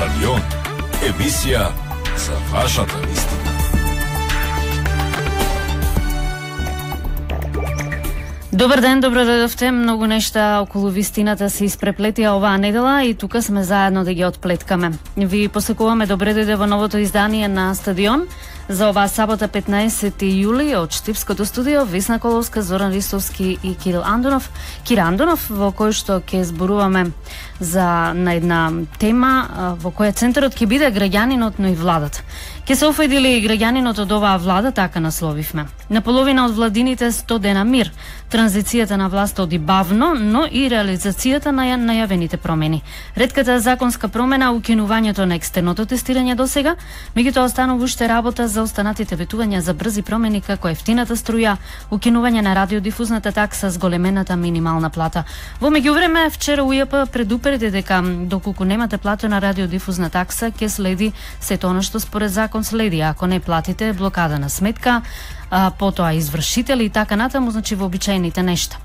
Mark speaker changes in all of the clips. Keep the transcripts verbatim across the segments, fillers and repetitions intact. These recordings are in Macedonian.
Speaker 1: Стадион. Емисија за вашата вистина.
Speaker 2: Добар ден, добро дојдовте. Многу нешта околу вистината се испреплетија оваа недела и тука сме заедно да ги отплеткаме. Ви посекуваме добре дојде во новото издание на Стадион за оваа сабота петнаесети јули од Штипското студио Весна Коловска, Зоран Ристовски и Кирил Андонов. Кира Андонов, во кој што ќе зборуваме за на една тема во која центарот ќе биде граѓанинот, но и владата. Ке се офајдили и граѓанинот од оваа влада, така насловивме. На половина од владините сто дена мир. Транзицијата на власт оди бавно, но и реализацијата на најавените промени. Ретката законска промена, укинувањето на екстерното тестирање досега, меѓутоа останува уште работа за останатите ветувања за брзи промени како ефтината струја, укинување на радиодифузната такса, зголемената минимална плата. Во меѓувреме, вчера УЈП предупреди дека доколку немате платена радиодифузна такса, ќе следи сето она што според закон следи. Ако не платите, блокада на сметка, а, потоа извршители и така натаму, значи вообичаените нешта.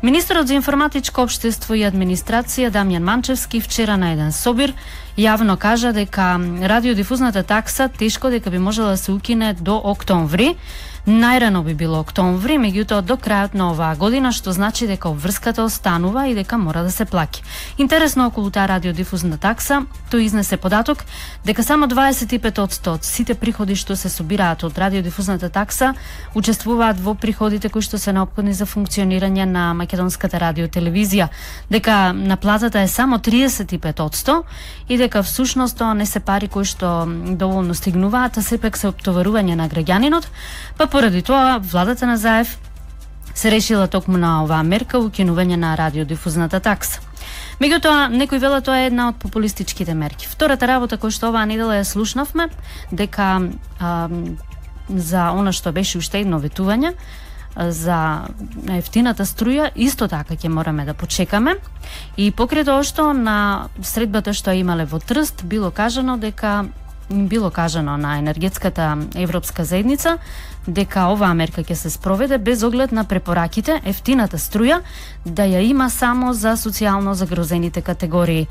Speaker 2: Министерот за информатичко општество и администрација Дамјан Манчевски вчера на еден собир јавно кажа дека радиодифузната такса тешко дека би можела да се укине до октомври. Најрано би било октомври, меѓутоа до крајот на оваа година, што значи дека обврската останува и дека мора да се плаќа. Интересно околу таа радиодифузна такса, тој изнесе податок дека само дваесет и пет одсто од сите приходи што се собираат од радиодифузната такса учествуваат во приходите кои што се неопходни за функционирање на македонската радиотелевизија, дека наплатата е само триесет и пет одсто и дека всушност тоа не се пари кои што доволно стигнуваат, а сепак се оптоварување на граѓанинот, па поради тоа владата на Заев се решила токму на оваа мерка укинување на радиодифузната такса. Меѓутоа, некој велат тоа е една од популистичките мерки. Втората работа која што оваа недела ја слушнавме, дека а, за она што беше уште едно ветување за ефтината струја, исто така ќе мораме да почекаме. И покрај тоа што на средбата што имале во Трст било кажано дека било кажано на енергетската европска заедница дека оваа мерка ќе се спроведе без оглед на препораките ефтината струја да ја има само за социјално загрозените категории.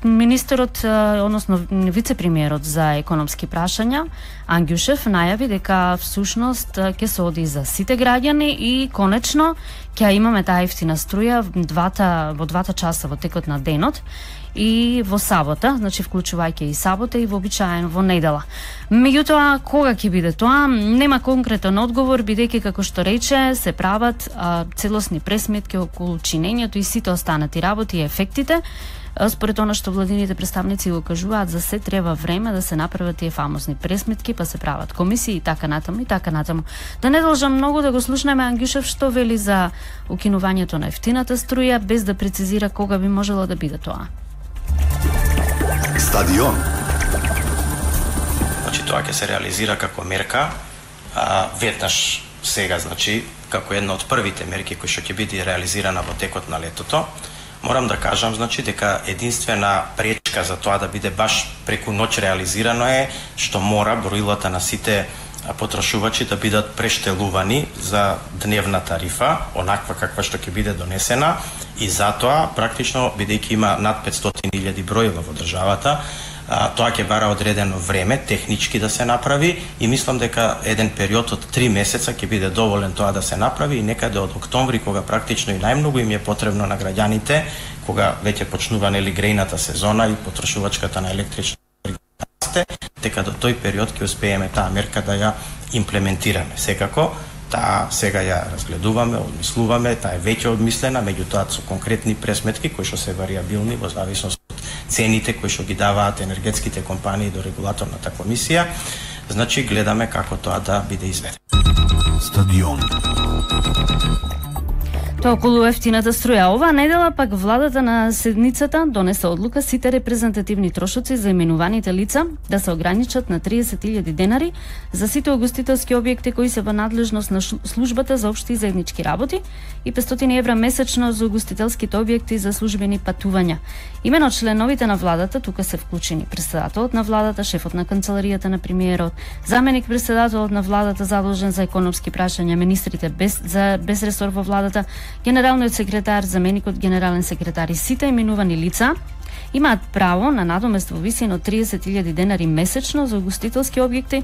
Speaker 2: Министерот, односно вице-премиерот за економски прашања Ангјушев најави дека всушност ќе се оди за сите граѓани и конечно ќе имаме таа ефтина струја двата, во двата часа во текот на денот и во сабота, значи вклучувајќи и сабота и вообичаено во недела. Меѓутоа, кога ќе биде тоа, нема конкретен одговор, бидејќи како што рече, се прават а, целосни пресметки околу чинењето и сите останати работи и ефектите. Според она што владините представници го кажуваат, за се треба време да се направат тие фамозни пресметки, па се прават комисии и така натаму и така натаму. Да не должам многу да го слушнеме Ангјушев што вели за укинувањето на ефтината струја, без да прецизира кога би можело да биде тоа.
Speaker 3: Стадион.
Speaker 4: Значи тоа ќе се реализира како мерка, а, веднаш сега, значи како една од првите мерки кои што ќе биде реализирана во текот на летото. Морам да кажам, значи, дека единствена пречка за тоа да биде баш преку ноќ реализирано е што мора броилата на сите потрошувачи да бидат прештелувани за дневна тарифа, онаква каква што ќе биде донесена, и затоа практично бидејќи има над петстотини илјади броила во државата, а, тоа ќе бара одредено време технички да се направи и мислам дека еден период од три месеца ќе биде доволен тоа да се направи и некаде од октомври, кога практично и најмногу им е потребно на граѓаните, кога веќе почнува нели грејната сезона и потрошувачката на електрична расте, дека до тој период ќе успееме таа мерка да ја имплементираме. Секако, таа сега ја разгледуваме, одмислуваме, таа е веќе одмислена, меѓутоа со конкретни пресметки кои што се варијабилни во зависност од цените кои што ги даваат енергетските компании до регулаторната комисија. Значи гледаме како тоа да биде изведено.
Speaker 3: Стадион.
Speaker 2: Тоа околу ефтината струја. Оваа недела пак владата на седницата донесе одлука сите репрезентативни трошоци за именуваните лица да се ограничат на триесет илјади денари за сите угостителски објекти кои се во надлежност на службата за општи и заеднички работи и петстотини евра месечно за угостителските објекти за службени патувања. Имено членовите на владата, тука се вклучени претседателот на владата, шефот на канцеларијата на премиерот, заменик претседателот на владата задолжен за економски прашања, министрите без за без ресор во владата, Генералниот секретар, заменикот генерален секретар и сите именувани лица имаат право на надомест во висина од триесет илјади денари месечно за угостителски објекти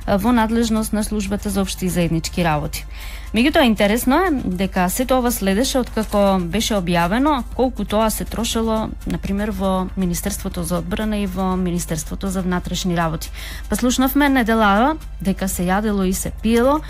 Speaker 2: во надлежност на службата за општи и заеднички работи. Меѓутоа интересно е дека сето ова следеше откако беше објавено колку тоа се трошело на пример во Министерството за одбрана и во Министерството за внатрешни работи. Па слушнавме неделава дека се јадело и се пиело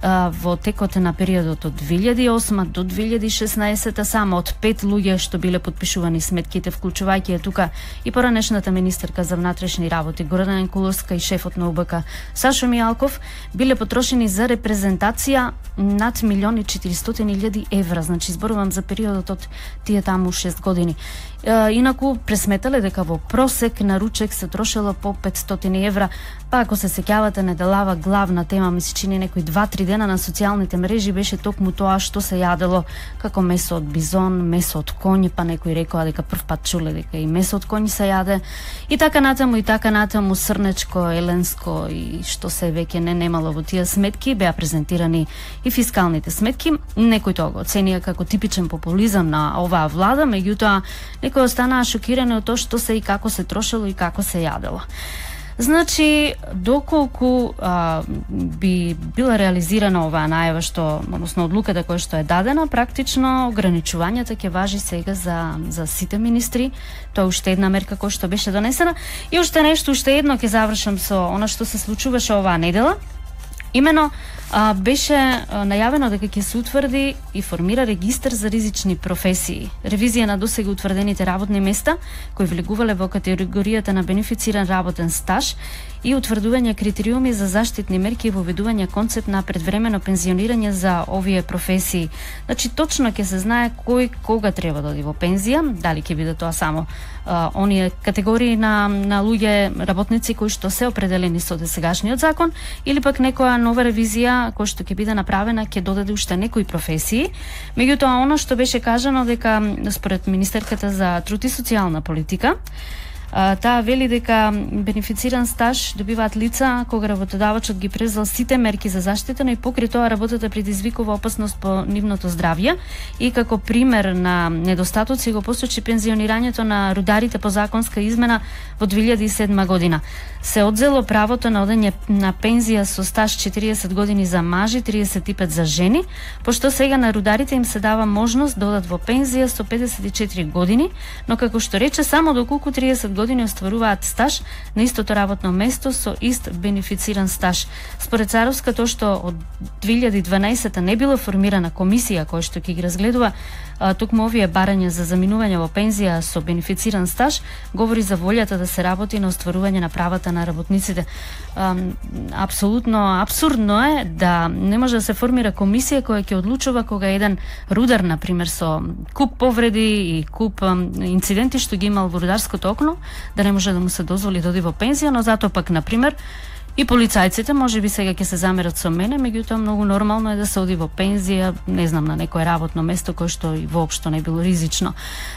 Speaker 2: во текот на периодот од две илјади и осма до две илјади и шеснаесета само од пет луѓе што биле потпишувани сметките, вклучувајќи е тука и поранешната министерка за внатрешни работи Гордана Куловска и шефот на У Б К Сашо Мијалков, биле потрошени за репрезентација над милион и четиристотини илјади евра, значи зборувам за периодот од тие таму шест години. Инаку пресметале дека во просек на ручек се трошело по петстотини евра, па ако се сеќавате неделава главна тема ми се чини некои два-три дена на социјалните мрежи беше токму тоа што се јадело како месо од бизон, месо од коњ, па некои рекоа дека прв пат чуле дека и месо од коњ се јаде и така натаму и така натаму срнечко, еленско и што се веќе не немало во тие сметки, беа презентирани и фискалните сметки. Некои тоа го оценија како типичен популизам на оваа влада, меѓутоа некои останаа шокирани од тоа што се и како се трошело и како се јадело. Значи, доколку а, би била реализирана оваа најава што, односно одлуката која што е дадена, практично ограничувањата ќе важи сега за за сите министри. Тоа е уште една мерка која што беше донесена и уште нешто, уште едно ќе завршам со она што се случуваше оваа недела. Имено а, беше а, најавено дека ќе се утврди и формира регистар за ризични професии. Ревизија на досега утврдените работни места кои влегувале во категоријата на бенефициран работен стаж и утврдување критериуми за заштитни мерки и воведување концепт на предвремено пензионирање за овие професии. Значи точно ќе се знае кој кога треба да оди во пензија, дали ќе биде тоа само а, оние категории на на луѓе работници кои што се определени со досегашниот закон или пак некоја нова ревизија која што ќе биде направена ќе додаде уште некои професии. Меѓутоа она што беше кажано дека според министерката за труд и социјална политика, таа вели дека бенефициран стаж добиваат лица кога работодавачот ги презел сите мерки за заштита, но и покрај тоа работата предизвикува опасност по нивното здравје и како пример на недостатоци го посочи пензионирањето на рударите по законска измена во две илјади и седма година. Се одзело правото на одење на пензија со стаж четириесет години за мажи, триесет и пет за жени, пошто сега на рударите им се дава можност да одат во пензија со педесет и четири години, но како што рече само доколку триесет години остваруваат стаж на истото работно место со ист бенефициран стаж. Според Царовска, тоа што од две илјади и дванаесета не била формирана комисија која што ќе ги разгледува токму овие барања за заминување во пензија со бенефициран стаж, говори за волјата да се работи на остварување на правата на работниците. Апсолутно апсурдно е да не може да се формира комисија која ќе одлучува кога еден рудар, на пример, со куп повреди и куп инциденти што ги имал во рударското окно, да не може да му се дозволи да оди во пензија, но затоа пак, на пример, и полицајците може би сега ќе се замерат со мене, меѓутоа многу нормално е да се оди во пензија, не знам, на некое работно место кое што и воопшто не било ризично.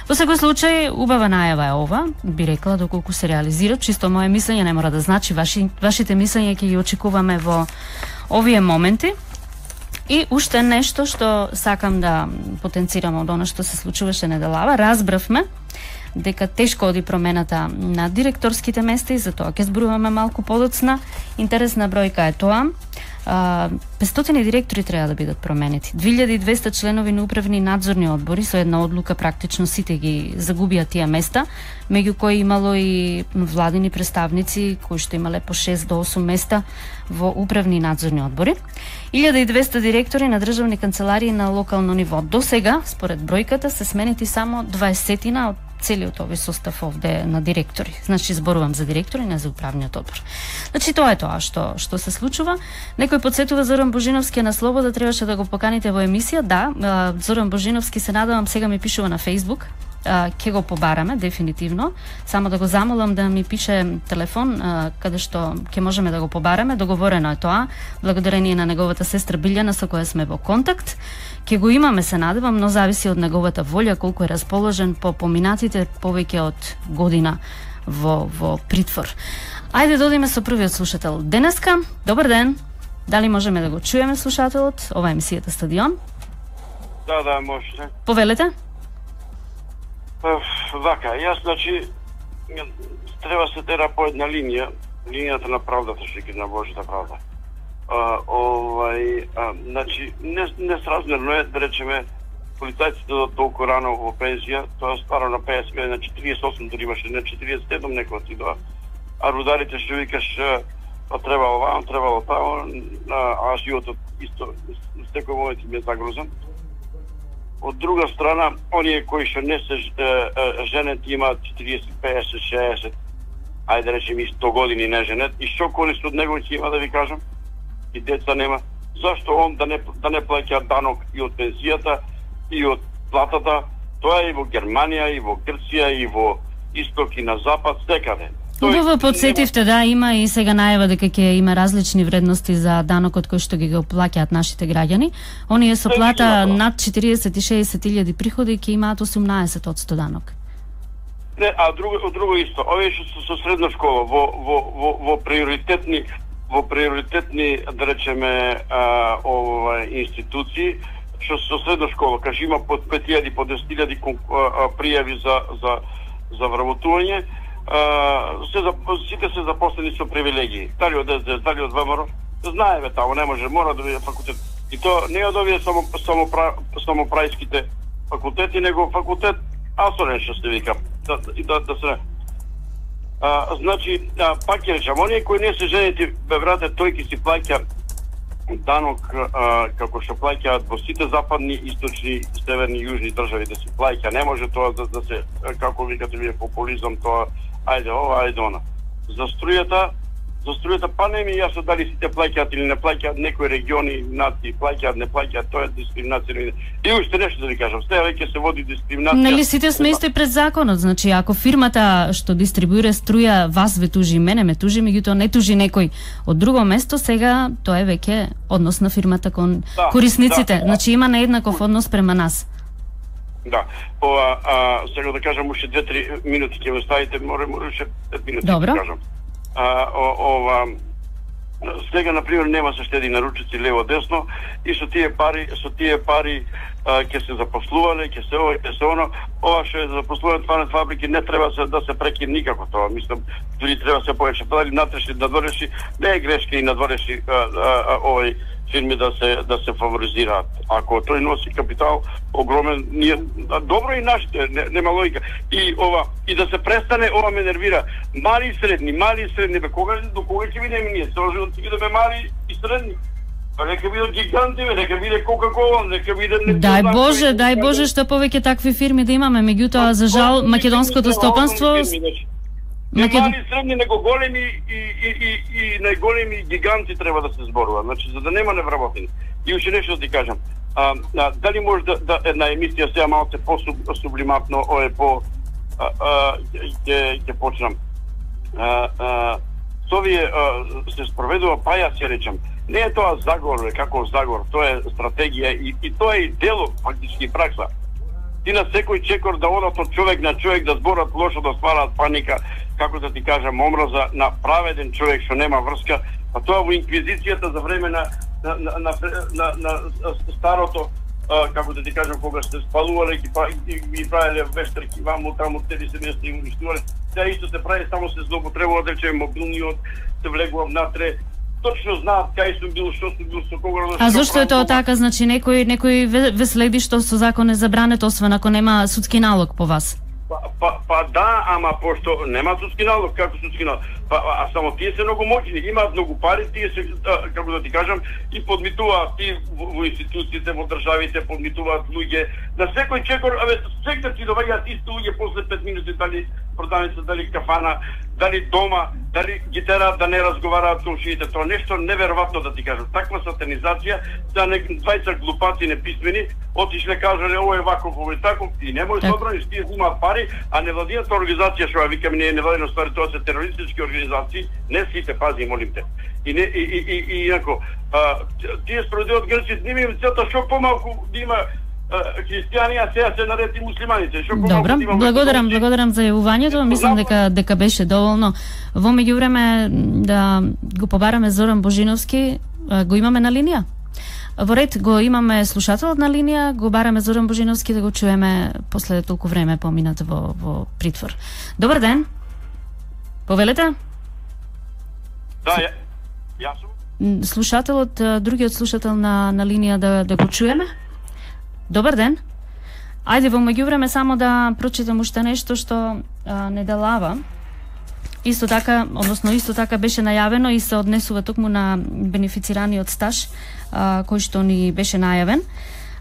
Speaker 2: Во секој случај, убава најава е ова, би рекла, доколку се реализира, чисто моje мислење, не мора да значи, ваши, вашите мислења ќе ги очекуваме во овие моменти. И уште нешто што сакам да потенцирам од она што се случуваше неделава, разбравме дека тешко оди промената на директорските места и за тоа ќе зборуваме малку подоцна. Интересна бројка е тоа. петстотини директори треба да бидат променети. две илјади и двесте членови на управни надзорни одбори со една одлука практично сите ги загубија тие места, меѓу кои имало и владини представници кои што имале по шест до осум места во управни надзорни одбори. илјада и двесте директори на државни канцеларии на локално ниво. До сега, според бројката, се сменети само дваесетина од целиот овој состав овде на директори. Значи зборувам за директори, не за управниот одбор. Значи тоа е тоа што што се случува. Некој подсетува Зоран Божиновски на Слобода, требаше да го поканите во емисија. Да, Зоран Божиновски, се надевам, сега ми пишува на Facebook. Ќе го побараме дефинитивно. Само да го замолам да ми пише телефон каде што ќе можеме да го побараме. Договорено е тоа, благодарение на неговата сестра Билјана со која сме во контакт. Ќе го имаме, се надевам, но зависи од неговата волја, колку е расположен по поминатите повеќе од година во во притвор. Ајде да одиме со првиот слушател денеска. Добар ден. Дали можеме да го чуеме слушателот? Ова е емисијата Стадион.
Speaker 3: Да, да, можете.
Speaker 2: Повелете?
Speaker 3: Вака, јас, значи, треба се тера по една линија, линијата на правдата, што ги на Божјата правда. А, овај, а, значи, не, несразмерно е, да речеме, полицајците да толку рано во пензија, тоа старо на петдесет, на четириесет и осум дори имаше, на четириесет и седум некој си доа. А рударите што викаш, па требало ваам, требало тамо, а животот исто, секој момент ми е загрозен. Од друга страна, оние кои што не се женети имаат четириесет, петдесет, шеесет, ајде да речем и сто години не женет, и што корист од него ќе има, да ви кажам, и деца нема. Зашто он да не, да не плаќа данок и од пензијата, и од платата? Тоа е и во Германија, и во Грција, и во Исток, и на Запад, секаде.
Speaker 2: Убаво подсетивте, да, има и сега најава дека ќе има различни вредности за данокот кој што ги го плаќаат нашите граѓани. Оние со плата над четириесет и шеесет илјади приходи ќе имаат осумнаесет одсто данок.
Speaker 3: Не, а друго, друго исто, овие што се со средна школа во во во во приоритетни во приоритетни, да речеме, а, ова институции, што со средна школа, каже има под пет илјади, по десет илјади пријави за за за вработување, Uh, се за, сите се запослени со привилегии. Дали од ес де ес, дали од ВМРО, знаеме тамо, не може, мора да биде факултет. И то не од овие само, само, само прајските факултети, него факултет Асорен, што се вика. Да, да, да се... Uh, значи, uh, пак ќе речам, оние кои не се женети, бе брате, тој ќе си плаќа данок uh, како што плаќаат во сите западни, источни, северни, јужни држави да си плаќа. Не може тоа да, да се, како викате вие, популизам, тоа ајде ова, ајде она. За струјата, за струјата, па не ми јасно дали сите плаќаат или не плаќаат, некои региони, нации плаќаат, не плаќаат, тоа е дискриминација. И уште нешто да ви кажам, сега веќе се води дискриминација.
Speaker 2: Нели сите сме исто пред законот, значи ако фирмата што дистрибуира струја вас ве тужи, мене ме тужи, меѓутоа не тужи некој од друго место, сега тоа е веќе однос на фирмата кон да, корисниците, да, значи има нееднаков однос према нас.
Speaker 3: Да, ова, а, сега да кажам уште две-три минути ќе ме ставите, море, море уште пет минути
Speaker 2: Добро.
Speaker 3: да кажам. А, о, ова, сега, например, нема се штеди на ручици лево-десно и со тие пари, со тие пари а, ќе се запослувале, ќе се ова, ќе се оно, ова што е за запослување тварни фабрики не треба се, да се прекине никако тоа, мислам, дури треба се повеќе, дали натрешни, надворешни, не е грешка и надворешни овој фирми да се да се фаворизираат. Ако тој носи капитал огромен, ние добро и нашите, не, нема логика. И ова и да се престане, ова ме нервира. Мали и средни, мали и средни, бе кога до кога ќе видиме ние? Цело живот ќе бидеме мали и средни. Па нека бидат гиганти, бе, нека биде Кока-кола, нека биде не.
Speaker 2: Дај Боже, дај Боже што повеќе такви фирми да имаме, меѓутоа за жал македонското стопанство
Speaker 3: Не мали и средни, него големи и, и, и, и најголеми гиганти треба да се зборува, значи за да нема невработени. И уште нешто да ти кажам. А, а, дали може да, да една емисија сега малку по-сублиматно, ое по ќе ќе почнам. А, а, со овие се спроведува, па јас ќе речам, не е тоа заговор, како заговор, тоа е стратегија и, и тоа е и дело фактички пракса. Ти на секој чекор да одат од човек на човек да зборат лошо, да ствараат паника, како да ти кажам, омраза на праведен човек што нема врска, а тоа во инквизицијата за време на на на на, на, на старото, а, како да ти кажам, кога се спалувале и ги правеле вештерки ваму таму, цели семејства и уништувале, сега исто се прави, само се злоупотребува, да речеме мобилниот, се влегува внатре, точно знаат кај сум бил, што сум бил, со кога...
Speaker 2: А зошто е тоа така? Значи некој некој ве следи што со закон е забрането, освен ако нема судски налог по вас?
Speaker 3: Па, па, па да, ама пошто нема судски налог, како судски налог? Па, а само тие се многу моќни, имаат многу пари, тие се, а, како да ти кажам, и подмитуваат и во, во институциите, во државите, подмитуваат луѓе. На секој чекор, абе, секој ти доваѓаат исти луѓе после пет минути, дали продавница, дали кафана, дали дома, дали ги тераат да не разговараат комшиите. Тоа нешто неверојатно да ти кажам. Таква сатанизација, да не двајца глупаци неписмени, отишле кажале ова е ваков, ова е таков, и не може да одбраниш, тие имаат пари, а невладината организација што ја викаме не е невладина ствари, тоа се терористички организации, не сите, пази, молим те. И не и и и, и инако, а, тие спроведуваат грците, нема им целта што помалку да има христијани, а сега се нареди муслиманите. Што
Speaker 2: Добро, благодарам, благодарам за јавувањето. Мислам дека дека беше доволно. Во меѓувреме да го побараме Зоран Божиновски, го имаме на линија? Во ред го имаме слушателот на линија, го бараме Зоран Божиновски да го чуеме после толку време поминат во, во притвор. Добар ден. Повелете?
Speaker 3: Да, ја, јас сум.
Speaker 2: Слушателот, другиот слушател на, на линија да, да го чуеме? Добар ден. Ајде во меѓувреме само да прочитам уште нешто што а, не делава. Исто така, односно исто така беше најавено и се однесува токму на бенефицираниот стаж а, кој што ни беше најавен.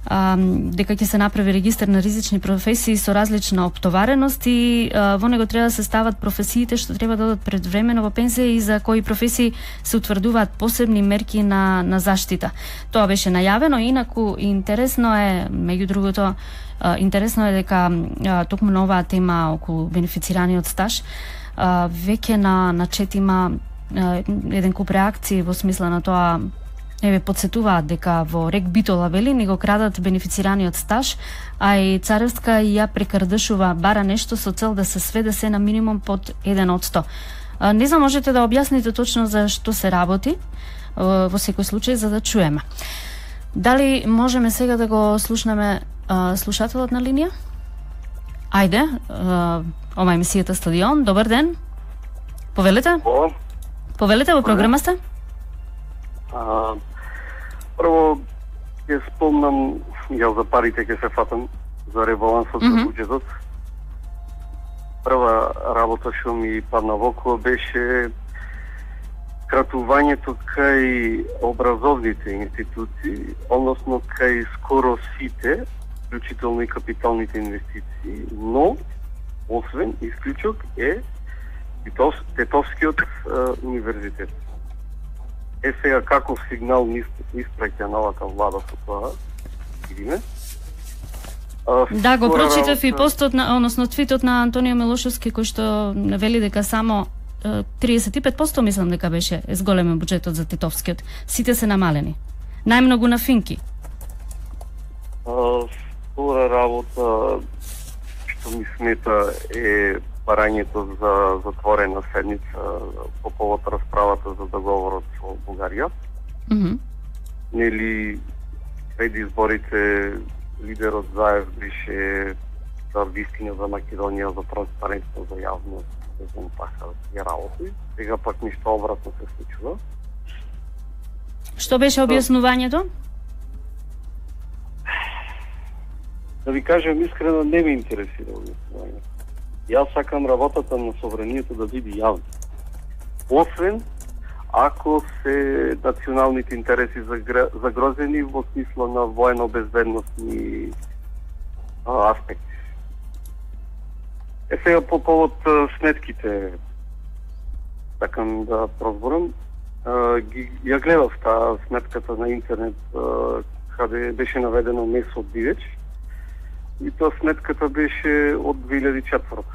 Speaker 2: А, дека ќе се направи регистар на ризични професии со различна оптовареност и а, во него треба да се стават професиите што треба да одат предвремено во пензија и за кои професии се утврдуваат посебни мерки на, на заштита. Тоа беше најавено, инаку интересно е, меѓу другото, а, интересно е дека а, токму на оваа тема околу бенефицираниот стаж а, веќе на, на чет има а, еден куп реакции во смисла на тоа. Еве, подсетуваат дека во Рек Битола вели ни го крадат бенефицираниот стаж, а и Царевска ја прекрдашува бара нешто со цел да се сведе се на минимум под еден од сто. Не знам, можете да објасните точно за што се работи во секој случај за да чуеме. Дали можеме сега да го слушнеме а, слушателот на линија? Ајде, а, ова е емисијата Стадион. Добар ден. Повелете?
Speaker 5: О,
Speaker 2: Повелете, во програма сте?
Speaker 5: А, прво, ќе спомнам, ја за парите ќе се фатам, за ребалансот
Speaker 2: mm-hmm.
Speaker 5: за буџетот. Прва работа што ми падна во око беше кратувањето кај образовните институции, односно кај скоро сите, вклучително и капиталните инвестиции, но освен исклучок е Тетовскиот универзитет. Е сега каков сигнал испраќа новата влада со тоа, видиме.
Speaker 2: Да, го прочитав и постот на, односно твитот на Антонио Милошевски кој што вели дека само триесет и пет проценти мислам дека беше зголемен буџетот за Тетовскиот. Сите се намалени. Најмногу на Финки.
Speaker 5: Втора работа што ми смета е барањето за затворена седница по повод расправата за договорот со Бугарија.
Speaker 2: Mm -hmm.
Speaker 5: Нели пред изборите лидерот Заев беше за вистина за Македонија, за транспарентност, за јавност, за знам така ја работи. Сега пак ништо обратно се случува.
Speaker 2: Што беше објаснувањето?
Speaker 5: Да ви кажем искрено, не ме интересира објаснувањето. Јас сакам работата на собранието да биде јавна. Освен ако се националните интереси загрозени во смисла на воено-безбедносни аспекти. Е сега по повод сметките, сакам да прозборам, ја гледав таа сметката на интернет каде беше наведено месо бивеч и тоа сметката беше од две илјади и четврта.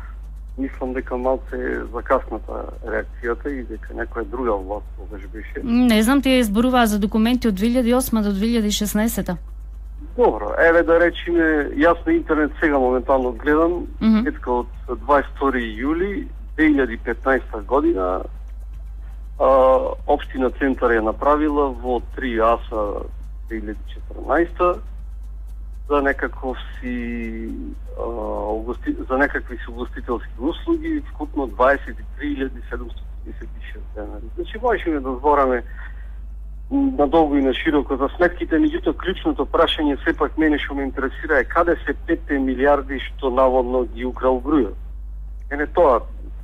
Speaker 5: Мислам дека малце закасната реакцијата и дека некоја друга власт тогаш беше.
Speaker 2: Не знам, тие изборуваа за документи од две илјади и осма до две илјади и шеснаесета.
Speaker 5: Добро, еве да речеме, јас на интернет сега моментално гледам,
Speaker 2: mm -hmm.
Speaker 5: етка од дваесет и втори јули две илјади и петнаесета година а, општина Центар ја направила во три аса две илјади и четрнаесета за некаков си а, угости, за некакви си угостителски услуги, вкупно дваесет и три илјади седумстотини тридесет и шест денари. Значи, можеме да збораме надолго и на широко за сметките, меѓутоа клучното прашање сепак мене што ме интересира е каде се петте милиарди што наводно ги украл Грујов. Ене тоа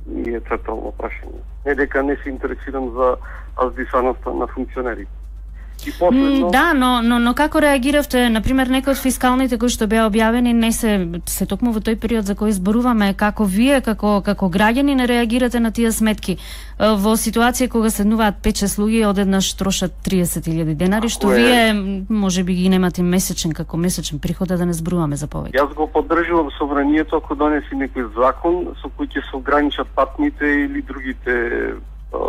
Speaker 5: ми е централно прашање. Не дека не се интересирам за аздисаноста на функционерите. Последно...
Speaker 2: Да, но, но, но како реагиравте, например, некои од фискалните кои што беа објавени не се се токму во тој период за кој зборуваме, како вие како како граѓани не реагирате на тие сметки во ситуација кога седнуваат пет-шест луѓе одеднаш трошат триесет илјади денари, што е... вие можеби ги немате месечен како месечен приход, да не зборуваме за повеќе.
Speaker 5: Јас го поддржувам собранието ако донеси некој закон со кој ќе се ограничат патните или другите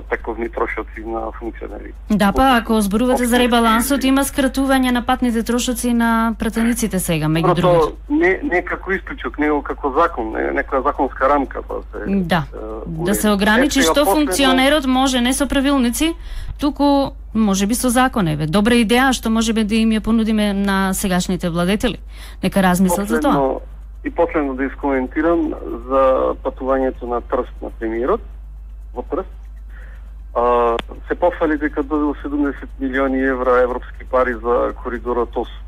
Speaker 5: таковни трошоци на функционери.
Speaker 2: Да, па ако зборувате за ребалансот, има скратување на патните трошоци на пратениците сега, меѓу другото.
Speaker 5: Не, не како исклучок, него како закон, не, некоја законска рамка, па се...
Speaker 2: Да, да се ограничи што функционерот може не со правилници, туку може би со закон, еве. Добра идеја што можеби да им ја понудиме на сегашните владетели. Нека размислат за тоа.
Speaker 5: И последно да искоментирам за патувањето на Трст на премиерот во Трст. А, се пофали дека добил седумдесет милиони евра европски пари за коридорот осум.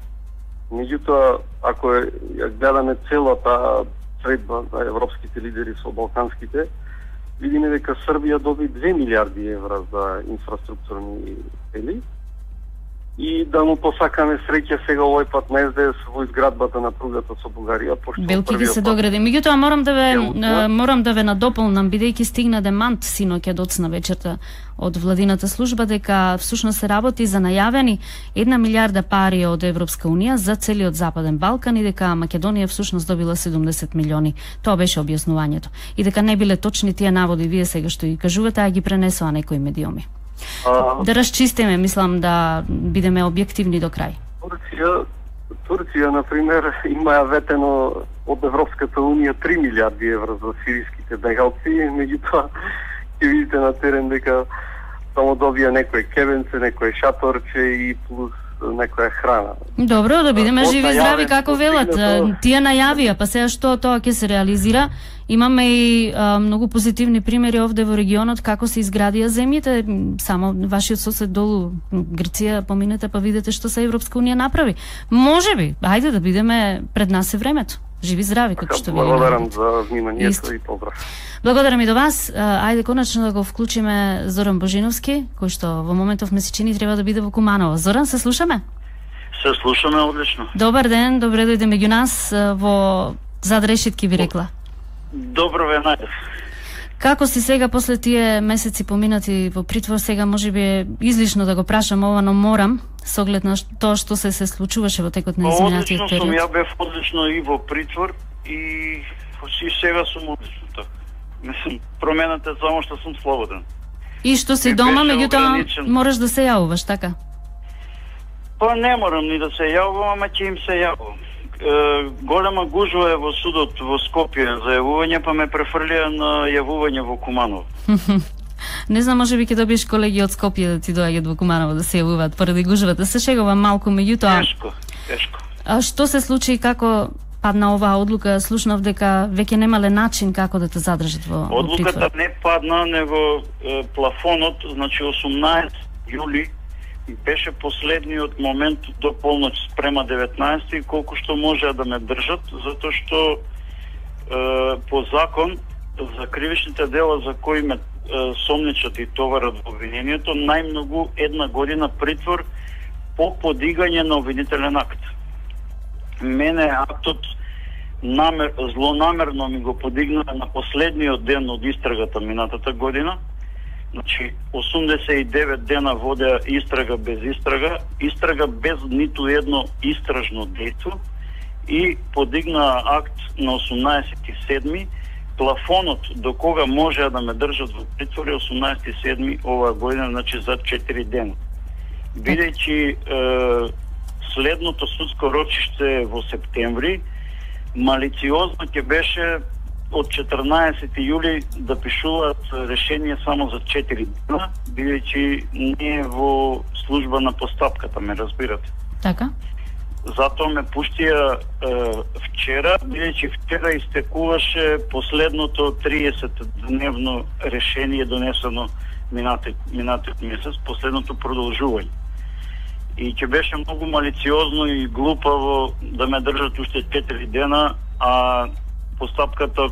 Speaker 5: Меѓутоа, ако е, ја гледаме целата средба за европските лидери со балканските, видиме дека Србија доби две милиарди евра за инфраструктурни цели. И да му посакаме среќа сега овој пат на Ес Де Ес во изградбата на пругата со Бугарија, пошто
Speaker 2: Белки ги се догради. Меѓутоа морам да ве морам да ве надополнам, бидејќи стигна демант синоќа доцна вечерта од владината служба дека всушност се работи за најавени една милиарда пари од Европска унија за целиот Западен Балкан и дека Македонија всушност добила седумдесет милиони. Тоа беше објаснувањето. И дека не биле точни тие наводи вие сега што ги кажувате, а ги пренесоа некои медиуми. А, да расчистиме, мислам да бидеме објективни до крај.
Speaker 5: Турција, Турција, например, има ветено од Европската унија три милиарди евра за сириските бегалци, меѓутоа ќе видите на терен дека само добија некој кебенце, некој шаторче и плюс некоја храна.
Speaker 2: Добро, да бидеме живи и здрави како велат. Тие најавија, па сега што тоа ќе се реализира. Имаме и а, многу позитивни примери овде во регионот како се изградија земјите. Само вашиот сосед долу Грција поминете па видите што се Европска унија направи. Можеби, ајде да бидеме, пред нас е времето. Живи здрави како што ви.
Speaker 5: Благодарам за вниманието и поздрав.
Speaker 2: Благодарам и до вас. Ајде конечно да го вклучиме Зоран Божиновски, кој што во моментов ме се чини треба да биде во Куманово. Зоран, се слушаме?
Speaker 6: Се слушаме одлично.
Speaker 2: Добар ден, добре дојде меѓу нас во Зад решетки би рекла.
Speaker 6: Добро ве најдов.
Speaker 2: Како си сега после тие месеци поминати во притвор? Сега можеби е излишно да го прашам ова, но морам со оглед на тоа што се се случуваше во текот на изминатиот период.
Speaker 6: Одлично сум, ја бев одлично и во притвор и и сега сум одлично така. Мислам, промената е само што сум слободен.
Speaker 2: И што си дома, меѓутоа мораш да се јавуваш, така?
Speaker 6: Па не морам ни да се јавувам, ама ќе им се јавувам. Е, голема гужва е во судот во Скопје за јавување, па ме префрлија на јавување во Куманово.
Speaker 2: Не знам, може би ќе добиеш колеги од Скопје да ти доаѓат во Куманово да се јавуваат поради гужвата. Се шегувам малку, меѓутоа.
Speaker 6: Тешко, тешко.
Speaker 2: А што се случи и како падна оваа одлука? Слушнав дека веќе немале начин како да те задржат во, во притвор.
Speaker 6: Одлуката не падна, него е, плафонот, значи осумнаесет јули беше последниот момент до полноќ спрема деветнаесети, колку што можеа да ме држат, затоа што е, по закон за кривичните дела за кои ме е, сомничат и товарат во обвинението, најмногу една година притвор по подигање на обвинителен акт. Мене актот намер, злонамерно ми го подигна на последниот ден од истрагата минатата година. Значи, осумдесет и девет дена водеа истрага без истрага, истрага без ниту едно истражно дејство и подигна акт на осумнаесети седми. Плафонот до кога можеа да ме држат во притвор е осумнаесети седми оваа година, значи за четири дена. Бидејќи е, следното судско рочиште во септември, малициозно ќе беше од четрнаесети јули да пишуваат решение само за четири дена, бидејќи не е во служба на постапката, ме разбирате.
Speaker 2: Така.
Speaker 6: Затоа ме пуштија е, вчера, бидејќи вчера истекуваше последното триесет дневно решение донесено минатиот, минатиот месец, последното продолжување. И ќе беше многу малициозно и глупаво да ме држат уште четири дена, а постапката,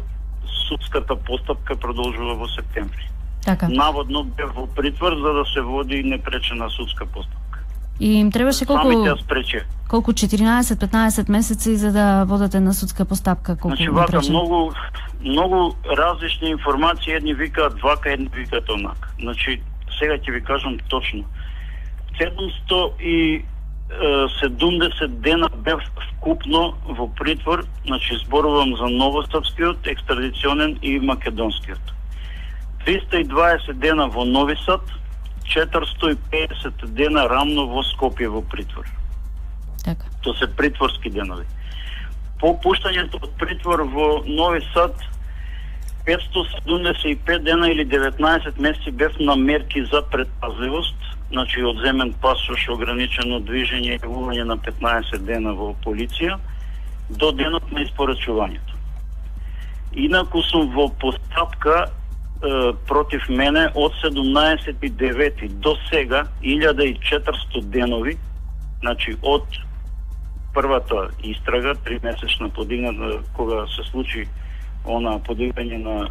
Speaker 6: судската постапка продолжува во септември.
Speaker 2: Така.
Speaker 6: Наводно бе во притвор за да се води непречена судска постапка.
Speaker 2: И им требаше колку
Speaker 6: спрече.
Speaker 2: колку четиринаесет-петнаесет месеци за да водат една судска постапка, колку
Speaker 6: значи, вака, многу многу различни информации, едни викаат вака, едни викаат онака. Значи, сега ќе ви кажам точно. седумстотини и седумдесет дена бев вкупно во притвор, значи зборувам за новосрпскиот, екстрадиционен и македонскиот. триста и дваесет дена во Нови Сад, четиристо и педесет дена рамно во Скопје во притвор.
Speaker 2: Така.
Speaker 6: Тоа се притворски денови. По пуштањето од притвор во Нови Сад, петстотини седумдесет и пет дена или деветнаесет месеци бев на мерки за предпазливост, значи одземен пасош, ограничено движење и јавување на петнаесет дена во полиција, до денот на испорачувањето. Инаку сум во постапка е, против мене од седумнаесет и девети до сега илјада и четиристо денови, значи од првата истрага, тримесечна подигната, кога се случи она подигање на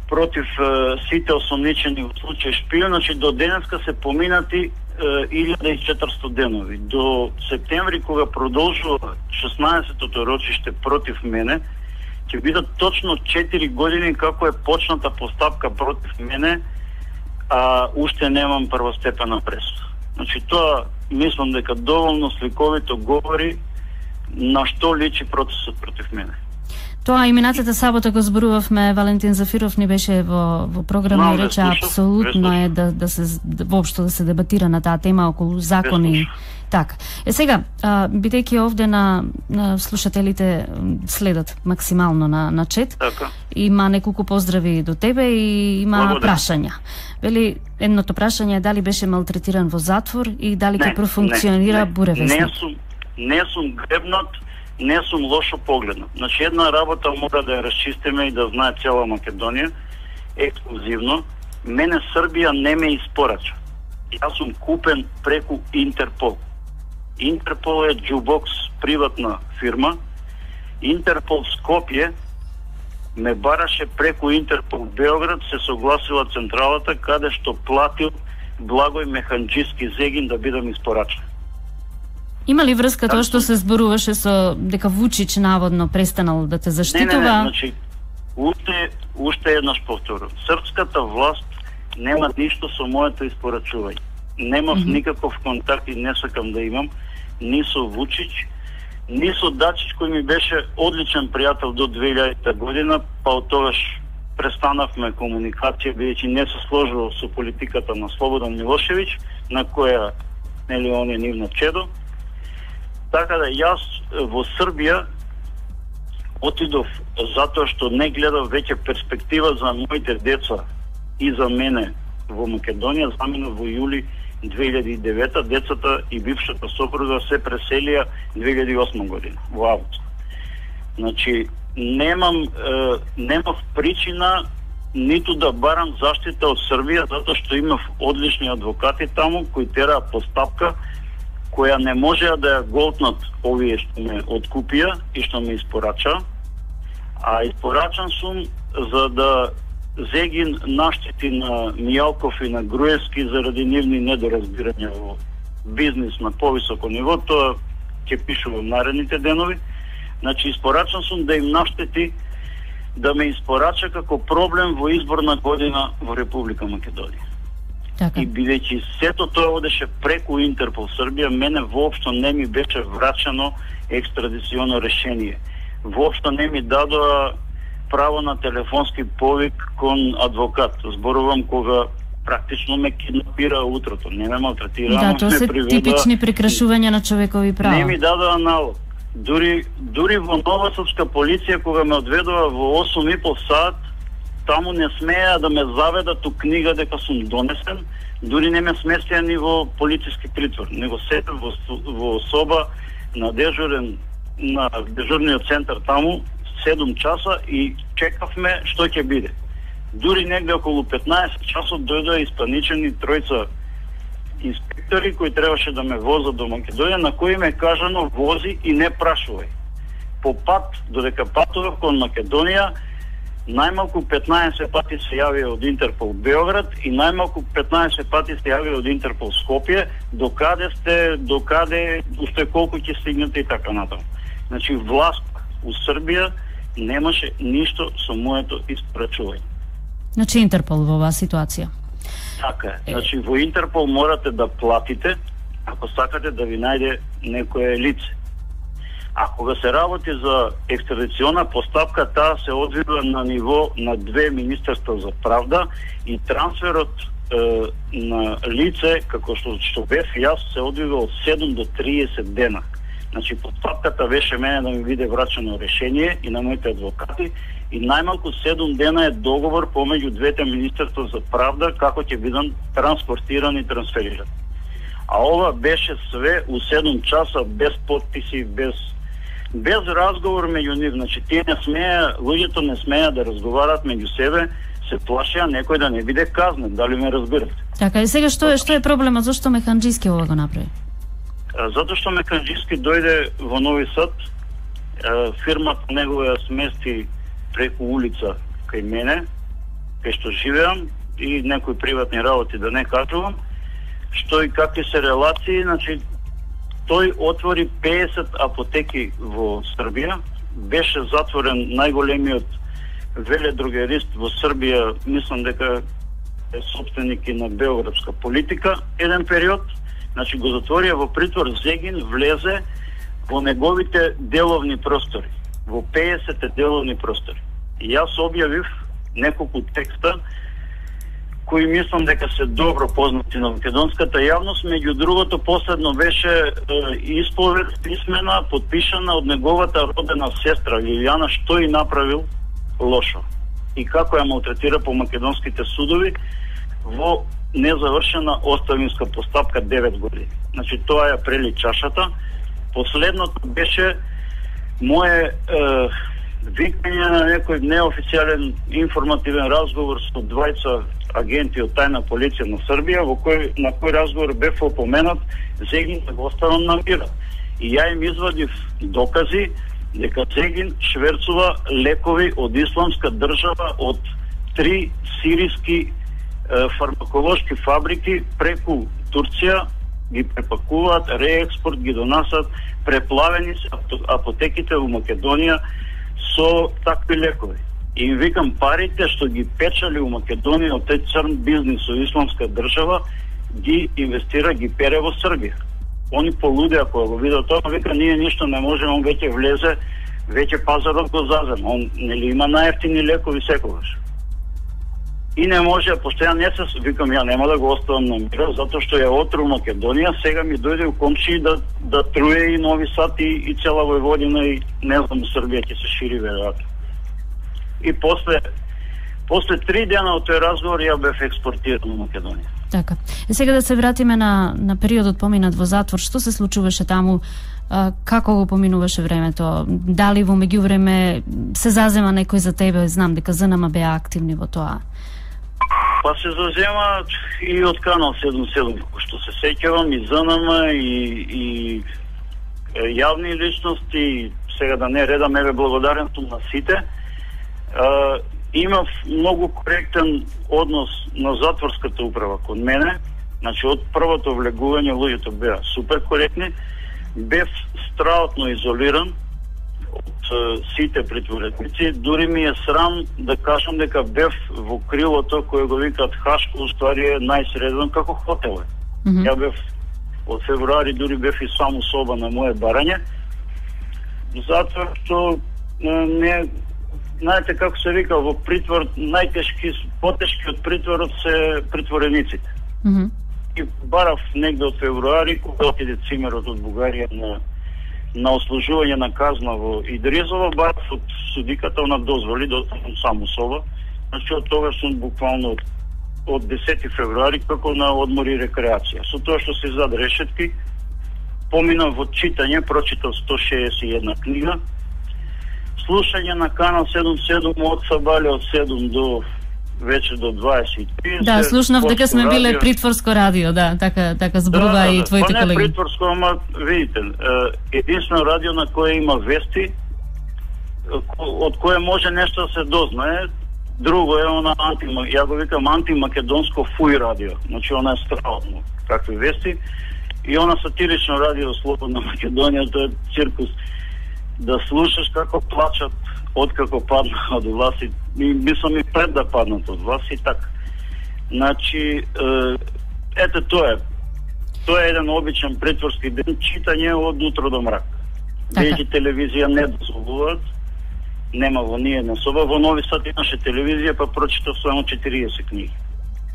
Speaker 6: против е, сите осомничени во случај шпион, значи до денеска се поминати илјада и четиристо денови. До септември, кога продолжува шеснаесеттото рочиште против мене, ќе бидат точно четири години како е почната постапка против мене, а уште немам првостепена пресуда. Значи тоа мислам дека доволно сликовито говори на што личи процесот против мене.
Speaker 2: Тоа и минатата сабота го зборувавме, Валентин Зафиров ни беше во во програма и рече апсолутно е да да се да, воопшто да се дебатира на таа тема околу закони. Така. Е сега, а, бидејќи овде на, на слушателите следат максимално на на чет,
Speaker 6: така.
Speaker 2: Има неколку поздрави до тебе и има
Speaker 6: Благодаря.
Speaker 2: прашања. Вели, едното прашање е дали беше малтретиран во затвор и дали ќе профункционира Буревестник.
Speaker 6: Не сум не сум гребнат, не сум лошо погледнат. Значи една работа мора да ја расчистиме и да знае цела Македонија ексклузивно. Мене Србија не ме испорача. Јас сум купен преку Интерпол. Интерпол е Джубокс, приватна фирма. Интерпол Скопје ме бараше преку Интерпол Београд, се согласила централата каде што платил Благој Механџиски Зегин да бидам испорачен.
Speaker 2: Има ли врска тоа што се зборуваше со дека Вучич наводно престанал да те заштитува?
Speaker 6: Не, не, не, значи, уште, уште еднаш повторувам. Српската власт нема ништо со моето испорачување. Немав mm -hmm. никаков контакт и не сакам да имам ни со Вучич, ни со Дачич, кој ми беше одличен пријател до две илјадета година, па од тогаш престанавме комуникација, бидејќи не се сложувал со политиката на Слободан Милошевиќ, на која, нели, он е нивно чедо. Така да јас во Србија отидов затоа што не гледав веќе перспектива за моите деца и за мене во Македонија. Заминав во јули две илјади и девета, децата и бившата сопруга се преселија две илјади и осма година, во август. Значи, немам, е, немав причина ниту да барам заштита од Србија, затоа што имав одлични адвокати таму, кои тераа постапка, која не можеа да ја голтнат овие што ме откупија и што ме испорача, а испорачан сум за да Зегин наштети на Мијалков и на Груевски заради нивни недоразбирања во бизнис на повисоко ниво. Тоа ќе пишувам наредните денови. Значи, испорачан сум да им наштети да ме испорача како проблем во изборна година во Република Македонија.
Speaker 2: Така.
Speaker 6: И бидејќи сето тоа одеше преку Интерпол Србија, мене воопшто не ми беше врачено екстрадиционо решение. Воопшто не ми дадоа право на телефонски повик кон адвокат. Зборувам кога практично ме киднапира утрото. Не ме малтретира,
Speaker 2: да, тоа се
Speaker 6: приведа...
Speaker 2: типични прекрашувања на човекови права.
Speaker 6: Не ми дадоа налог. Дури, дури во Новосадска полиција, кога ме одведува во осум и пол сат, таму не смеја да ме заведат у книга дека сум донесен, дури не ме сместија ни во полициски притвор, него седев во, во соба на дежурен, на дежурниот центар таму, седум часа и чекавме што ќе биде. Дури негде околу петнаесет часот дојдоа испаничени тројца инспектори кои требаше да ме возат до Македонија, на кои ме кажано вози и не прашувај. По пат, додека патував кон Македонија, најмалку петнаесет пати се јавија од Интерпол Београд и најмалку петнаесет пати се јавија од Интерпол Скопје, докаде сте, докаде, уште колку ќе стигнете и така натаму. Значи, власт у Србија немаше ништо со моето испорачување.
Speaker 2: Значи Интерпол во оваа ситуација.
Speaker 6: Така е. Значи во Интерпол морате да платите ако сакате да ви најде некое лице. А кога се работи за екстрадициона постапка, таа се одвива на ниво на две министерства за правда и трансферот е, на лице, како што, што бев јас, се одвива од седум до триесет дена. Значи, постапката беше мене да ми биде врачено решение и на моите адвокати и најмалку седум дена е договор помеѓу двете министерства за правда како ќе бидат транспортирани и трансферирани. А ова беше све у седум часа, без подписи, без без разговор меѓу нив. Значи, тие не смеја, луѓето не смеја да разговарат меѓу себе, се плашеа некој да не биде казнен, дали ме разбирате?
Speaker 2: Така, и сега што е што е проблемот, зашто Меканџиски ова го направи?
Speaker 6: Затоа што Меканџиски дојде во Нови Сад, фирмата негова ја смести преку улица кај мене, кај што живеам, и некои приватни работи да не кажувам, што и какви се релации. Значи, тој отвори пеесет апотеки во Србија, беше затворен најголемиот веледрогерист во Србија, мислам дека е собственик и на Белградска политика, еден период. Значи, го затворија во притвор, Зегин влезе во неговите деловни простори, во пеесет деловни простори. И јас објавив неколку текста кои мислам дека се добро познати на македонската јавност. Меѓу другото, последно беше е, исповед писмена, подпишана од неговата родена сестра Лилијана, што и направил лошо и како ја малтретира по македонските судови во незавршена оставинска постапка девет години. Значи, тоа ја прели чашата. Последното беше мое е, викање на некој неофицијален информативен разговор со двајца агенти од тајна полиција на Србија, во кој на кој разговор бев опоменат Зегин да го оставам на мира. И ја им извадив докази дека Зегин шверцува лекови од исламска држава од три сириски е, фармаколошки фабрики преку Турција, ги препакуваат, реекспорт ги донасат, преплавени се апотеките во Македонија со такви лекови. И им викам, парите што ги печали у Македонија од тој црн бизнис со исламска држава, ги инвестира, ги пере во Србија. Они полудеа кога го видат тоа, вика, ние ништо не можеме, он веќе влезе, веќе пазарот го зазема. Он нели има најевтини лекови секогаш. И не може, пошто ја не се, викам, ја нема да го оставам на мира, затоа што ја отру Македонија, сега ми дојде у комши да, да труе и Нови Сад и, и цела Војводина и не знам, Србија ќе се шири веројатно. И после после три дена од тој разговор ја бев експортиран во Македонија.
Speaker 2: Така. И сега да се вратиме на на периодот поминат во затвор, што се случуваше таму? А, како го поминуваше времето? Дали во меѓувреме се зазема некој за тебе? Знам дека ЗНМ беа активни во тоа.
Speaker 6: Па се зазема и од канал седум седум, што се сеќавам, и ЗНМ, и, и јавни личности, сега да не редам, еве благодарен сум на сите. Uh, имав многу коректен однос на затворската управа кон мене. Значи, од првото влегување луѓето беа супер коректни. Бев страотно изолиран од uh, сите притворници. Дури ми е срам да кажам дека бев во крилото кое го викаат Хашко, уствари е најсреден како хотел. Mm-hmm. Ја бев од февруари, дури бев и само соба на моје барање. Затоа што не... Знаете како се вика, во притвор најтешки, потешки од притворот се притворениците.
Speaker 2: Mm-hmm.
Speaker 6: И барав негде од февруари, кога отиде цимерот од Бугарија на, на ослужување на казна во Идризово, барав од судиката на дозволи да останам само соба. Значи, од тога сум буквално од, од десети февруари како на одмор и рекреација. Со тоа што се зад решетки, поминав во читање, прочитав сто шеесет и една книга, слушање на канал седум седум од сабале од седум до вече до дваесет и три.
Speaker 2: Да, слушнав дека сме биле радио. Притворско радио, да, така така зборува да, да, и твоите
Speaker 6: да,
Speaker 2: колеги.
Speaker 6: Па не притворско, ама видите, единствено радио на кое има вести, од кое може нешто да се дознае. Друго е она анти, ја го викам антимакедонско фуј радио. Значи она е страшно, какви вести. И она сатирично радио Слободна Македонија, тоа е циркус. Да слушаш како плачат откако падна од власт и мислам и пред да паднат од власт и така. Значи, е, ете тоа е. Тоа е еден обичен притворски ден, читање од утро до мрак. Веќе телевизија не дозволуваат. Нема во ние на соба. Во Нови Сад имаше телевизија, па прочитав само четириесет книги.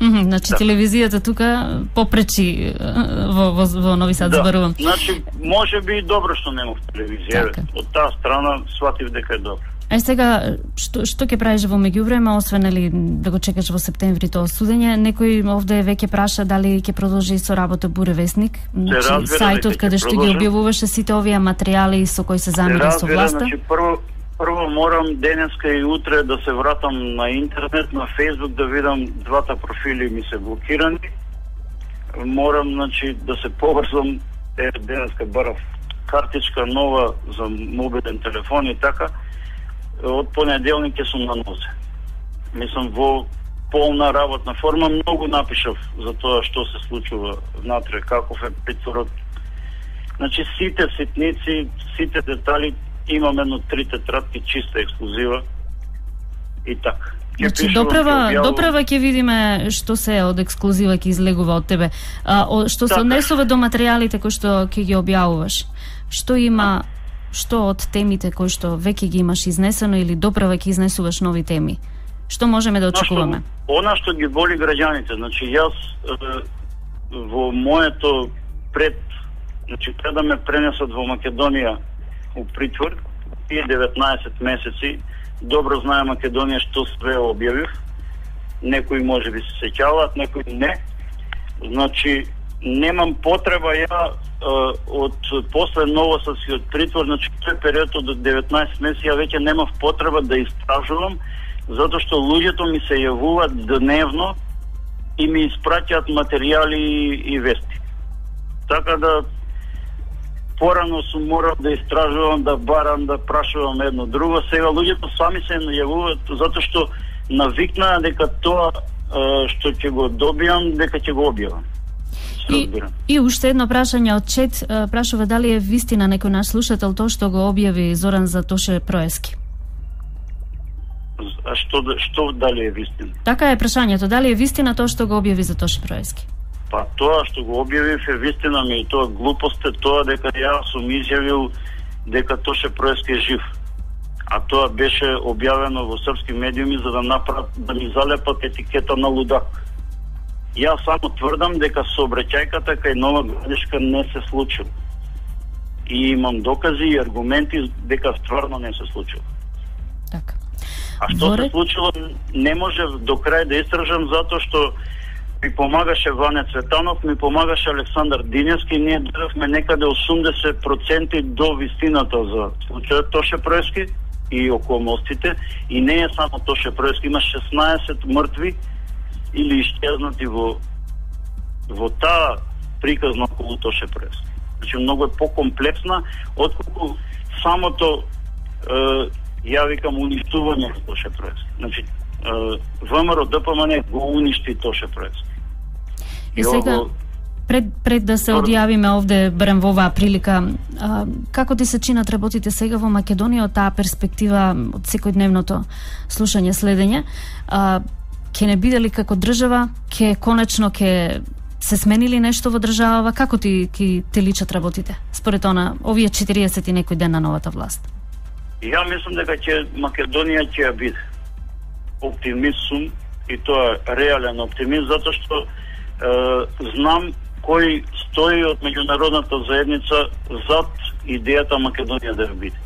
Speaker 2: Mm -hmm, значи, да. Телевизијата тука попречи во, во, во Нови Сад,
Speaker 6: да.
Speaker 2: зборувам.
Speaker 6: Значи, може би добро што немав телевизија. Така. Од таа страна сватив дека е добро.
Speaker 2: Е сега, што, што ќе правиш во меѓувреме, освен или да го чекаш во септември тоа судење, некој овде веќе праша дали ќе продолжи со работа Буре вестник, значи, сајтот каде што ги објавуваше сите овие материјали со кои се замира со власта?
Speaker 6: Значи, прво, прво морам денеска и утре да се вратам на интернет, на Фейсбук, да видам двата профили ми се блокирани. Морам, значи, да се поврзам, е, денеска барав картичка нова за мобилен телефон и така. Од понеделник ќе сум на нозе. Мислам, во полна работна форма. Многу напишав за тоа што се случува внатре, каков е притворот. Значи, сите ситници, сите детали, имам едно три тетрадки чиста ексклузива и така.
Speaker 2: Значи, доправа, доправа ќе видиме што се од ексклузива ќе излегува од тебе. А, о, што се однесува до материјалите кои што ќе ги објавуваш, што има... Што од темите кои што веќе ги имаш изнесено или доправа ќе изнесуваш нови теми? Што можеме да очекуваме?
Speaker 6: Што, она што ги боли граѓаните, значи јас е, во моето пред, значи пред да ме пренесат во Македонија у притвор, тие деветнаесет месеци, добро знае Македонија што све објавив. Некои може би се сеќаваат, некои не. Значи, немам потреба ја од после новоста си од притвор, значи тој период од деветнаесет месеци ја веќе немав потреба да истражувам, затоа што луѓето ми се јавуваат дневно и ми испраќаат материјали и вести. Така да порано сум морал да истражувам, да барам, да прашувам едно друго. Сега луѓето сами се јавуваат затоа што навикнаа дека тоа што ќе го добијам, дека ќе го објавам.
Speaker 2: И, и уште едно прашање од чет, прашува дали е вистина некој наш слушател тоа што го објави Зоран за Тоше Проески.
Speaker 6: А што, што дали е вистина?
Speaker 2: Така е прашањето, дали е вистина тоа што го објави за Тоше Проески?
Speaker 6: Па тоа што го објавив е вистина, ми и тоа глупост е тоа дека ја сум изјавил дека Тоше Проески е жив. А тоа беше објавено во српски медиуми за да направат, да ни залепат етикета на лудак. Јас само тврдам дека сообраќајката кај Нова Градишка не се случила. И имам докази и аргументи дека стварно не се случило.
Speaker 2: Така.
Speaker 6: А што Воре... се случило, не може до крај да истражам, затоа што ми помагаше Ване Цветанов, ми помагаше Александар Диневски, ние дадовме некаде осумдесет проценти до вистината за случајот Тоше Проески и околностите, и не е само Тоше Проески, има шеснаесет мртви или исчезнати во во таа приказна околу Тоше Проески. Значи многу е покомплексна отколку самото е, ја викам уништување на Тоше Проески. Значи ВМРО ДПМН го уништи Тоше Проески.
Speaker 2: И сега го... пред пред да се одјавиме овде барем во оваа прилика, а, како ти се чинат работите сега во Македонија од таа перспектива од секојдневното слушање, следење? А, ќе не биде ли како држава, ќе конечно ќе се сменили нешто во државава, како ти ки те личат работите според она овие четириесет и некој ден на новата власт?
Speaker 6: Ја мислам дека ќе Македонија ќе ја биде. Оптимист сум и тоа е реален оптимист, затоа што е, знам кој стои од меѓународната заедница зад идејата Македонија да ја биде.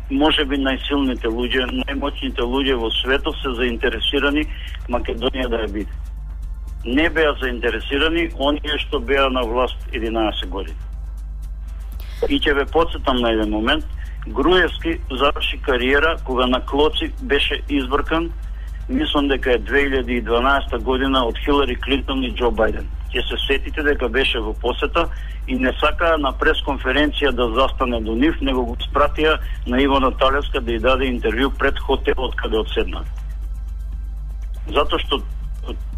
Speaker 6: Може би најсилните луѓе, најмоćните луѓе во светот се заинтересирани Македонија да ја биде. Не беа заинтересирани оние што беа на власт единаесет години. И ќе ве потсетам на еден момент, Груевски заврши кариера кога на Клоци беше избркан, мислам дека е две илјади и дванаесета година од Хилари Клинтон и Џо Бајден. Ќе се сетите дека беше во посета и не сака на пресконференција да застане до нив, него го спратија на Ивана Талевска да ја даде интервју пред хотелот каде одседна. Затоа што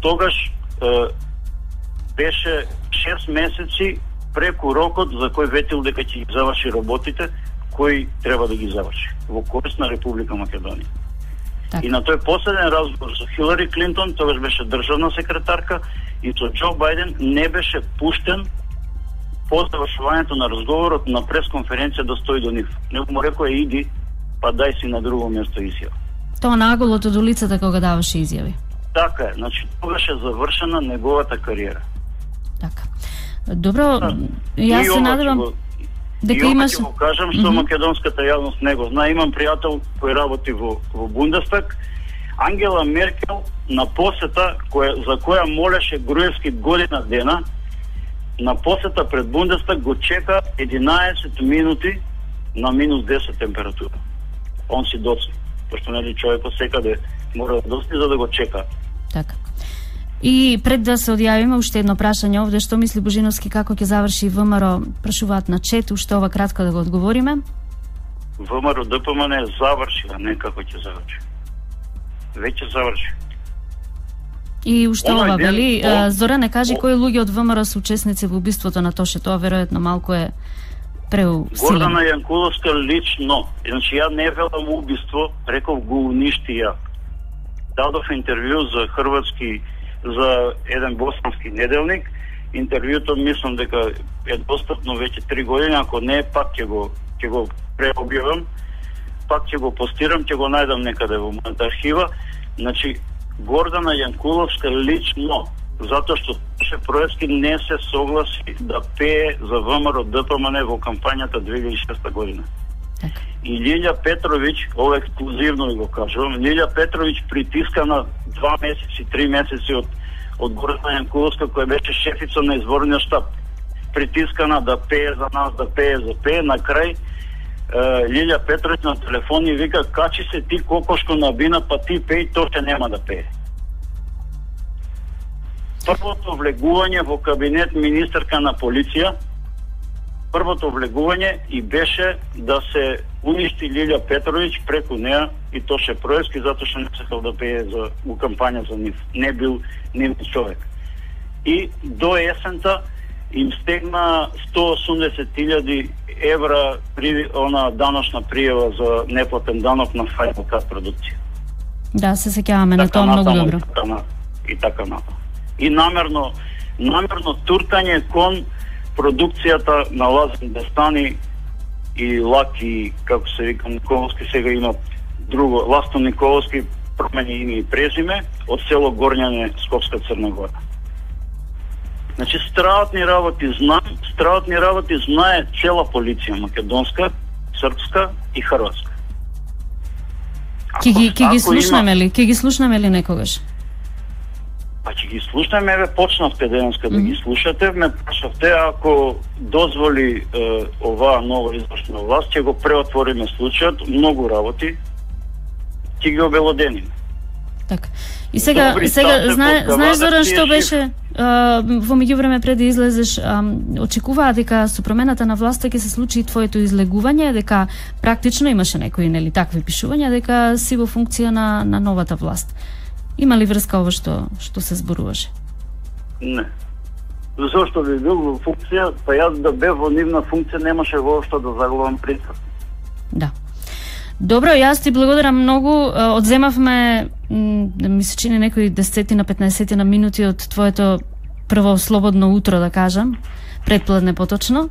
Speaker 6: тогаш е, беше шест месеци преку рокот за кој ветил дека ќе ги заврши работите, кој треба да ги заврши во корист на Република Македонија. Так. И на тој последен разговор со Хилари Клинтон, тогаш беше државна секретарка, и со Џо Бајден не беше пуштен по завршувањето на разговорот на пресконференција да стои до нив. Него му рекоа иди, па дај си на друго место изјава.
Speaker 2: Тоа наголот од улицата кога даваше изјави.
Speaker 6: Така е, значи тогаш е завршена неговата кариера.
Speaker 2: Така. Добро, јас се надевам дека
Speaker 6: и
Speaker 2: имаш...
Speaker 6: И го кажам што mm -hmm. македонската јавност не го знае. Имам пријател кој работи во, во Бундестаг. Ангела Меркел на посета која, за која молеше Груевски година дена, на посета пред Бундестаг го чека единаесет минути на минус десет температура. Он си доцни, пошто нели човекот секаде мора да доцни за да го чека.
Speaker 2: Така. И пред да се одјавиме, уште едно прашање овде, што мисли Божиновски како ќе заврши ВМРО, прашуваат на чет, уште ова кратко да го одговориме.
Speaker 6: ВМРО ДПМН заврши, а не како ќе заврши. Веќе заврши.
Speaker 2: И уште ова, вели, Зоране, кажи кои луѓе од ВМРО се учесници во убиството на Тоше, тоа веројатно малку е преусилено.
Speaker 6: Гордана Јанкуловска лично, значи ја не велам убиство, реков го уништи ја. Дадов интервју за хрватски, за еден боснански неделник. Интервјуто мислам дека е достапно веќе три години, ако не пак ќе го ќе го преобјавам, пак ќе го постирам, ќе го најдам некаде во мојата архива. Значи Гордана Јанкуловска лично, затоа што Тоше Проевски не се согласи да пее за ВМРО ДПМН во кампањата две илјади и шеста година.
Speaker 2: Так.
Speaker 6: И Лилја Петровиќ, ова ексклузивно го кажувам, Лилја Петровиќ притискана два месеци, три месеци од од Гордана Јанкуловска, која беше шефица на изворниот штаб, притискана да пее за нас, да пее за пее, на крај Лилја Петровиќ на телефон и вика: качи се ти кокошко на бина, па ти пеј, то ќе нема да пее. Првото влегување во кабинет министерка на полиција, првото влегување и беше да се уништи Лилја Петровиќ преку неа и Тоше Проевски, затоа што не сакал да пее за у кампања за нив. Не бил нив човек. И до есента им стегна сто и осумдесет илјади евра при она даношна пријава за неплатен данок на Final Cut продукција.
Speaker 2: Да, се сеќаваме на тоа многу добро.
Speaker 6: И така натаму. И намерно, намерно туркање кон продукцијата на Лазар Дестани и Лаки, како се вика Николовски, сега има друго, Ласто Николовски, промени име и презиме, од село Горњане, Скопска Црна Гора. Значи, страватни работи знам, страватни работи знае цела полиција, македонска, српска и хрватска.
Speaker 2: Ке ги, ке ги слушнеме ли? Ке ги слушнеме ли некогаш?
Speaker 6: Па ќе ги слушнеме, ве почнавте денеска да ги слушате, ме прашавте, ако дозволи е, оваа нова извршна власт, ќе го преотвориме случајот, многу работи, ќе ги обелодениме.
Speaker 2: Така. И сега,
Speaker 6: Добри,
Speaker 2: сега знае, знаеш Зоран што
Speaker 6: шиф...
Speaker 2: беше а, во меѓувреме пред да излезеш, а, очекуваа дека со промената на власта ќе се случи твоето излегување, дека практично имаше некои нели такви пишувања дека си во функција на на новата власт. Има ли врска ова што што се зборуваше?
Speaker 6: Не. Зошто би бил во функција, па јас да бев во нивна функција немаше воопшто да загубам присак.
Speaker 2: Да. Добро, јас ти благодарам многу. Одземавме, ми се чини некои десет на петнаесет на минути од твоето прво слободно утро, да кажам, предпладне поточно.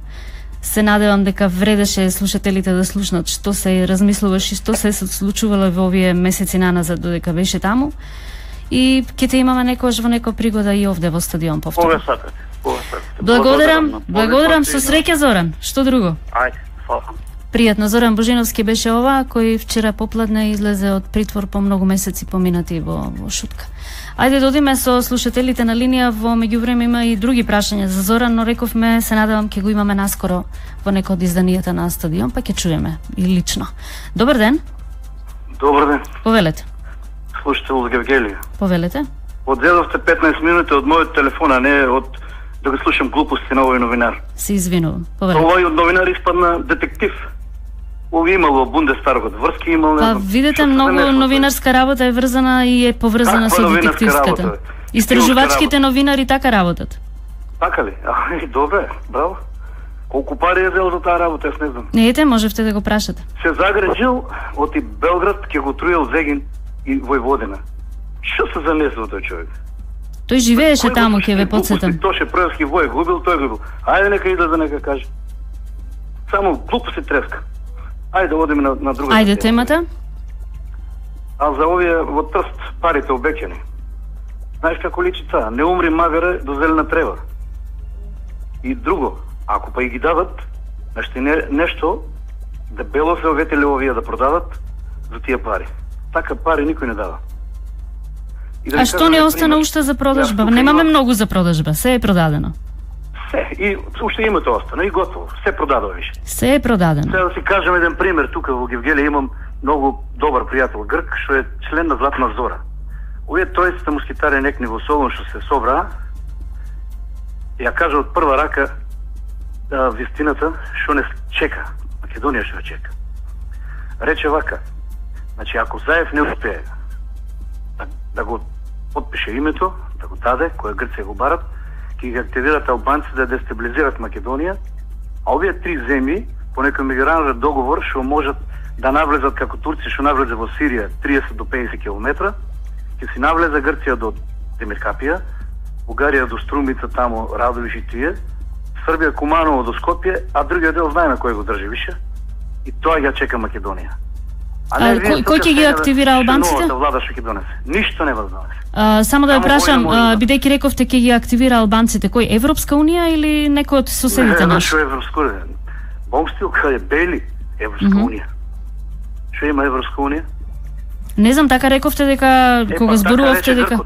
Speaker 2: Се надевам дека вредеше слушателите да слушнат што се размислуваш и што се случувало во овие месеци наназад додека беше таму. И ќе те имаме некојаш во некоја пригода и овде во стадион повторно.
Speaker 6: Кога сакате? Кога сакате?
Speaker 2: Благодарам, благодарам со среќа Зоран. Што друго?
Speaker 6: Ајде, фала.
Speaker 2: Пријатно, Зоран Божиновски беше ова, кој вчера попладне излезе од притвор по многу месеци поминати во, во шутка. Ајде да одиме со слушателите на линија, во меѓувреме има и други прашања за Зоран, но рековме, се надевам ќе го имаме наскоро во некој од изданијата на стадион, па ќе чуеме и лично. Добар ден.
Speaker 5: Добар ден.
Speaker 2: Повелете.
Speaker 5: Слушател од Гевгелија.
Speaker 2: Повелете.
Speaker 5: Одзедовте петнаесет минути од мојот телефон, а не од да го слушам глупости на овој новинар.
Speaker 2: Се извинувам. Повелете.
Speaker 5: Овој новинар испадна детектив. Ови имало Бундестагот, врски имал, не
Speaker 2: Па
Speaker 5: знам.
Speaker 2: видете, многу новинарска работа е врзана и е поврзана со детективската. Истражувачките новинари така работат.
Speaker 5: Така ли? Ај, добре, браво. Колку пари е зел за таа работа, јас не знам.
Speaker 2: Не ете, можевте да го прашате.
Speaker 5: Се загрежил од и Белград ќе го труел Зегин и Војводина. Што се замислил тој човек?
Speaker 2: Тој живееше таму, ќе ве подсетам.
Speaker 7: Тоше Проевски вој губил, тој губил. Ајде нека излезе нека каже. Само глупости треска. Ајде да одиме на, на друга.
Speaker 2: Ајде темата.
Speaker 7: А за овие во Трст парите обеќани. Знаеш како личи цаа? Не умри магаре до зелена трева. И друго, ако па и ги дадат, значи не, нешто дебело се оветеле овие да продадат за тие пари. Така пари никој не дава.
Speaker 2: Да а што не остана уште за продажба? Да, немаме има... многу за продажба, се е продадено.
Speaker 7: Се, и уште името остана и готово, се продадено више.
Speaker 2: Се е продадено.
Speaker 7: Сега да си кажем еден пример, тука во Гевгелија имам многу добар пријател грк, што е член на Златна Зора. Овие тројцата мускитари некни во Солун што се собраа, ја кажа од прва рака а, вистината што не чека, Македонија што ја чека. Рече вака, значи ако Заев не успее да, да го подпише името, да го даде, кој Грција го барат, ќе ги активират албанци да дестабилизират Македонија, а овие три земји по некој меѓународен договор што можат да навлезат како Турција што навлезе во Сирија триесет до педесет километра, ќе си навлезе Грција до Демиркапија, Бугарија до Струмица, тамо Радовиш и тие, Србија Куманово до Скопје, а другиот дел знаеме кој го држи више. И тоа ја чека Македонија.
Speaker 2: А, а кој, кој ќе ги активира албанците?
Speaker 7: Новата влада што ќе донесе. Ништо не донесе.
Speaker 2: А, само да ја прашам, бидејќи рековте ќе ги активира албанците, кој Европска унија или некој од соседите
Speaker 7: наши?
Speaker 2: Не,
Speaker 7: што Европска унија? Бомстил кај Бели Европска mm -hmm. унија. Што има Европска унија?
Speaker 2: Не знам, така рековте дека е, кога зборувавте дека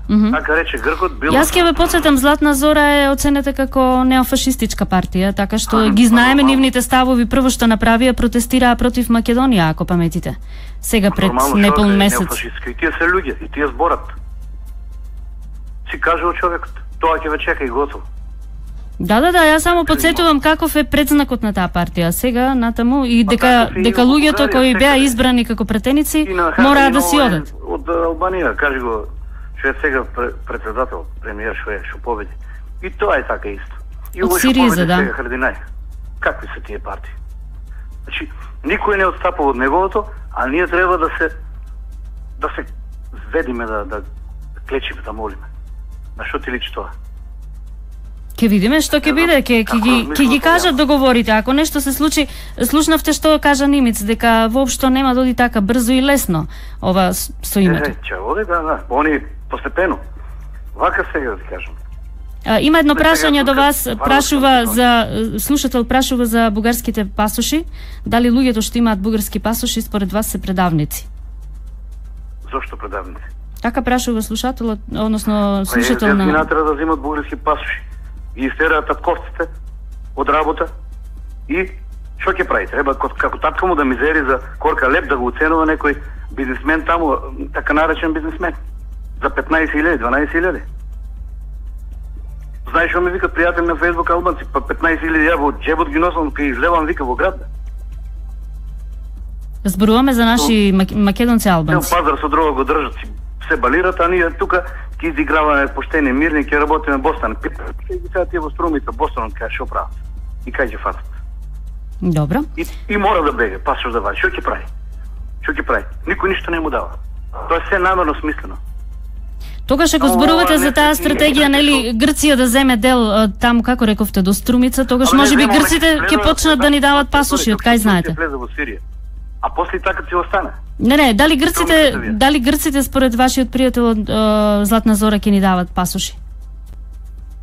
Speaker 7: Mm -hmm. Така рече Гркот било.
Speaker 2: Јас ќе ве подсетам, Златна Зора е оценета како неофашистичка партија, така што а, ги знаеме нормално. Нивните ставови. Прво што направија, протестираа против Македонија, ако паметите. Сега пред неполн месец.
Speaker 7: Неофашистка. И тие се луѓе, и тие зборат. Си кажува човекот, тоа ќе ве чека и готово.
Speaker 2: Да, да, да, јас само подсетувам каков е предзнакот на таа партија. Сега натаму и дека дека луѓето кои беа избрани како претеници мора да си одат.
Speaker 7: Од Албанија, кажи го, што е сега председател, премиер што е, што победи. И тоа е така исто. И
Speaker 2: од Сириза, да.
Speaker 7: Сега Хардинај. Какви се тие партии? Значи, никој не отстапува од неговото, а ние треба да се да се ведиме да да клечиме, да молиме. На што ти личи тоа?
Speaker 2: Ке видиме што ќе биде, ќе ќе ги ќе ги кажат договорите. Ако нешто се случи, слушнавте што кажа Нимиц, дека воопшто нема да оди така брзо и лесно ова со името.
Speaker 7: Е, ќе оди, да, да. Они постепено. Вака сега да ти кажам.
Speaker 2: А, има едно прашање до вас, прашува за слушател прашува за бугарските пасоши. Дали луѓето што имаат бугарски пасоши според вас се предавници?
Speaker 7: Зошто предавници?
Speaker 2: Така прашува слушателот, односно слушател на.
Speaker 7: Па треба да земат бугарски пасоши. И истераат татковците од работа и што ќе прави? Треба како татко му да мизери за корка леп да го оценува некој бизнисмен таму, така наречен бизнисмен за петнаесет илјади, дванаесет илјади. Знаеш што ми викат пријатели на Фејсбук албанци, па петнаесет илјади ја во џебот ги носам кај излевам вика во град.
Speaker 2: Зборуваме за наши мак... македонци албанци.
Speaker 7: Пазар со дрога го држат, се балират, а ние тука ќе изиграваме поштени, мирни, ќе работиме Бостон. Ќе ги сега тие во Струмица, Бостон, кај што прават? И кај ќе фатат?
Speaker 2: Добро.
Speaker 7: И, и мора да беге, па што да вади. Што ќе прави? Што ќе прави? Никој ништо не му дава. Тоа е се намерно смислено.
Speaker 2: Тогаш ако зборувате за таа стратегија, нели, Грција да земе дел таму, како рековте, до Струмица, тогаш може би грците ќе почнат да ни дават пасоши, од кај знаете?
Speaker 7: А после така ќе остане.
Speaker 2: Не, не, дали грците, дали грците според вашиот пријател од Златна Зора ќе ни дават пасоши?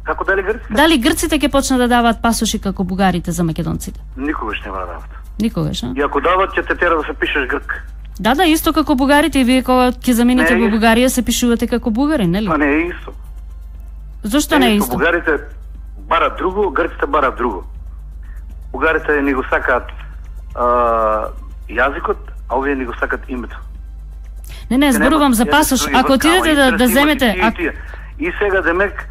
Speaker 7: Како дали грците?
Speaker 2: Дали грците ќе почнат да дават пасоши како бугарите за македонците?
Speaker 7: Никогаш нема да дават.
Speaker 2: Никогаш, а?
Speaker 7: И ако дават, ќе те тера да се пишеш грк.
Speaker 2: Да, да, исто како бугарите, и вие кога ќе заминете во Бугарија се пишувате како бугари, нели?
Speaker 7: Па не е исто.
Speaker 2: Зошто не е исто?
Speaker 7: Бугарите барат друго, грците барат друго. Бугарите ни го сакаат јазикот, а овие ни го сакат името.
Speaker 2: Не, не, зборувам за пасош. Ако отидете да, да земете...
Speaker 7: А... И сега демек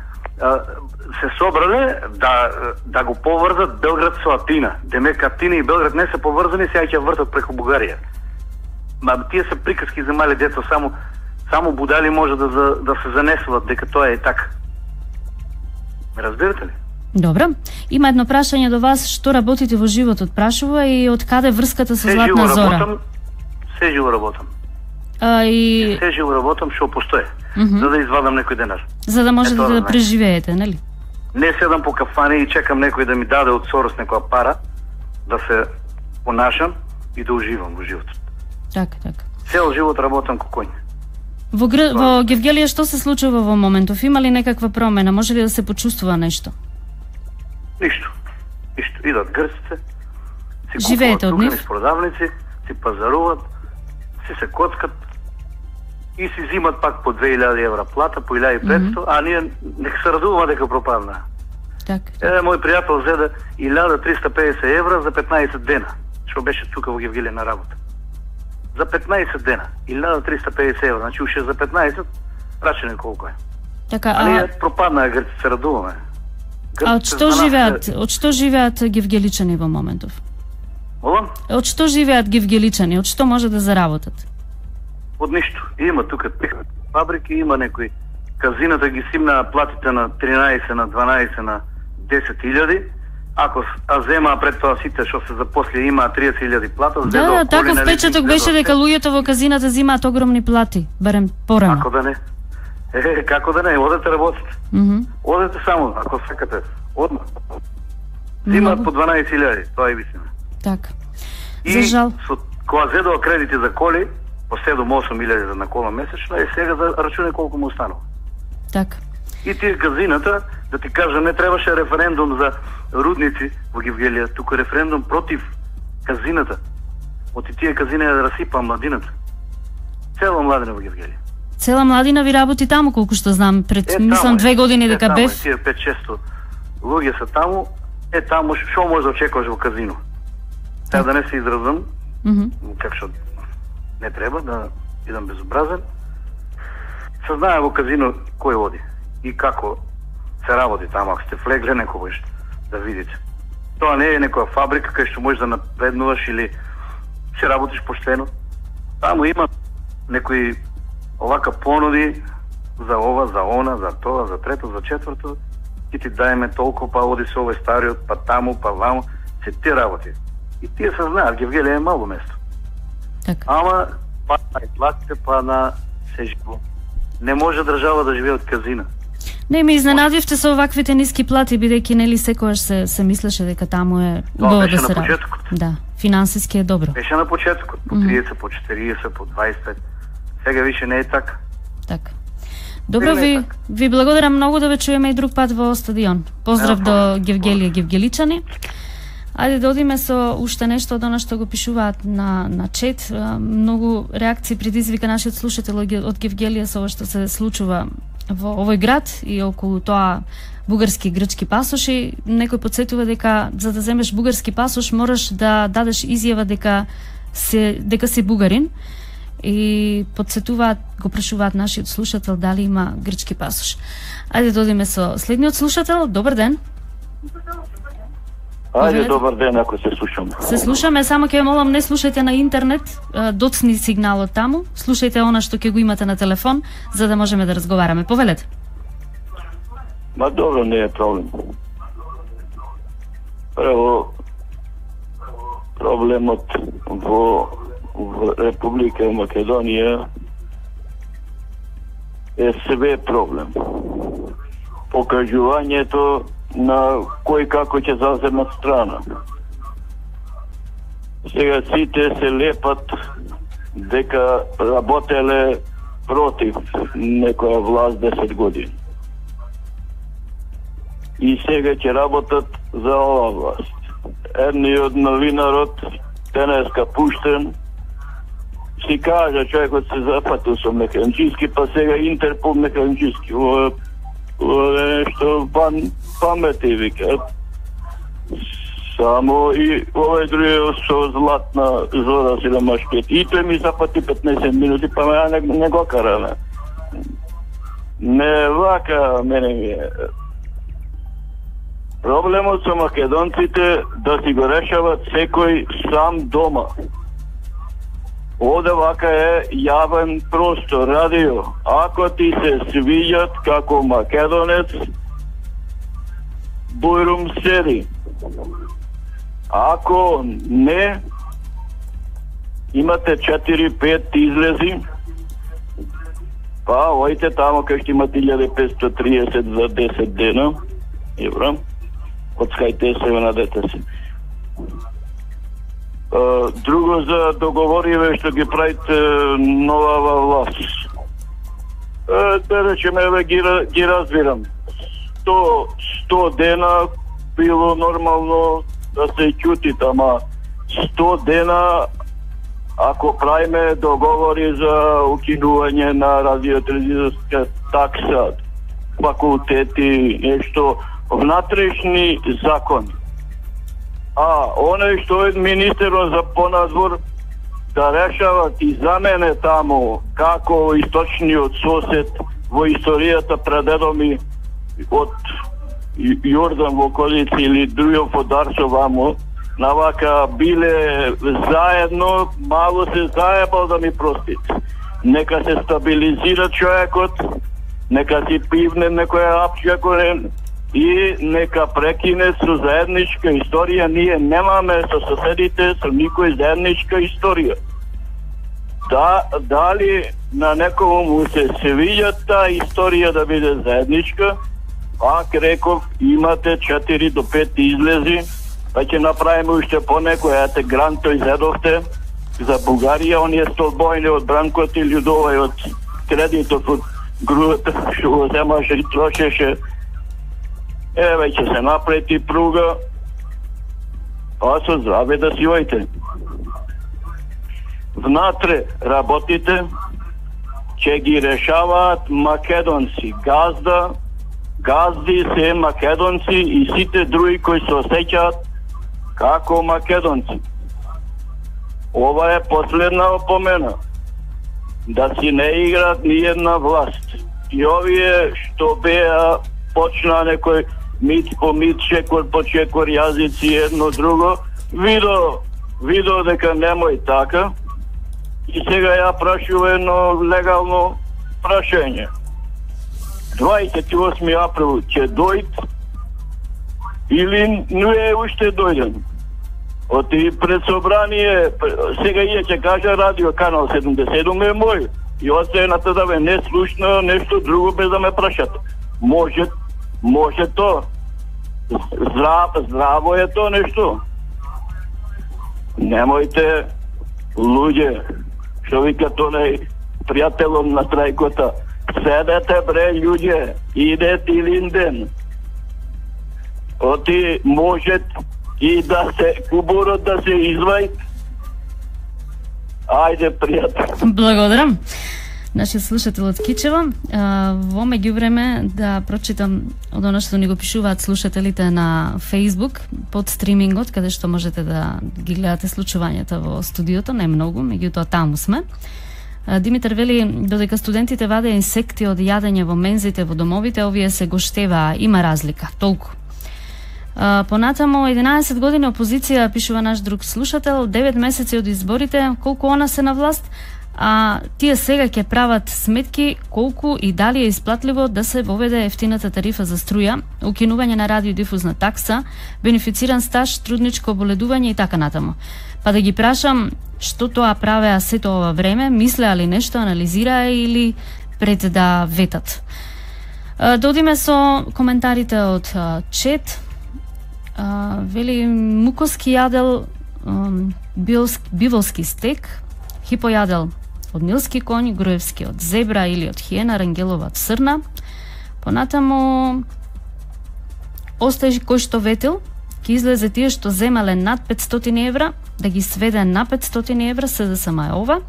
Speaker 7: се собрале да, да го поврзат Белград со Атина. Демек Атина и Белград не се поврзани, сега ќе вртат преку Бугарија. Ма тие се приказки за мали деца, само само будали може да за, да се занесуват дека тоа е така. Ме разбирате ли?
Speaker 2: Добро. Има едно прашање до вас, што работите во животот, прашува, и од каде врската со Златна Зора?
Speaker 7: Се живо работам.
Speaker 2: А, и...
Speaker 7: Се живо работам, што постоje.
Speaker 2: mm -hmm.
Speaker 7: за да извадам некој денар.
Speaker 2: За да можете
Speaker 7: Ето,
Speaker 2: да
Speaker 7: да
Speaker 2: преживеете, нели?
Speaker 7: Не седам по кафане и чекам некој да ми даде од Сорос некоја пара, да се понашам и да уживам во животот.
Speaker 2: Така, така.
Speaker 7: Цел живот работам како коњ.
Speaker 2: Во, Гр... во Гевгелија што се случува во моментов? Има ли некаква промена? Може ли да се почувствува нешто?
Speaker 7: Ништо. Ништо. Идат грците, си
Speaker 2: живеете од нив?
Speaker 7: Си продавници, си пазаруват, си се коцкат и си зимат пак по две илјади евра плата, по илјада и петстотини, mm -hmm. а ние нека се радуваме дека пропадна.
Speaker 2: Так.
Speaker 7: Е, мој пријател зеде илјада триста и педесет евра за петнаесет дена, што беше тука во Гевгелија на работа. За петнаесет дена, илјада триста и педесет евра, значи уште за петнаесет, рачене колко е.
Speaker 2: Така,
Speaker 7: а...
Speaker 2: а
Speaker 7: ние пропадна, грци се радуваме.
Speaker 2: А од што живеат, од што живеат гевгеличани во моментов?
Speaker 7: Молам?
Speaker 2: Од што живеат гевгеличани? Од што може да заработат?
Speaker 7: Од ништо. Има тука фабрики, има некои казината ги симна платите на тринаесет, на дванаесет, на десет илјади. Ако а зема пред тоа сите што се запосли има триесет илјади плата,
Speaker 2: да, да, таков впечаток беше дека луѓето во казината земаат огромни плати, барем порано.
Speaker 7: Како да не? Е, како да не, одете работите.
Speaker 2: Mm -hmm.
Speaker 7: Одете само, ако сакате, одма. Зимаат по дванаесет илјади, тоа е вистина.
Speaker 2: Така.
Speaker 7: И
Speaker 2: за жал.
Speaker 7: Со, кога зедува кредити за коли, по седум-осум илјади за на кола месечно, е сега за рачуне колку му останува.
Speaker 2: Така.
Speaker 7: И тие казината, да ти кажа, не требаше референдум за рудници во Гевгелија, туку референдум против казината. Оти тие казина да расипа младината. Цела младина во Гевгелија.
Speaker 2: Цела младина ви работи таму, колку што знам, пред, е, мислам, две години дека
Speaker 7: е,
Speaker 2: бев.
Speaker 7: Тие пет-шест луѓе се таму, е таму, шо може да очекуваш во казино? Сега да не се изразам,
Speaker 2: mm -hmm.
Speaker 7: как што не треба да идам безобразен, се знае во казино кој води и како се работи таму, ако сте влегле некогаш да видите. Тоа не е некоја фабрика кај што можеш да напреднуваш или се работиш поштено. Таму има некои овака понуди за ова, за она, за тоа, за трето, за четврто, и ти даеме толку, па оди се овој стариот, па таму, па ваму, се ти работи. И тие се знаат, Гевгелија е мало место.
Speaker 2: Така.
Speaker 7: Ама, па на платите, па на се живо. Не може држава да живее од казина.
Speaker 2: Не, ми изненадивте со оваквите ниски плати, бидејќи нели секогаш се се мислеше дека таму е убаво да се работи. Да, финансиски е добро.
Speaker 7: Беше на почетокот, по триесет, по четириесет, по дваесет пет. Сега више не е така.
Speaker 2: Така. Добро, ви так. ви благодарам многу, да ве чуеме и друг пат во стадион. Поздрав до Гевгелија, гевгеличани. Ајде да одиме со уште нешто од она што го пишуваат на на чет. Многу реакции предизвика нашиот слушател од Гевгелија со ова што се случува во овој град и околу тоа бугарски и грчки пасоши. Некој потсетува дека за да земеш бугарски пасош мораш да дадеш изјава дека се дека си бугарин. И подсетуваат, го прашуваат нашиот слушател дали има грчки пасош. Ајде да одиме со следниот слушател. Добар ден.
Speaker 8: Ајде, добар ден, ако се слушаме.
Speaker 2: Се слушаме, само ќе молам не слушајте на интернет, доцни сигналот таму, слушајте она што ќе го имате на телефон, за да можеме да разговараме. Повелете.
Speaker 8: Ма добро, не е проблем. Прво, проблемот во в Република Македонија е себе проблем. Покажувањето на кој како ќе заземат страна. Сега сите се лепат дека работеле против некоја власт десет години. И сега ќе работат за ова власт. Едниот новинарот денеска пуштен си кажа човекот се запатил со механички, па сега Интерпол механички. Ова е нешто пан памети, вика. Само и овој другиот со златна зора си да машкет. И тој ми запати петнаесет минути, па ме не, не го караме. Не вака мене ми е. Проблемот со македонците да си го решават секој сам дома. Оде вака е јавен простор, радио. Ако ти се свиѓат како македонец, бујрум седи. Ако не, имате четири пет излези Па, ојте тамо кај што имат илјада и петстотини и триесет за десет дена, евро, отскајте се на дете си. Uh, друго за договориве што ги правите новава власт. Uh, да речеме, еве ги, ги разбирам. сто, сто дена било нормално да се ќути, ама сто дена ако правиме договори за укинување на радиотелевизиска такса, факултети, нешто внатрешни закони. А оној што е министерот за понадвор да решават и за мене таму како источниот сосед во историјата предедо ми од Јордан во околици или Друјов од Арсо вамо, навака биле заедно, мало се заебал да ми простит. Нека се стабилизира човекот, нека си пивне некоја апче и нека прекине со заедничка историја. Ние немаме со соседите, со никој заедничка историја. Да, дали на некому му се свиѓа таа историја да биде заедничка, пак реков, имате четири до пет излези, па ќе направиме уште по некој, ете грант тој зедовте за Бугарија, оние столбојни од Бранкот и Људовај од кредитот од груата што го земаше и трошеше. Еве ќе се напрети пруга, а со здраве да си ојте. Внатре работите ќе ги решаваат македонци. Газда, газди се македонци и сите други кои се осеќаат како македонци. Ова е последна опомена. Да си не играат ни една власт. И овие што беа почна некој мит по мит, чекор по чекор, јазици едно друго, видо, видо дека немој така. И сега ја прашува едно легално прашање. дваесет и осми април ќе дојд или не е уште дојден? Оти пред собрание, сега ие ќе кажа радио канал седумдесет и седум е мој. И оцената да ве не слушна нешто друго без да ме прашат. Може, може то. Здрав, здраво е то нешто. Немојте, луѓе, што вика тој пријателот на трајкота, седете бре луѓе, иде Тилинден. Оти може и да се кубурот да се извај. Ајде, пријател.
Speaker 2: Благодарам. Нашиот слушател од Кичево. Во меѓувреме да прочитам од оно што ни го пишуваат слушателите на Facebook под стримингот, каде што можете да ги гледате случувањата во студиото, не многу, меѓутоа таму сме. Димитар вели, додека студентите вадеа инсекти од јадење во мензите во домовите, овие се гоштеваа, има разлика, толку. Понатамо, единаесет години опозиција, пишува наш друг слушател, девет месеци од изборите, колку она се на власт, а тие сега ќе прават сметки колку и дали е исплатливо да се воведе ефтината тарифа за струја, укинување на радиодифузна такса, бенефициран стаж, трудничко оболедување и така натаму. Па да ги прашам, што тоа правеа сето ова време, мислеа ли нешто, анализираа или пред да ветат? Додиме со коментарите од чет. Вели, мукоски јадел биволски стек, хипојадел од нилски конј, груевски од зебра или од хиена, рангелова од срна. Понатаму, остај кој што ветил, ќе излезе тие што земале над петстотини евра, да ги сведе на петстотини евра, се да сама е ова,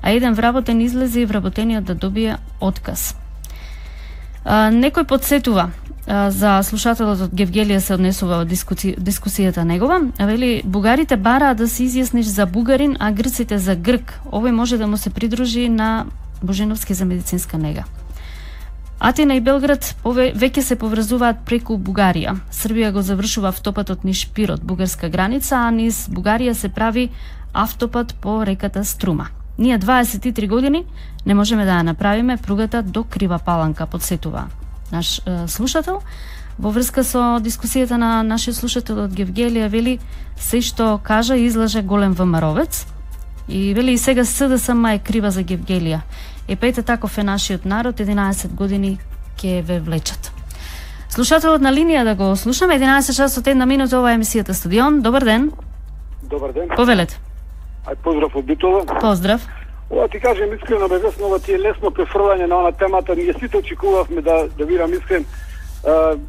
Speaker 2: а еден вработен излезе и вработениот да добие отказ. А, некој подсетува, а, за слушателот од Гевгелија се однесува од дискуси, дискусијата негова, а вели, бугарите бараат да се изјасниш за бугарин, а грците за грк. Овој може да му се придружи на Божиновски за медицинска нега. Атина и Белград веќе се поврзуваат преку Бугарија. Србија го завршува автопатот низ Пирот, бугарска граница, а низ Бугарија се прави автопат по реката Струма. Ние дваесет и три години не можеме да ја направиме пругата до Крива Паланка, подсетува наш е, слушател. Во врска со дискусијата на нашиот слушател од Гевгелија, вели, се што кажа излаже голем ВМРО-вец. И вели и сега С Д С М е крива за Гевгелија. Е па ете таков е нашиот народ, единаесет години ќе ве влечат. Слушателот на линија да го слушаме, единаесет часот една минута, ова е емисијата Стадион. Добар ден.
Speaker 9: Добар ден.
Speaker 2: Повелете.
Speaker 9: Ај поздрав од Битола.
Speaker 2: Поздрав.
Speaker 9: Ова ти кажем искрено без ова ти е лесно префрлање на она темата. Ние сите очекувавме да да видам искрен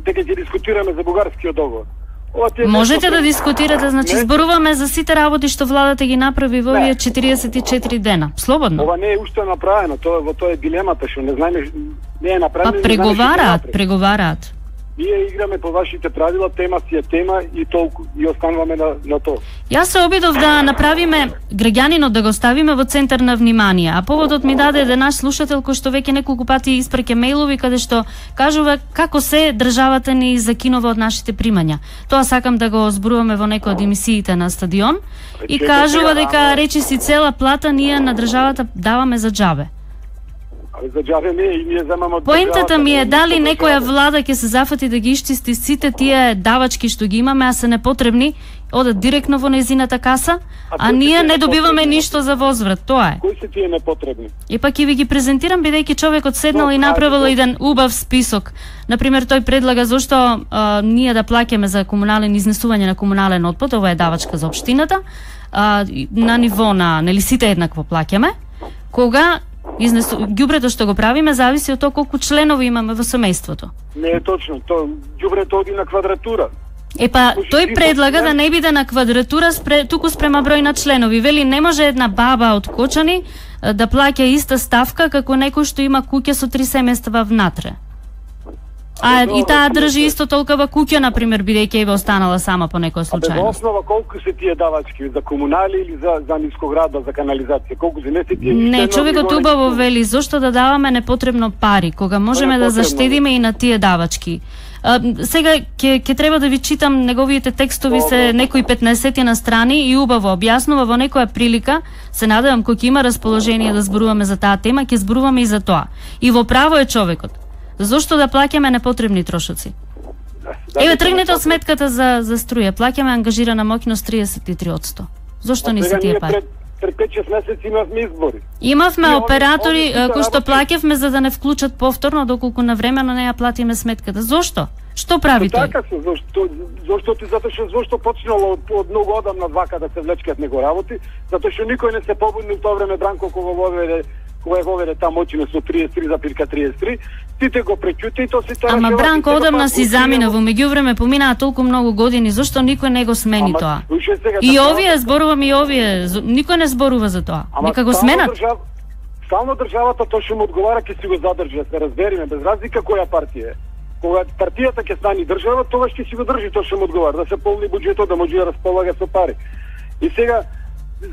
Speaker 9: дека ќе дискутираме за бугарскиот договор.
Speaker 2: Можете да дискутирате, значи не? Зборуваме за сите работи што владата ги направи во овие четириесет и четири дена. Слободно.
Speaker 9: Ова не е уште направено, тоа во тоа е дилемата што не знаеме, не е направено.
Speaker 2: Па преговараат, преговараат.
Speaker 9: Ние играме по вашите правила, тема си е тема и толку и остануваме на на тоа.
Speaker 2: Јас се обидов да направиме граѓанинот да го ставиме во центар на внимание, а поводот ми даде еден наш слушател кој што веќе неколку пати испраќа мејлови каде што кажува како се државата ни закинува од нашите примања. Тоа сакам да го зборуваме во некој од емисиите на Стадион и кажува дека речиси цела плата ние на државата даваме за џабе.
Speaker 9: За џабе не и ние земаме од
Speaker 2: Поентата ми е дали некоја влада ќе се зафати да ги исчисти сите тие давачки што ги имаме, а се непотребни, одат директно во нејзината каса, а, а ние не добиваме ништо за возврат, тоа е.
Speaker 9: Кои се тие непотребни?
Speaker 2: И пак ќе ви ги презентирам бидејќи човекот седнал и направил еден убав список. Например, тој предлага зошто а, ние да плаќаме за комунален изнесување на комунален отпад, ова е давачка за општината, а, на ниво на нели сите еднакво плаќаме, кога Изнесу... ѓубрето што го правиме зависи од тоа колку членови имаме во семејството.
Speaker 9: Не е точно, тоа ѓубрето оди на квадратура.
Speaker 2: Е па, тој предлага да не биде на квадратура, спре, туку спрема број на членови. Вели, не може една баба од Кочани да плаќа иста ставка како некој што има куќа со три семејства внатре. А и таа држи исто толкова куќа, например, бидејќи е останала сама по некоја случајност.
Speaker 9: А во основа колку се тие давачки за комунали или за за нискоградба, за канализација, колку се не се тие?
Speaker 2: Не, човекот убаво вели зошто да даваме непотребно пари, кога можеме да заштедиме и на тие давачки. А, сега ќе ќе треба да ви читам неговите текстови, се некои петнаесет на страни и убаво објаснува во некоја прилика. Се надевам кога ќе има расположение да зборуваме за таа тема, ќе зборуваме и за тоа. И во право е човекот. Зошто да плаќаме непотребни трошоци? Еве тргнете од сметката за за струја, плаќаме ангажирана моќност триесет и три одсто. Зошто не се тие пари?
Speaker 9: Пред пет-шест месеци имавме избори.
Speaker 2: Имавме оператори кои што плаќавме за да не вклучат повторно доколку навремено не ја платиме сметката. Зошто? Што прави тој?
Speaker 9: Така се, зошто зошто ти затоа што зошто почнало од, од многу одамна вака да се влечкат него работи, затоа што никој не се побуни во тоа време Бранко кога воведе кога воведе таа моќина со триесет и три запирка триесет и три, сите го пречути и тоа се тоа.
Speaker 2: Ама Бранко одамна си замина, во меѓувреме поминаа толку многу години, зошто никој не го смени Ама, тоа? И овие зборувам и овие, никој не зборува за тоа. Нека го сменат.
Speaker 9: Држав, стално државата тоа што му одговара ќе си го задржи, да се разбериме без разлика која партија е. Кога партијата ќе стане држава, тоа ќе си го држи тоа што му одговара, да се полни буџетот, да може да располага со пари. И сега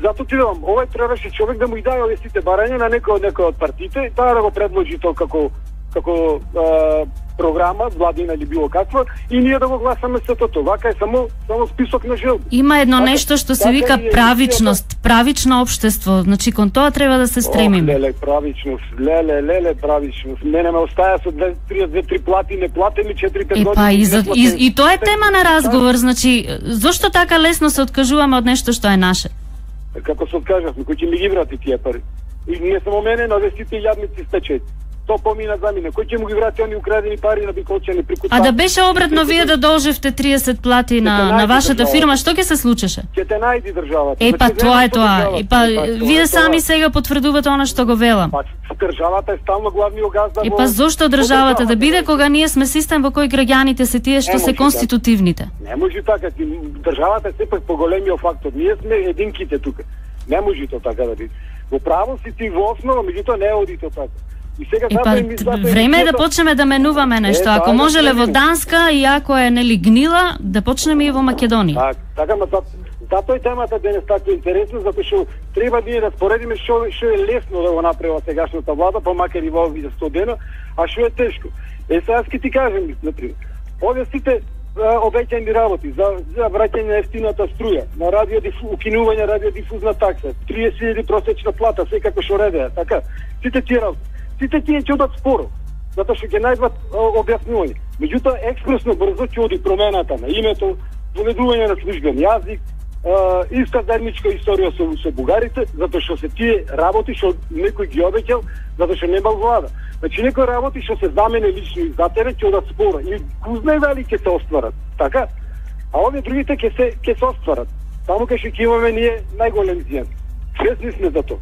Speaker 9: зато ти велам, овој требаше човек да му ги даде овие сите барања на некој од некој од партиите, таа да го предложи тоа како како а, програма, владина или било каква, и ние да го гласаме сето тоа. Вака е само само список на желби.
Speaker 2: Има едно така, нешто што се вика правичност, правично општество, значи кон тоа треба да се стремиме.
Speaker 9: Леле, правичност, леле, леле, правичност. Мене ме остаја со две три плати, не платени четири-пет години.
Speaker 2: Епа, и, за, и, и тоа е тема на разговор, значи, зошто така лесно се откажуваме од нешто што е наше?
Speaker 9: Како се откажавме, кој ќе ми ги врати тие пари? И не само мене, но сите јадници стечајте. То помина за мене. Кој ќе му ги врати они украдени пари на Биколчани прику?
Speaker 2: А да беше обратно, вие да должевте триесет плати на на вашата фирма, што ќе се случеше?
Speaker 9: Ќе те најди државата.
Speaker 2: Е па тоа е тоа. И па вие сами сега потврдувате она што го велам.
Speaker 9: Па државата е стално главниот газда.
Speaker 2: И па зошто државата да биде кога ние сме систем во кој граѓаните се тие што се конститутивните?
Speaker 9: Не може така. Државата е сепак поголемиот фактор. Ние сме единките тука. Не може тоа така да биде. Во право си ти во основа, меѓутоа не оди тоа така. И сега
Speaker 2: е, па, време е да почнеме да менуваме нешто. Е, ако можеле во Данска и ако е нели гнила, да почнеме и во Македонија.
Speaker 9: Так, така, ма затоа и темата денес така интересна, затоа што треба ние да споредиме што што е лесно да го направи сегашната влада, па макар и во овие сто дена, а што е тешко. Е, сега ќе ти кажем, например, овие сите обеќани работи за за враќање на ефтината струја, на радиодифу, укинување радиодифузна такса, триесет илјади просечна плата, секако што реде, така. Сите тие работи. Сите тие ќе одат споро, затоа што ќе најдат објаснување. Меѓутоа, експресно брзо ќе оди промената на името, доведување на службен јазик, а, иста заедничка историја со, со бугарите, затоа што се тие работи што некој ги обеќал, затоа што немал влада. Значи некои работи што се замене лично и затере ќе одат спора и го знае дали ќе се остварат, така? А овие другите ќе се ќе се остварат. Таму кај што ќе имаме ние најголем зијан. Свесни сме за тоа.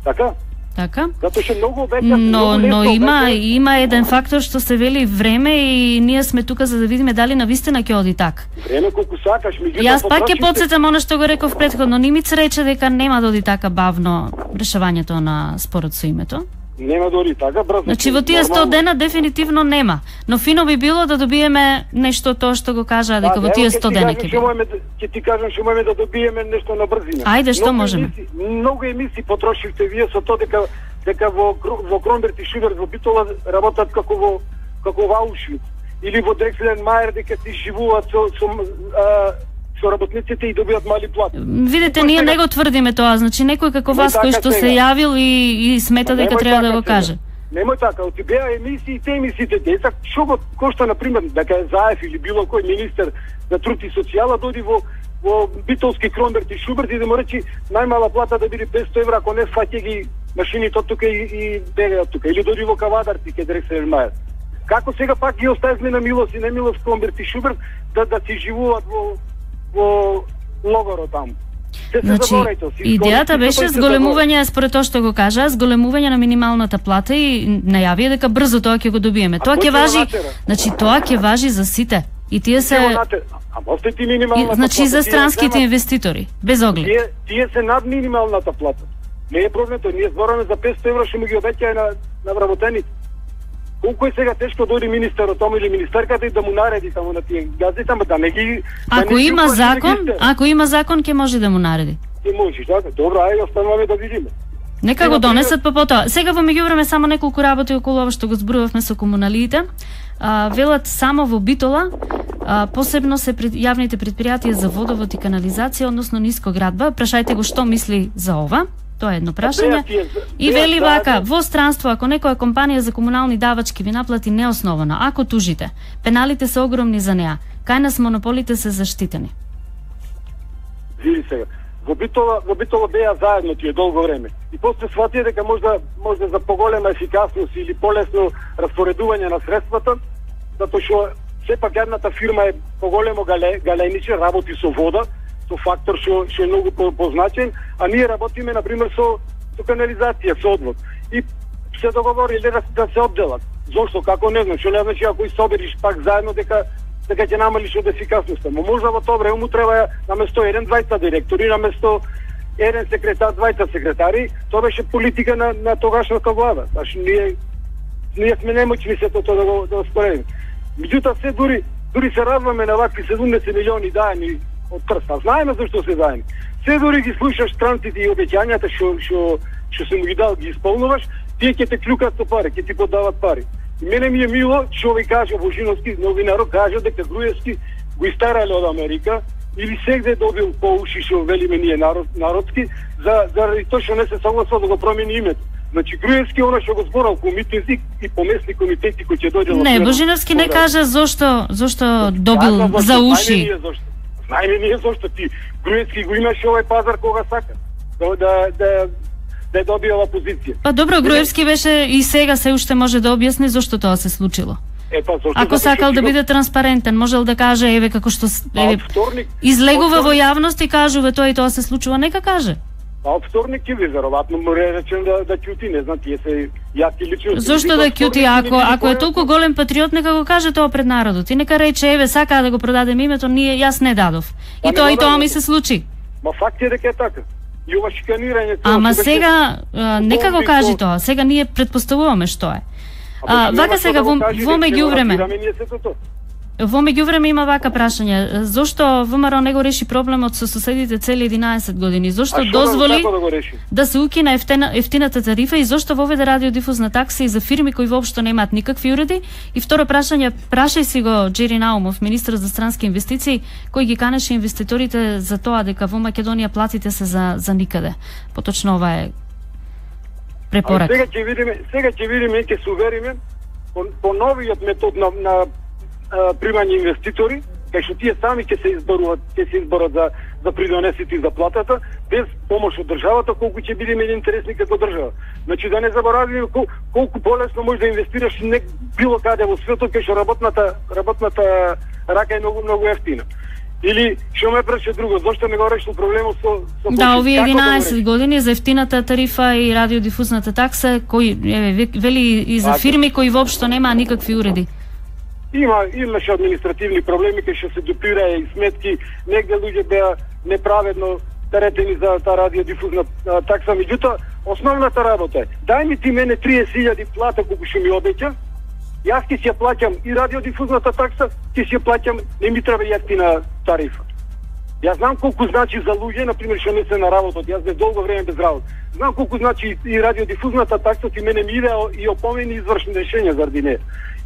Speaker 9: Така?
Speaker 2: Така?
Speaker 9: Затоа што многу обеќа,
Speaker 2: Но,
Speaker 9: многу
Speaker 2: но
Speaker 9: лесно
Speaker 2: има
Speaker 9: обеќа.
Speaker 2: има еден фактор што се вели време и ние сме тука за да видиме дали навистина ќе оди така.
Speaker 9: Време колку сакаш, меѓутоа
Speaker 2: Јас пак ќе
Speaker 9: потрошите-
Speaker 2: потсетам она што го реков претходно, Нимиц рече дека нема да оди така бавно решавањето на спорот со името.
Speaker 9: Нема дори така брзо.
Speaker 2: Значи во тие сто дена дефинитивно нема, но фино би било да добиеме нешто тоа што го кажа дека во тие сто дена ќе било.
Speaker 9: Ќе ти кажам што можеме да добиеме нешто на брзина.
Speaker 2: Ајде, што
Speaker 9: Многу
Speaker 2: можеме?
Speaker 9: емисии- Многу емисии потрошивте вие со тоа дека дека во Кру- во Кромберт и Шуберт во Битола работат како во како во Аушвиц или во Дрекслен Мајер дека ти живуваат со со а, со работниците и добиваат мали плати.
Speaker 2: Видите, ние не го тврдиме тоа, значи некој како
Speaker 9: Немој
Speaker 2: вас кој
Speaker 9: така
Speaker 2: што се
Speaker 9: сега.
Speaker 2: јавил и, и смета дека
Speaker 9: Немој
Speaker 2: треба да
Speaker 9: така
Speaker 2: го
Speaker 9: сега.
Speaker 2: каже.
Speaker 9: Немој така, оти беа емисии, те емисиите деца, што го кошта на пример дека е Заев или било кој министер за труд и социјала дојди во во Битолски Кромберт и Шуберт и да му речи најмала плата да биде петсто евра, ако не фаќа ги машините од тука и, и бега од тука. Или дојди во Кавадарци ке Дрекслен Мајер. Како сега пак ги оставивме на милост и немилост Кромберт и Шуберт да да си живуваат во во логоро таму. Се се
Speaker 2: Значи,
Speaker 9: заборајте, си
Speaker 2: идејата
Speaker 9: изгонете,
Speaker 2: беше
Speaker 9: тој се
Speaker 2: зголемување, според тоа што го кажа, зголемување на минималната плата и најави дека брзо тоа ќе го добиеме. Тоа
Speaker 9: кој
Speaker 2: ќе
Speaker 9: ќе го
Speaker 2: важи,
Speaker 9: натера?
Speaker 2: значи тоа ќе важи за сите. И тие се
Speaker 9: заборајте. Ќе го натер- Ама остајте
Speaker 2: и,
Speaker 9: минималната
Speaker 2: значи
Speaker 9: плата,
Speaker 2: за
Speaker 9: тие
Speaker 2: странските
Speaker 9: земат-
Speaker 2: инвеститори, без оглед.
Speaker 9: Тие, тие се над минималната плата. Не е проблем тој, ние збораме за петсто евра што му ги обеќаја на, на вработените. Колку е сега тешко дојде министерот тому или министерката и да му нареди таму на тие газите, ама да не ги... да
Speaker 2: Ако
Speaker 9: не ги
Speaker 2: има
Speaker 9: упати
Speaker 2: закон,
Speaker 9: регистер.
Speaker 2: ако има закон ќе може да му нареди.
Speaker 9: Ти можеш, така? Добро, ајде остануваме да видиме.
Speaker 2: Нека
Speaker 9: Сега,
Speaker 2: го донесат па потоа. Сега во меѓувреме само неколку работи околу ова што го зборувавме со комуналиите. А, велат само во Битола, а, посебно се пред, јавните предпријатија за водовод и канализација, односно нискоградба. Прашајте го што мисли за ова. Тоа е едно прашање.
Speaker 9: беа тие-
Speaker 2: И
Speaker 9: беа
Speaker 2: вели
Speaker 9: заедно-
Speaker 2: вака, во странство, ако некоја компанија за комунални давачки ви наплати неосновано, ако тужите, пеналите се огромни за неа. Кај нас монополите се заштитени.
Speaker 9: Види сега. Во Битола, во Битола беа заедно тие долго време. И после сватија дека можда можда за поголема ефикасност или полесно распоредување на средствата, затоа што сепак едната фирма е поголемо гале, галениче, работи со вода, со фактор што што е многу позначен, а ние работиме на пример со со канализација, со одвод. И се договориле да, да се одделат. Зошто, како не знам, што не значи ако и собериш пак заедно дека дека ќе намалиш од ефикасноста. Мо можда во тоа време му треба наместо еден двајца директори, наместо еден секретар, двајца секретари, тоа беше политика на на тогашната влада. Значи ние ние сме немоćни се тоа да го да го споредиме. Меѓутоа се дури дури се радваме на вакви седумдесет милиони даени од прста. Знаеме зашто се даени. Се дури ги слушаш странците и обеќањата што што што се му ги дал, ги исполнуваш, тие ќе те клюкат со пари, ќе ти подават пари. И мене ми е мило што ви кажа Божиновски, новинарот кажа дека Груевски го истарале од Америка или сегде добил по уши што велиме ние народ, народски за заради тоа што не се согласува да го промени името. Значи Груевски она што го зборал комитетски и помесни комитети кои ќе дојде
Speaker 2: Не, Божиновски не кажа зошто зошто добил за уши.
Speaker 9: Знаеме ние зошто ти Груевски го имаше овој пазар кога сака да да да да ја добие оваа позиција.
Speaker 2: Па добро, Груевски беше и сега се уште може да објасни зошто тоа се случило.
Speaker 9: Е, па, зошто,
Speaker 2: Ако
Speaker 9: зашто
Speaker 2: сакал
Speaker 9: ќе
Speaker 2: да
Speaker 9: го-
Speaker 2: биде транспарентен, можел да каже еве како што с-
Speaker 9: А
Speaker 2: еве,
Speaker 9: од вторник
Speaker 2: излегува
Speaker 9: од
Speaker 2: во
Speaker 9: вторник-
Speaker 2: јавност и кажува тоа и тоа се случува, нека каже.
Speaker 9: А од вторник ќе ви веројатно му речем да да ќути, не знам, тие се јаки лично.
Speaker 2: Зошто да ќути, ако ако е толку голем патриот, нека го каже тоа пред народот. И нека рече еве сакаа да го продадем името, ние јас не дадов.
Speaker 9: Па
Speaker 2: И
Speaker 9: не
Speaker 2: тоа
Speaker 9: го
Speaker 2: и тоа
Speaker 9: дадов.
Speaker 2: ми се случи.
Speaker 9: Ма факт е дека е така. И ова шиканирање тоа
Speaker 2: Ама
Speaker 9: што беше-
Speaker 2: сега а, нека го
Speaker 9: Бомби
Speaker 2: кажи
Speaker 9: со-
Speaker 2: тоа. Сега ние предпоставуваме што е.
Speaker 9: А,
Speaker 2: А,
Speaker 9: па,
Speaker 2: вака
Speaker 9: нема
Speaker 2: сега
Speaker 9: што да
Speaker 2: во,
Speaker 9: го кажи,
Speaker 2: во
Speaker 9: дека ќе го
Speaker 2: меѓувреме.
Speaker 9: разбираме ние сето тоа.
Speaker 2: Во меѓувреме има вака прашање. Зошто ВМРО не го реши проблемот со соседите цели единаесет години? Зошто
Speaker 9: А што да-
Speaker 2: дозволи
Speaker 9: како да го реши?
Speaker 2: да се укина ефтена, ефтината тарифа и зошто воведе радиодифузна такса и за фирми кои воопшто немаат никакви уреди? И второ прашање, прашај си го Джери Наумов, министр за странски инвестиции, кој ги канеше инвеститорите за тоа дека во Македонија платите се за за никаде. Поточно ова е
Speaker 9: А
Speaker 2: препорака.
Speaker 9: сега ќе видиме, сега ќе видиме, ќе се увериме по, по новиот метод на, на а, примање инвеститори, кај што тие сами ќе се изборуваат, ќе се изборат за да придонесите за платата, без помош од државата, колку ќе бидеме интересни како држава. Значи да не заборавиме кол, колку полесно можеш да инвестираш не било каде во светот, кај што работната работната рака е многу многу ефтина. Или што ме прече друго, зошто не го решил проблемот со со
Speaker 2: Да, овие единаесет
Speaker 9: да
Speaker 2: години за ефтината тарифа и радиодифузната такса, кои еве вели и за фирми кои воопшто немаа никакви уреди.
Speaker 9: Има имаше административни проблеми кај што се допира и сметки, негде луѓе беа неправедно теретени за таа радиодифузна такса, меѓутоа основната работа е дај ми ти мене триесет илјади плата колку што ми обеќа. Јас ќе си ја плаќам и радиодифузната такса, ќе си ја плаќам, не ми треба јефтина тарифа. Јас знам колку значи за луѓе, например, што не се на работа, јас бев долго време без работа. Знам колку значи и радиодифузната такса, ти мене ми иде и опомени извршни решенија заради неја.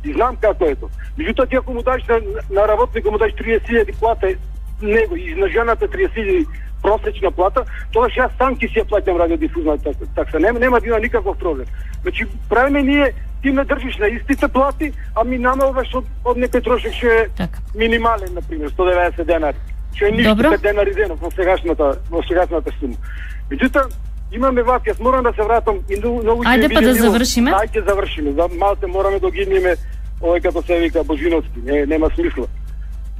Speaker 9: И знам како е тоа. Меѓутоа ти ако му даш на, на работник му даш триесет илјади плата, него и на жената триесет илјади просечна плата, тогаш јас сам ќе си ја плаќам радиодифузната такса. Нема, нема да има никаков проблем. Значи, правиме ние, ти ме држиш на истите плати, а ми намалваш од, од некој трошок што е
Speaker 2: така
Speaker 9: минимален, например, сто и деветдесет денари. Што е ништо пет денари денов во сегашната во сегашната сума. Меѓутоа, имаме вак, јас морам да се вратам и многу ќе
Speaker 2: Ајде па да завршиме.
Speaker 9: Ајде завршиме. За малце мораме да гидниме овој како се вика Божиновски, не нема смисла.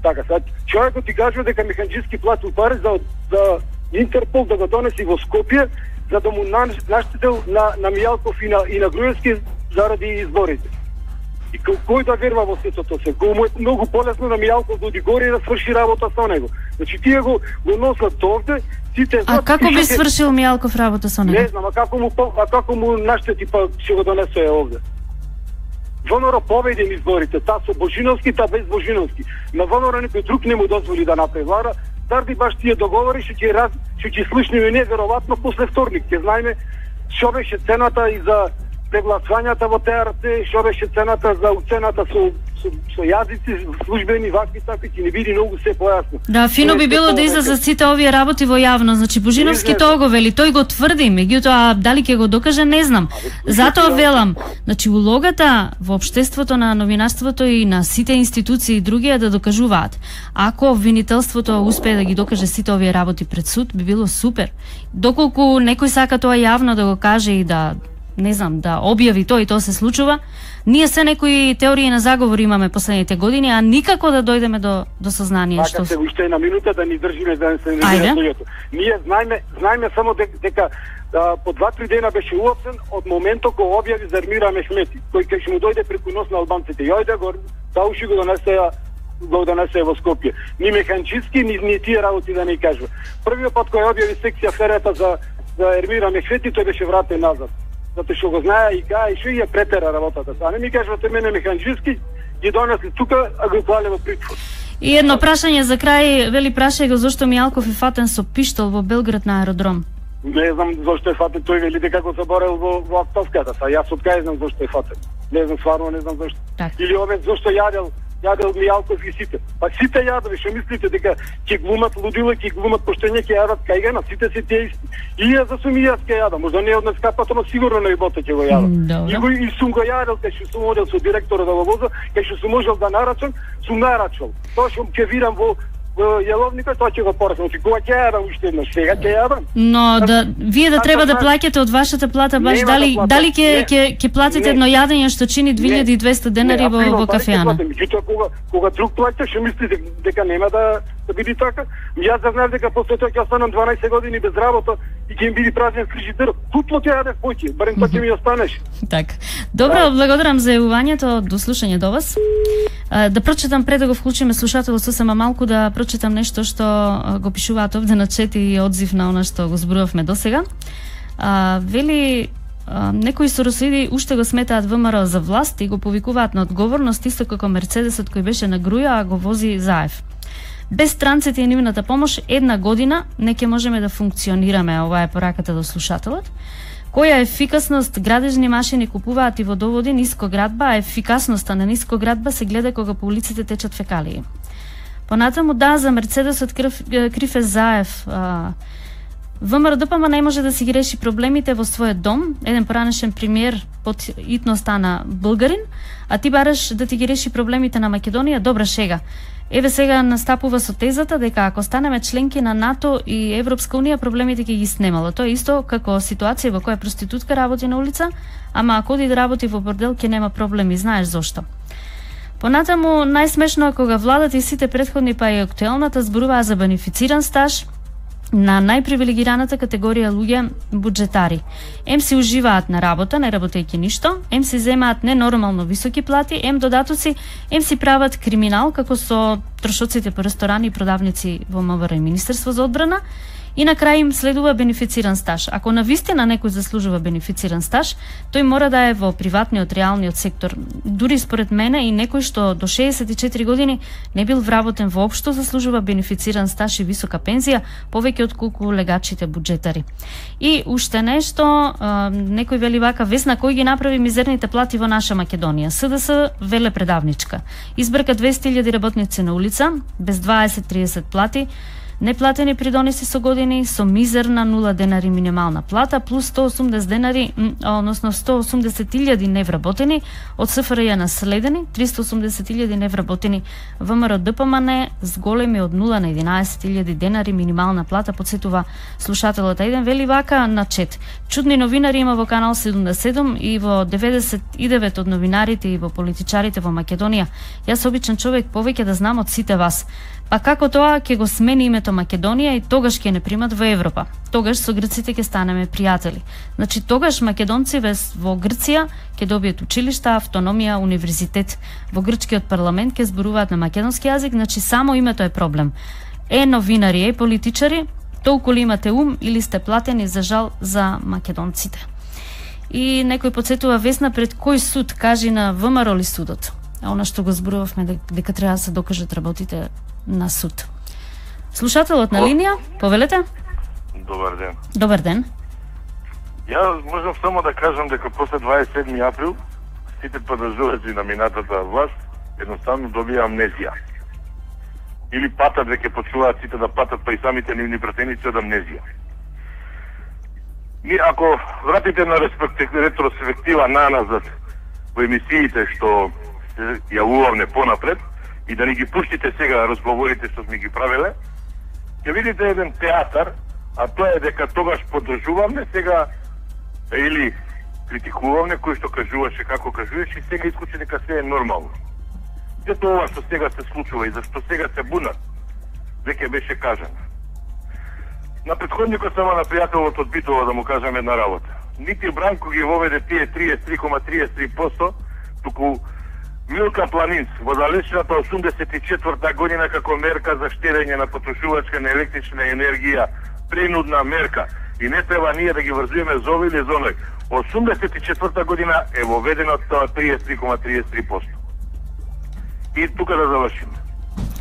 Speaker 9: Така, сад човекот ти кажува дека механџиски платил пари за за Интерпол да го донеси во Скопје за да му наштетил на на Мијалков и на и на Груевски заради изборите. И кој да верува во сето тоа се? Кој му е многу полесно на Мијалков да оди горе и да сврши работа со него. Значи тие го го носат овде, сите
Speaker 2: А како би свршил Мијалков работа со него?
Speaker 9: Не знам, а како му а како му наштети па ќе го донесе овде. ВНР победи на изборите, та со Божиновски, та без Божиновски. На ВНР некој друг не му дозволи да направи влада, заради баш тие договори што ќе раз што ќе слушнеме неверојатно после вторник. Ќе знаеме што беше цената и за прегласувањата во ТРЦ, што беше цената за уцената со со, со јазици службени вакви такви, ќе не биде многу се појасно.
Speaker 2: Да, фино би било да излезат сите овие работи во јавно. Значи Божиновски тоа го вели, тој го тврди, меѓутоа дали ќе го докаже не знам. Затоа велам, значи улогата во општеството на новинарството и на сите институции и други е да докажуваат. Ако обвинителството успее да ги докаже сите овие работи пред суд, би било супер. Доколку некој сака тоа јавно да го каже и да не знам, да објави тоа и тоа се случува. Ние се некои теории на заговор имаме последните години, а никако да дојдеме до до сознание
Speaker 9: што се уште една минута да ни држиме да не се не луѓето. Ние знаеме, знаеме само дека, дека да, по два-три дена беше уапсен од моментот кога објави за Ермира Мехмети, кој кај што му дојде преку нос на албанците. Јојде го тауши го донесе го донесе во Скопје. Ни механчиски, ни, ни тие работи да не кажува. Првиот пат кој објави секција ферета за за Ермира Мехмети, тој беше вратен назад. Затоа што го знае и кај што ја претера работата. А не ми кажувате мене механџиски, ги донесли тука, а го клале во притвор.
Speaker 2: И едно прашање за крај, вели прашај го зошто Мијалков е фатен со пиштол во Белград на аеродром.
Speaker 9: Не знам зошто е фатен, тој вели дека го заборел во во автовката, са јас од кај знам зошто е фатен. Не знам стварно, не знам зошто.
Speaker 2: Так.
Speaker 9: Или овој зошто јадел јадел Мијалков и сите. Па сите јадови, што мислите дека ќе глумат лудила, ќе глумат поштење, ќе јадат кај на сите се тие исти. И ја за сум и јас ќе јадам, можда не од нескапато, но сигурно на ибота ќе го јадам. И го и сум го јадел кај што сум одел со директорот да го воза, кај што сум можел да нарачам, сум нарачал. Тоа што ќе вирам во јеловникот, тоа ќе го порасам. Кога ќе јадам уште еднаш, сега ќе јадам.
Speaker 2: Но да вие да треба да плаќате од вашата плата баш дали дали ќе ќе ќе платите едно јадење што чини две илјади и двесте денари во во кафеана.
Speaker 9: Меѓутоа кога кога друг плаќа, што мислите дека нема да да биде така? Јас да знам дека после тоа ќе останам дванаесет години без работа и ќе ми биде празен фрижидер. Тупло ќе јадев поќе, барем тоа ќе ми останеш.
Speaker 2: Така. Добро, благодарам за јавувањето, до слушање до вас. Да прочитам пред да го вклучиме слушателот сосема малку да прочитам нешто што го пишуваат овде на чет и одзив на она што го зборувавме досега. А, вели а, некои соросоиди уште го сметаат ВМРО за власт и го повикуваат на одговорност исто како Мерцедесот кој беше на груја, а го вози Заев. Без странците и нивната помош една година не ќе можеме да функционираме, ова е пораката до слушателот. Која ефикасност градежни машини купуваат и водоводи нискоградба, а ефикасноста на нискоградба се гледа кога по улиците течат фекалии. Понатаму да, за Мерцедесот крив, крив е Заев. ВМРО Д П М не може да си ги реши проблемите во својот дом. Еден поранешен премиер под итно стана булгарин, а ти бараш да ти ги реши проблемите на Македонија, добра шега. Еве сега настапува со тезата дека ако станеме членки на НАТО и Европска унија, проблемите ќе ги снемало. Тоа е исто како ситуација во која проститутка работи на улица, ама ако оди да работи во бордел ќе нема проблеми, знаеш зошто. Понатаму, најсмешно е кога владата и сите претходни, па и актуелната, зборуваа за бенефициран стаж на најпривилегираната категорија луѓе, буџетари. Ем си уживаат на работа, не работејќи ништо, ем си земаат ненормално високи плати, ем додатоци, ем си прават криминал, како со трошоците по ресторани и продавници во МВР и Министерство за одбрана, и на крај им следува бенефициран стаж. Ако навистина некој заслужува бенефициран стаж, тој мора да е во приватниот, реалниот сектор. Дури според мене и некој што до шеесет и четири години не бил вработен воопшто заслужува бенефициран стаж и висока пензија, повеќе од колку легачите буџетари. И уште нешто, некој вели вака: Весна, кој ги направи мизерните плати во наша Македонија? СДС веле предавничка. Избрка двесте илјади работници на улица, без дваесет до триесет плати, неплатени придоноси со години, со мизерна нула денари минимална плата, плюс сто и осумдесет денари, односно сто и осумдесет илјади невработени, од СФРЈ наследени, триста и осумдесет илјади невработени, ВМРО ДПМН с големи од нула на единаесет илјади денари минимална плата, подсетува слушателот. Еден вели вака на чет: чудни новинари има во канал седумдесет и седум и во деветдесет и девет од новинарите и во политичарите во Македонија. Јас обичен човек повеќе да знам од сите вас. Па како тоа ќе го смени името Македонија и тогаш ќе не примат во Европа. Тогаш со грците ќе станеме пријатели. Значи тогаш македонци во Грција ќе добијат училишта, автономија, универзитет. Во грчкиот парламент ќе зборуваат на македонски јазик, значи само името е проблем. Е новинари, е политичари, толку ли имате ум или сте платени за жал за македонците? И некој подсетува: Весна, пред кој суд, кажи на ВМРО ли судот? А она што го зборувавме дека треба да се докажат работите на суд. Слушателот на линија, повелете?
Speaker 10: Добар ден.
Speaker 2: Добар ден.
Speaker 10: Ја можам само да кажам дека после дваесет и седми април сите подржувачи на минатата власт едноставно добија амнезија. Или патат, веќе почнуваат сите да патат, па и самите нивни пратеници од амнезија. Ми, ако вратите на ретроспектива наназад во емисиите што се јавувавме понапред, и да ни ги пуштите сега разговорите што сме ги правеле, ќе видите еден театар, а тоа е дека тогаш поддржувавме, сега или критикувавме кој што кажуваше како кажуваше, и сега исклучи дека се е нормално. Зато ова што сега се случува и зашто сега се бунат, веќе беше кажано. На претходникот само на пријателот од Битола да му кажам една работа. Нити Бранко ги воведе тие триесет и три zarez триесет и три проценти, туку Милка Планинц во далечната осумдесет и четврта година како мерка за штедење на потрошувачка на електрична енергија, принудна мерка, и не треба ние да ги врзуваме за овој или за оној. осумдесет и четврта година е воведено тоа триесет и три zarez триесет и три проценти. И тука да завршиме.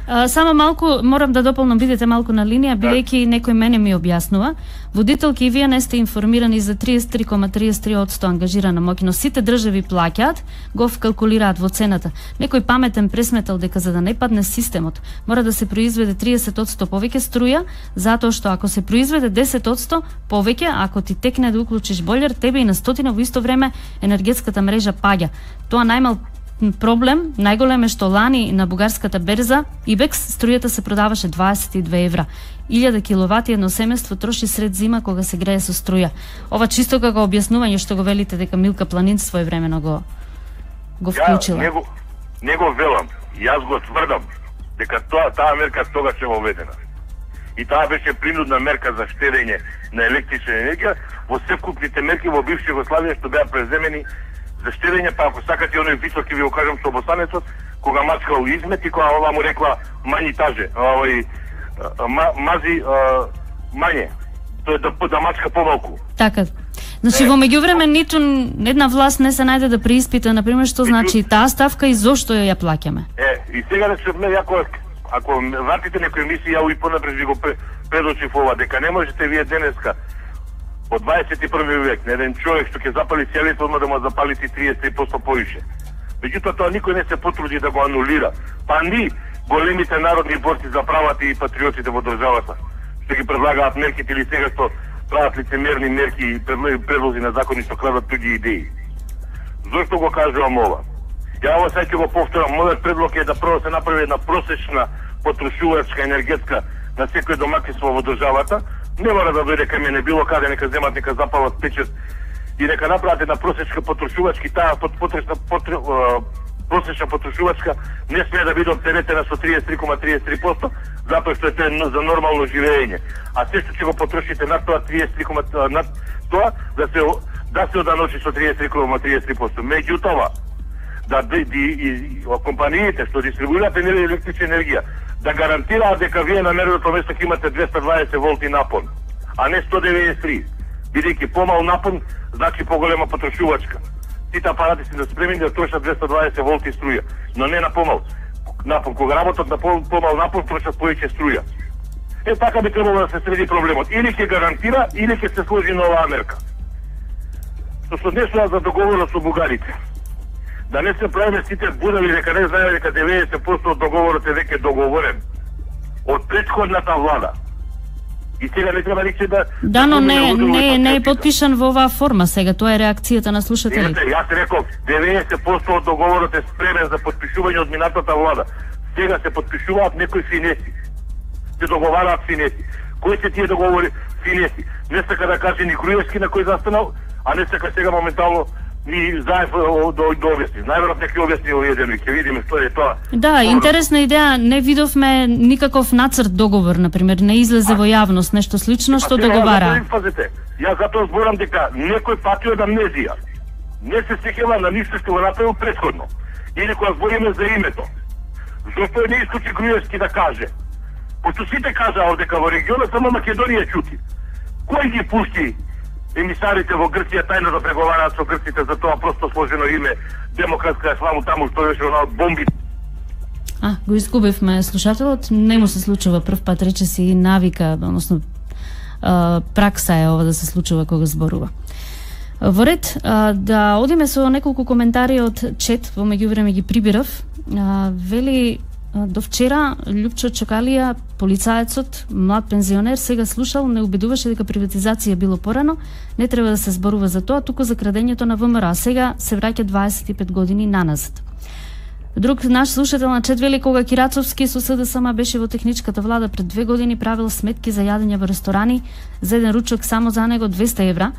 Speaker 2: А, само малку, морам да дополнам, бидете малку на линија, бидејќи некој мене ми објаснува. Водителки и вие не сте информирани за триесет и три zarez триесет и три проценти ангажирана моќ, сите држави плаќаат, го вкалкулираат во цената. Некој паметен пресметал дека за да не падне системот, мора да се произведе триесет проценти повеќе струја, затоа што ако се произведе десет проценти повеќе, ако ти текне да уклучиш бољер, тебе и на стотина во исто време енергетската мрежа паѓа. Тоа најмал проблем, најголем е што лани на бугарската берза Ибекс струјата се продаваше дваесет и две евра. илјада киловати едно семејство троши сред зима кога се грее со струја. Ова чисто како објаснување што го велите дека Милка Планинц своевремено го го вклучила.
Speaker 10: Ја него него велам, јас го тврдам дека тоа таа мерка тогаш е воведена. И таа беше принудна мерка за штедење на електрична енергија во севкупните мерки во бивша Југославија што беа преземени за штедење, па ако сакате оној висок, ви го кажам со обостанецот, кога мачкал измет и кога ова му рекла мањи таже, овој ма, мази а, мање, тоа да, да мачка помалку.
Speaker 2: Така. Значи е, во меѓувреме ниту една власт не се најде да преиспита, например, што значи таа ставка и зошто ја плаќаме.
Speaker 10: Е, и сега да се ме ако ако вратите некој емисија, ја и понапред ви го предочив ова, дека не можете вие денеска од дваесет и први век на еден човек што ќе запали сијалето, одма да му запалите триесет и три проценти повише. Меѓутоа тоа никој не се потруди да го анулира. Па ни големите народни борци за правата и патриотите во државата, што ги предлагаат мерките или сега што прават лицемерни мерки и предлози на закони што крадат туѓи идеи. Зошто го кажувам ова? Ја ово сега ќе го повторам, мојот предлог е да прво се направи една просечна потрошувачка енергетска на секој домакинство во државата. Не мора да дојде кај мене било каде, нека земат, нека запалат печет и нека направат една просечка потрошувачка, таа потресна просечна потрошувачка не смее да биде оптеретена со триесет и три zarez триесет и три проценти, затоа што е тоа за нормално живење. А се што ќе го потрошите над тоа триесет и три над тоа да се да се оданочи со триесет и три zarez триесет и три проценти. Меѓутоа, да ди, ди, и, компаниите што дистрибуираат електрична енергија да гарантираат дека вие на мерното место ќе имате двеста дваесет волти напон, а не сто деветдесет и три. Бидејќи помал напон значи поголема потрошувачка. Сите апарати се да спремени да трошат двеста дваесет волти струја, но не на помал напон. Кога работат на помал напон, трошат повеќе струја. Е, така би требало да се среди проблемот. Или ќе гарантира, или ќе се сложи нова мерка. Што се однесува за договорот со бугарите. Да не се правиме сите будали дека не знае дека деветдесет проценти од договорот е веќе договорен од претходната влада. И сега не треба никој да...
Speaker 2: Да, но не, не, не е подпишан во оваа форма сега, тоа е реакцијата на слушателите.
Speaker 10: Јас реков, деветдесет проценти од договорот е спремен за подпишување од минатата влада. Сега се подпишуваат некои финеси. Се договараат финеси. Кои се тие договори финеси? Не сака да каже ни Груевски на кој застанал, а не сака сега моментално ни заев до до објасни. Најверојатно ќе објасни овој еден и ќе видиме што е тоа.
Speaker 2: Да, интересна идеја, не видовме никаков нацрт договор, на пример, не излезе во јавност нешто слично што договара.
Speaker 10: Пазете, јас затоа зборам дека некој пати од амнезија. Не се сеќава на ништо што го направил претходно. Или кога збориме за името. Зошто не исклучи Груевски да каже? Пошто сите кажаа дека во регионот само Македонија чути. Кој ги пушти емисарите во Грција тајно да преговараат со грците за тоа просто сложено име демократска ислам таму што беше она од бомби?
Speaker 2: А, го изгубивме слушателот, не му се случува прв пат, рече си навика, односно пракса е ова да се случува кога зборува. Во ред, да одиме со неколку коментари од чет, во меѓувреме ги прибирав. Вели, до вчера Љупчо Чокалија, полицаецот, млад пензионер, сега слушал, не убедуваше дека приватизација било порано, не треба да се зборува за тоа, туку за крадењето на ВМРО, а сега се враќа дваесет и пет години наназад. Друг наш слушател на чет вели, кога Кирацовски со СДСМ беше во техничката влада пред две години, правил сметки за јадење во ресторани, за еден ручок само за него двеста евра.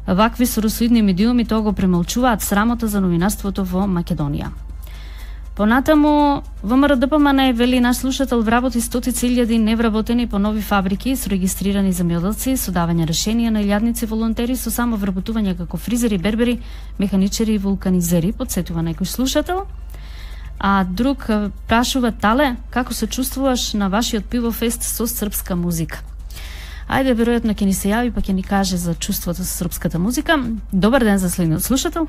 Speaker 2: Вакви соросоидни медиуми тоа го премолчуваат, срамота за новинарството во Македонија. Понатаму, ВМРО-ДПМН вели наш слушател вработи стотици илјади невработени по нови фабрики со регистрирани земјоделци, со давање решенија на илјадници волонтери со само вработување како фризери, бербери, механичари и вулканизери, подсетува некој слушател. А друг прашува, Тале, како се чувствуваш на вашиот пивофест со српска музика? Ајде, веројатно ќе ни се јави, па ќе ни каже за чувството со српската музика. Добар ден за следниот слушател.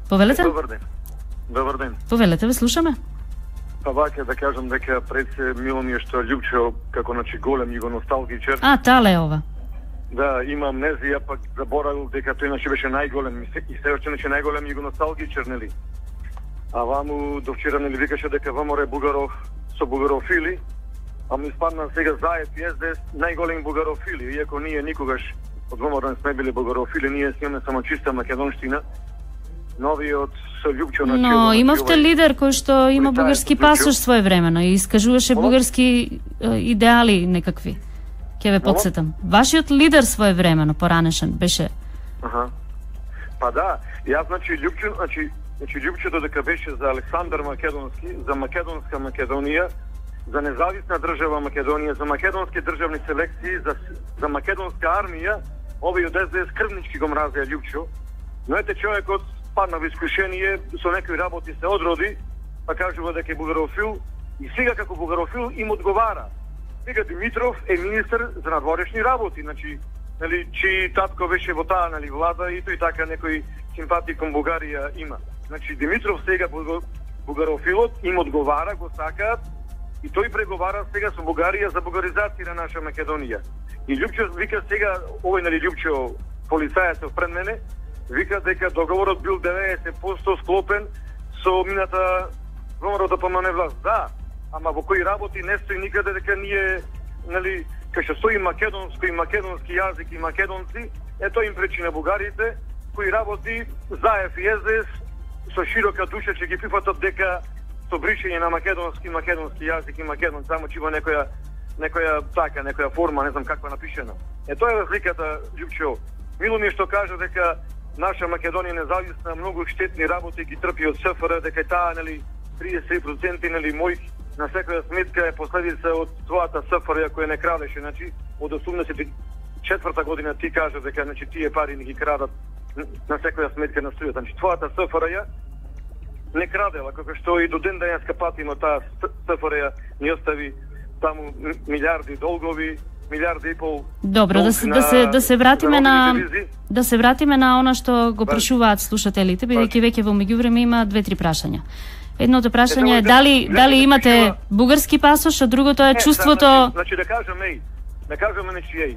Speaker 2: Повелете?
Speaker 11: Добар ден. Добар ден.
Speaker 2: Повелете, ве слушаме.
Speaker 11: Па ваќе да кажам дека пред се мило ми е што Љупчо како начи голем и го носталгичар.
Speaker 2: А, Тале ова.
Speaker 11: Да, има амнезија, пак заборавил дека тој начи беше најголем и се уште начи најголем и го носталгичар, нели? А ваму до вчера нели викаше дека ВМРО е бугаров со бугарофили, а ми спадна сега заед и ес де ес најголеми бугарофили, иако ние никогаш од ВМРО не сме били бугарофили, ние сме само чиста македонштина. Новиот со Љупчо на
Speaker 2: Но имавте лидер кој што има бугарски пасош своевремено и искажуваше бугарски идеали некакви. Ќе ве подсетам. Вашиот лидер своевремено поранешен беше.
Speaker 11: Аха. Па да, јас значи Љупчо, значи Значи, Љупчо додека беше за Александар Македонски, за македонска Македонија, за независна држава Македонија, за македонски државни селекции, за, за македонска армија, овој од ес де ес крвнички го мразеа Љупчо. Но ете човекот падна во искушение, со некои работи се одроди, па кажува дека е бугарофил, и сега како бугарофил им одговара. Сега Димитров е министер за надворешни работи, значи, нели, чи татко беше во таа, нели, влада и тој така некој симпатии кон Бугарија има. Значи Димитров сега бугарофилот им одговара, го сакаат и тој преговара сега со Бугарија за бугаризација на наша Македонија. И Љупчо вика сега, овој нели Љупчо полицајецот пред мене, вика дека договорот бил деветдесет проценти склопен со мината ВМРО-ДПМН власт. Да, ама во кои работи не стои никаде дека ние, нели, кај што стои македонско и македонски јазик и македонци, е тоа им пречи на бугарите, кои работи заев и ес де ес со широка душа ќе ги прифатат дека со бришење на македонски, македонски јазик и македон, само че има некоја некоја така, некоја форма, не знам каква напишена. Е, тоа е разликата, Љупчо. Мило ми е што кажа дека наша Македонија независна, многу штетни работи ги трпи од СФР, дека таа, нели, триесет проценти, нели, мој на секоја сметка е последица од твојата СФР која не крадеше, значи, од осумдесет и четврта година ти кажа дека, значи, тие пари не ги крадат на секоја сметка на струјата. Значи, твојата СФР не крадела, како што и до ден денеска патимо таа СФР ни остави таму милиарди долгови, милиарди и пол.
Speaker 2: Добро, да се да се да се вратиме на да се вратиме на она што го прашуваат слушателите, бидејќи веќе во меѓувреме има две-три прашања. Едното прашање е дали дали имате бугарски пасош, а другото е чувството.
Speaker 11: Значи да кажеме, да кажеме на чиј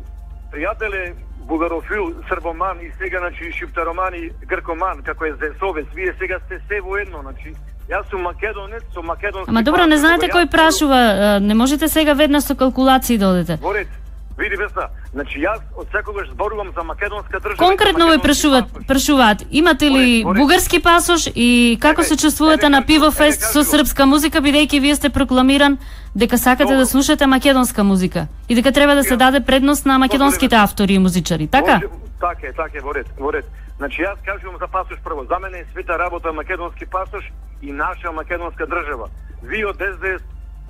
Speaker 11: пријателе бугарофил, србоман и сега, значи, шиптароман и гркоман, како е Зесовец, вие сега сте се воедно, значи, јас сум македонец, со македонски.
Speaker 2: Ама добро, не знаете кој прашува, не можете сега веднаш со калкулации да одите.
Speaker 11: Воред, види Весна, значи јас од секогаш зборувам за македонска држава.
Speaker 2: Конкретно ви прашуваат, прашуваат, имате ли бугарски пасош и како се чувствувате на пиво фест со српска музика, бидејќи вие сте прокламиран дека сакате да слушате македонска музика и дека треба да се даде предност на македонските автори и музичари, така?
Speaker 11: Така е, така е, воред, воред. Значи јас кажувам за пасош прво. За мене е света работа македонски пасош и наша македонска држава. Вие од Ес Де Ес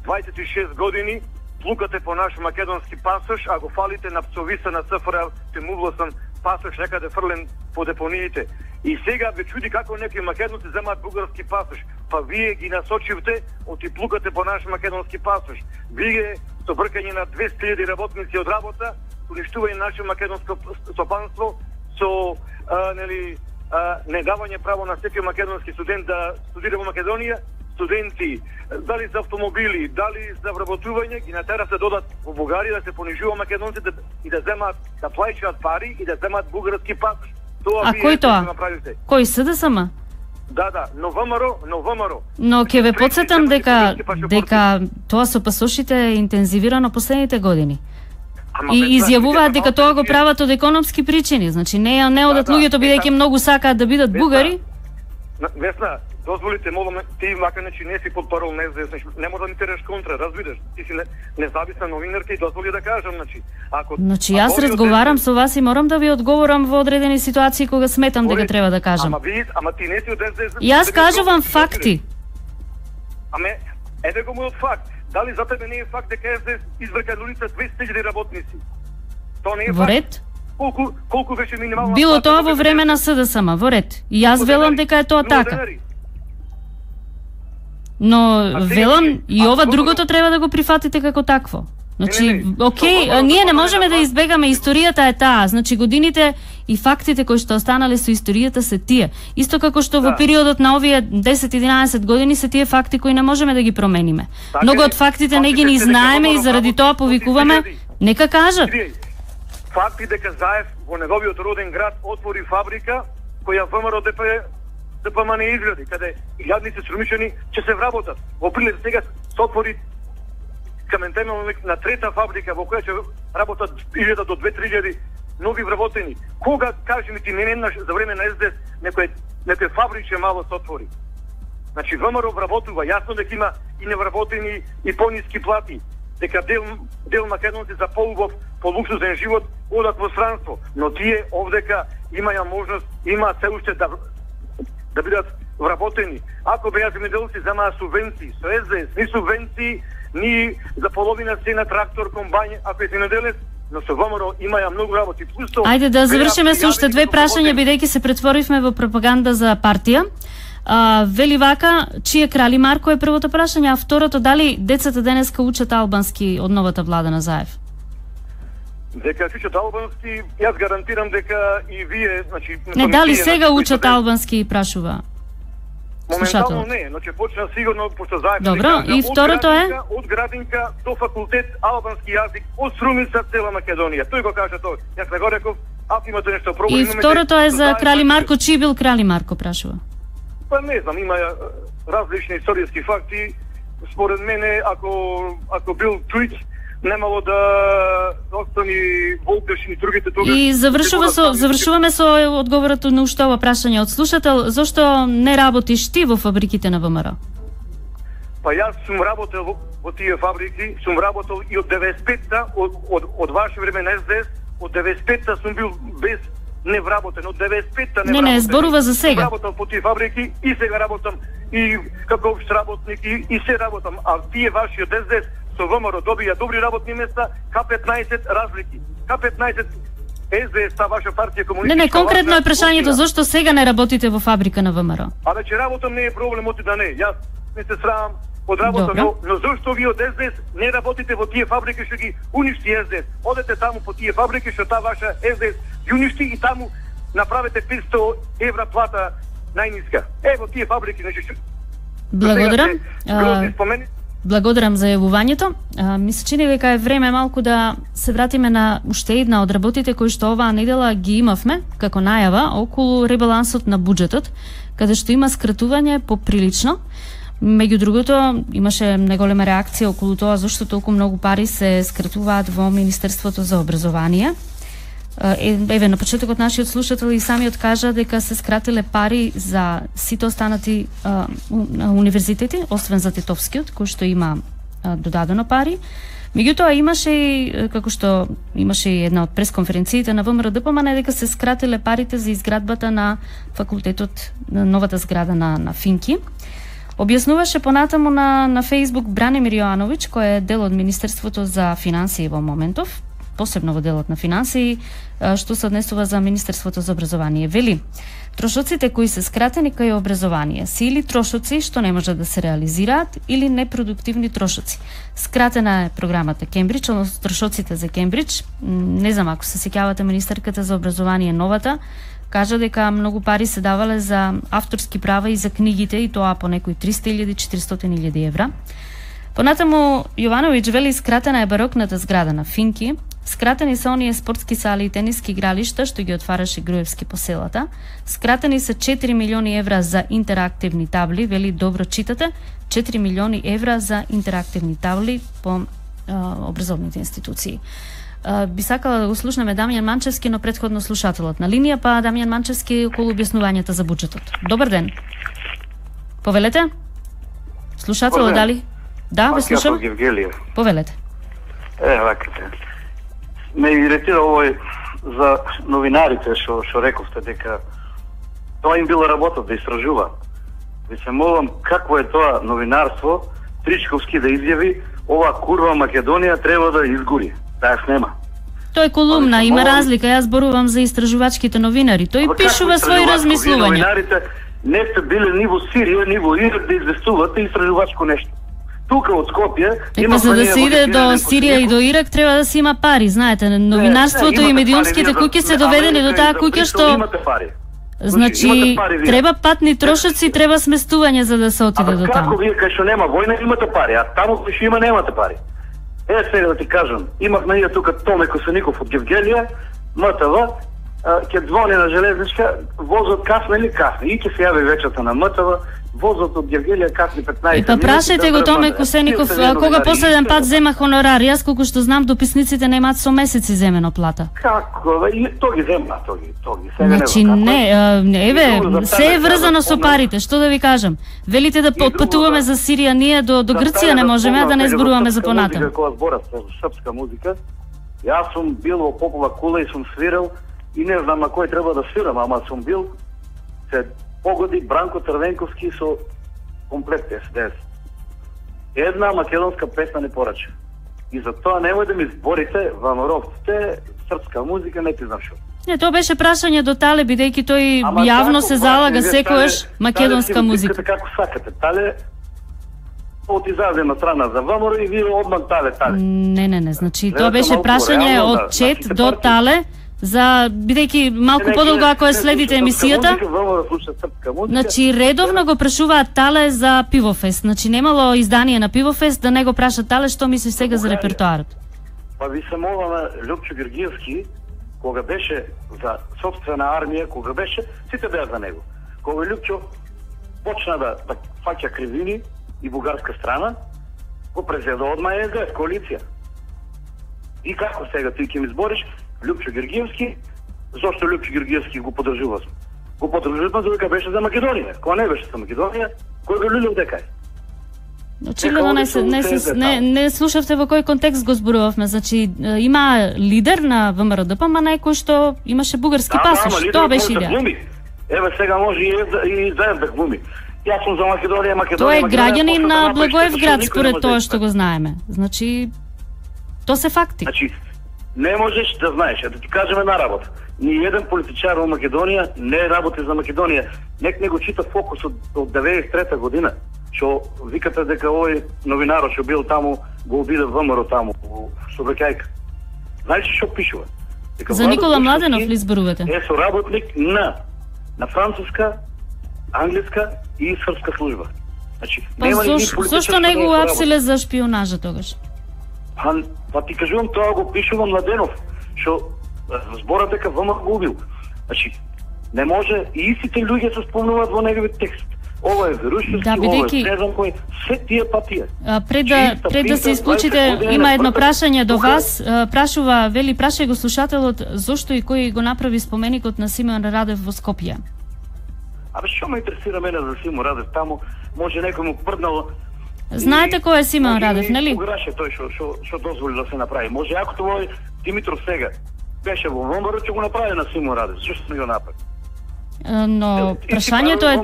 Speaker 11: двајсет и шест години плукате по наш македонски пасош, а го фалите на пцовиса на СФР, те мувласан пасош некаде фрлен по депониите. И сега ве чуди како некои македонци земаат бугарски пасош. Па вие ги насочивте, оти плукате по наш македонски пасош. Вие со бркање на двесте илјади работници од работа, уништување наше македонско стопанство, со а, нели, а, не давање право на секој македонски студент да студира во Македонија, студенти, дали за автомобили, дали за вработување, ги натера се додат во Бугарија да се понижува македонците и да земаат, да плаќаат пари и да земаат бугарски пасош. Тоа
Speaker 2: а кој тоа? Кој Се Де Ес Ем?
Speaker 11: Да, да, но ВМРО, но ВМРО.
Speaker 2: Но ќе ве потсетам дека дека тоа со пасошите е интензивирано последните години. И изјавуваат дека тоа го прават од економски причини, значи не не одат луѓето бидејќи многу сакаат да бидат бугари.
Speaker 11: Весна, дозволите, молам, ти макар че не си под парол не знаеш, не може да ми тереш контра, разбираш? Ти си независна новинарка и дозволи да кажам, значи, ако
Speaker 2: Значи јас разговарам со вас и морам да ви одговорам во одредени ситуации кога сметам дека треба да кажам.
Speaker 11: Ама ви, ама ти не си од Ес Де Ес.
Speaker 2: Јас кажувам факти.
Speaker 11: Аме, еве го мојот факт. Дали за тебе не е факт дека Ес Де Ес изврка на улица двесте илјади работници? Тоа не е
Speaker 2: во ред?
Speaker 11: Колку колку беше минимална?
Speaker 2: Било тоа во време на Се Де Ес Ем, во ред. И јас велам дека е тоа така. Но велам и ова другото треба да го прифатите како такво. Значи, окей, ние не можеме да избегаме, историјата е таа. Значи, годините и фактите кои што останале со историјата се тие. Исто како што во периодот на овие десет-единаесет години се тие факти кои не можеме да ги промениме. Многу од фактите не ги ни знаеме и заради тоа повикуваме, нека кажат.
Speaker 11: Факти дека Заев во неговиот роден град отвори фабрика која ВМРО Де Пе Де Пе Ем не изгради, каде илјадници срумичани ќе се вработат. Во Прилеп сега се отвори каментемел на трета фабрика во која ќе работат илјада до две-три илјади нови вработени. Кога, кажи ми ти, не еднаш за време на Ес Де Ес некој некој фабриче мало се отвори. Значи ВМРО вработува, јасно дека има и невработени и пониски плати, дека дел дел македонци за поубав, полуксузен живот одат во странство, но тие овдека имаја можност, имаат се уште да да бидат вработени. Ако беа земјоделци земаа субвенции, со Ес Де Ес ни субвенции, ни за половина цена трактор, комбајн, ако е земјоделец, но со ВМРО имаја многу работи. Плюс тоа.
Speaker 2: Ајде да завршиме со уште две прашања, бидејќи се претворивме во пропаганда за партија. А, вели вака, чие Крали Марко е првото прашање, а второто, дали децата денеска учат албански од новата влада на Заев?
Speaker 11: Дека учат албански, јас гарантирам дека и вие, значи...
Speaker 2: Не, дали сега учат албански, прашува
Speaker 11: моментално не, но ќе почна сигурно, пошто Заев...
Speaker 2: Добро, и второто е?
Speaker 11: Од градинка до факултет албански јазик, од Струмица цела Македонија. Тој го кажа тоа. Јас не го реков, ако имате нешто проблем...
Speaker 2: И второто е за Крали Марко, чиј бил Крали Марко, прашува?
Speaker 11: Па не знам, има различни историјски факти. Според мене, ако ако бил Тујч, немало да остани Волтеш и другите тогаш.
Speaker 2: И завршува со завршуваме со одговорот на уште ова прашање од слушател, зошто не работиш ти во фабриките на ВМРО?
Speaker 11: Па јас сум работел во, во тие фабрики, сум работел и од деветдесет и петта, од, од, од ваше време на Ес Де Ес, од деветдесет и петта сум бил без невработен, од деветдесет и петта невработен.
Speaker 2: Не, не, зборува за сега.
Speaker 11: Сум работел по тие фабрики и сега работам и како општ работник и, и се работам, а тие ваши од Ес Де Ес со ВМРО добија добри работни места, К петнаесет разлики. К петнаесет Ес Де Ес, та ваша партија комунистичка.
Speaker 2: Не, не, конкретно е прашањето зошто сега не работите во фабрика на ВМРО?
Speaker 11: А вече работам не е проблем оти да не. Јас не се срамам од работа, но, но зошто ви од Ес Де Ес не работите во тие фабрики што ги уништи Ес Де Ес? Одете таму по тие фабрики што та ваша Ес Де Ес ги уништи и таму направете петстотини евра плата најниска. Ево тие фабрики, значи.
Speaker 2: Благодарам. Благодарам за јавувањето. Ми се чини дека е време малку да се вратиме на уште една од работите кои што оваа недела ги имавме како најава околу ребалансот на буџетот, каде што има скратување поприлично. Меѓу другото, имаше неголема реакција околу тоа зашто толку многу пари се скратуваат во Министерството за образование. Еве, на почетокот нашиот слушател и самиот кажа дека се скратиле пари за сите останати а, универзитети, освен за Тетовскиот, кој што има а, додадено пари. Меѓутоа имаше и, како што имаше и една од пресконференциите на ВМРО ДПМН, дека се скратиле парите за изградбата на факултетот, на новата зграда на, на Финки. Објаснуваше понатаму на, на Фейсбук Бранимир Јовановиќ, кој е дел од Министерството за финансии во моментов, посебно во делот на финансии, што се однесува за Министерството за образование. Вели, трошоците кои се скратени кај образование се или трошоци што не може да се реализираат, или непродуктивни трошоци. Скратена е програмата Кембридж, односно трошоците за Кембридж. Не знам, ако се сеќавате, министерката за образование новата кажа дека многу пари се давале за авторски права и за книгите, и тоа по некои триста илјади, четиристотини илјади евра. Понатаму Јовановиќ вели скратена е барокната зграда на Финки, скратени се оние спортски сали и тениски игралишта што ги отвараше Груевски по селата, скратени се четири милиони евра за интерактивни табли, вели добро читате, четири милиони евра за интерактивни табли по а, образовните институции. А, би сакала да го слушнеме Дамјан Манчевски, но претходно слушателот на линија, па Дамјан Манчевски околу објаснувањата за буџетот. Добар ден. Повелете? Слушателот дали? Да, ве слушам. Повелете.
Speaker 7: Е, вакате. Ме иритира овој за новинарите што што рековте дека тоа им била работа да истражува. Ви се молам, какво е тоа новинарство, Тричковски да изјави ова курва Македонија треба да изгори. Таа снема.
Speaker 2: Тој е колумна, има молам... разлика, јас зборувам за истражувачките новинари. Тој пишува своји размислувања.
Speaker 7: Новинарите не сте биле ни во Сирија, ни во Ирак да известувате истражувачко нешто. Тука од Скопје
Speaker 2: има за да се иде до Сирија и до Ирак треба да се има пари, знаете, новинарството и медиумските куќи се доведени до таа куќа што значи треба патни трошоци, треба сместување за да се отиде до таму.
Speaker 7: Како вие кај што нема војна имате пари, а таму кај што има немате пари? Е, сега да ти кажам, имавме ние тука Томе Косаников од Гевгелија, МТВ, ќе звони на железничка, возот касна или касна, и ќе се јави вечерта на МТВ, возот од Гевгелија касни петнаесет.
Speaker 2: И па прашајте го Томе Косеников кога последен пат зема хонорар. Јас колку што знам дописниците немаат со месеци земено плата.
Speaker 7: Како? И тоа ги зема, тоа ги, тоа ги. Сега
Speaker 2: значи не, еве, се е врзано со парите, што да ви кажам. Велите да отпатуваме за Сирија, ние до до Грција не можеме, да не зборуваме за понатаму.
Speaker 7: Кога зборав српска музика, јас сум бил во Попова кула и сум свирал и не знам на кој треба да свирам, ама сум бил се погоди Бранко Црвенковски со комплект Ес Де Ес. Една македонска песна не порача. И за тоа немој да ми зборите ВМРО-вците, српска музика, не ти знам шо.
Speaker 2: Не, тоа беше прашање до Тале, бидејќи тој ама јавно се залага секојаш македонска тале, музика.
Speaker 7: Тале како сакате, Тале од изазема страна за ВМРО и вие одман Тале, Тале.
Speaker 2: Не, не, не, значи тоа беше прашање од Чет до Тале, за бидејќи малку подолго ако ја следите емисијата. Значи редовно го прашуваат Тале за Пивофест. Значи немало издание на Пивофест да не го праша Тале што мислиш сега за репертоарот.
Speaker 7: Па ви се молам Лјупчо Георгиевски, кога беше за сопствена армија, кога беше, сите беа за него. Кога Лјупчо почна да, да фаќа кривини и бугарска страна, го презеда одма Ес Де Ес коалиција. И како сега ти ќе ми збориш Лјупчо Георгиевски, зошто Лјупчо Георгиевски го поддржуваш? Го поддржуваш додека беше за Македонија. Кога не беше за Македонија, кој го люлил дека е?
Speaker 2: Очигледно не се не се не, не слушавте во кој контекст го зборувавме. Значи има лидер на ВМРО-ДП, ма некој што имаше бугарски
Speaker 7: да,
Speaker 2: пасош.
Speaker 7: Да,
Speaker 2: тоа беше идеја.
Speaker 7: Еве сега може и и заедно да глуми. Јас сум за Македонија, Македонија.
Speaker 2: Тоа е граѓанин на Благоевград според тоа што го знаеме. Значи тоа се факти.
Speaker 7: Значи не можеш да знаеш, да ти кажеме една работа. Ни еден политичар во Македонија не работи за Македонија. Нек не го чита Фокус од, од деветдесет и трета година, што викате дека овој новинар што бил таму го обиде ВМРО таму во Собекајка. Знаеш што пишува?
Speaker 2: Дека за Никола Младенов ли зборувате?
Speaker 7: Е соработник на на француска, англиска и српска служба. Значи,
Speaker 2: па нема заш, зашто не го апсиле за шпионажа тогаш?
Speaker 7: Па, па ти кажувам, тоа го пишува Младенов, што зборат дека ВМРО го убил. Значи, не може и истите луѓе се спомнуваат во неговиот текст. Ова е Верушевски,
Speaker 2: да, бидејќи...
Speaker 7: ова е не знам кој, се тие патија.
Speaker 2: А, пред да, пред да се исклучите, има едно прашање до вас. А, прашува, вели, прашај го слушателот, зошто и кој го направи споменикот на Симеон Радев во Скопје?
Speaker 7: Абе, што ме интересира мене за Симеон Радев? Таму може некој му прднало.
Speaker 2: Знаете кој е Симеон Радев, нели?
Speaker 7: Пограше тој што што што дозволи да се направи. Може ако тоа Димитров сега беше во ВМРО, ќе го направи на Симеон Радев. Зошто не го направи?
Speaker 2: Но прашањето е...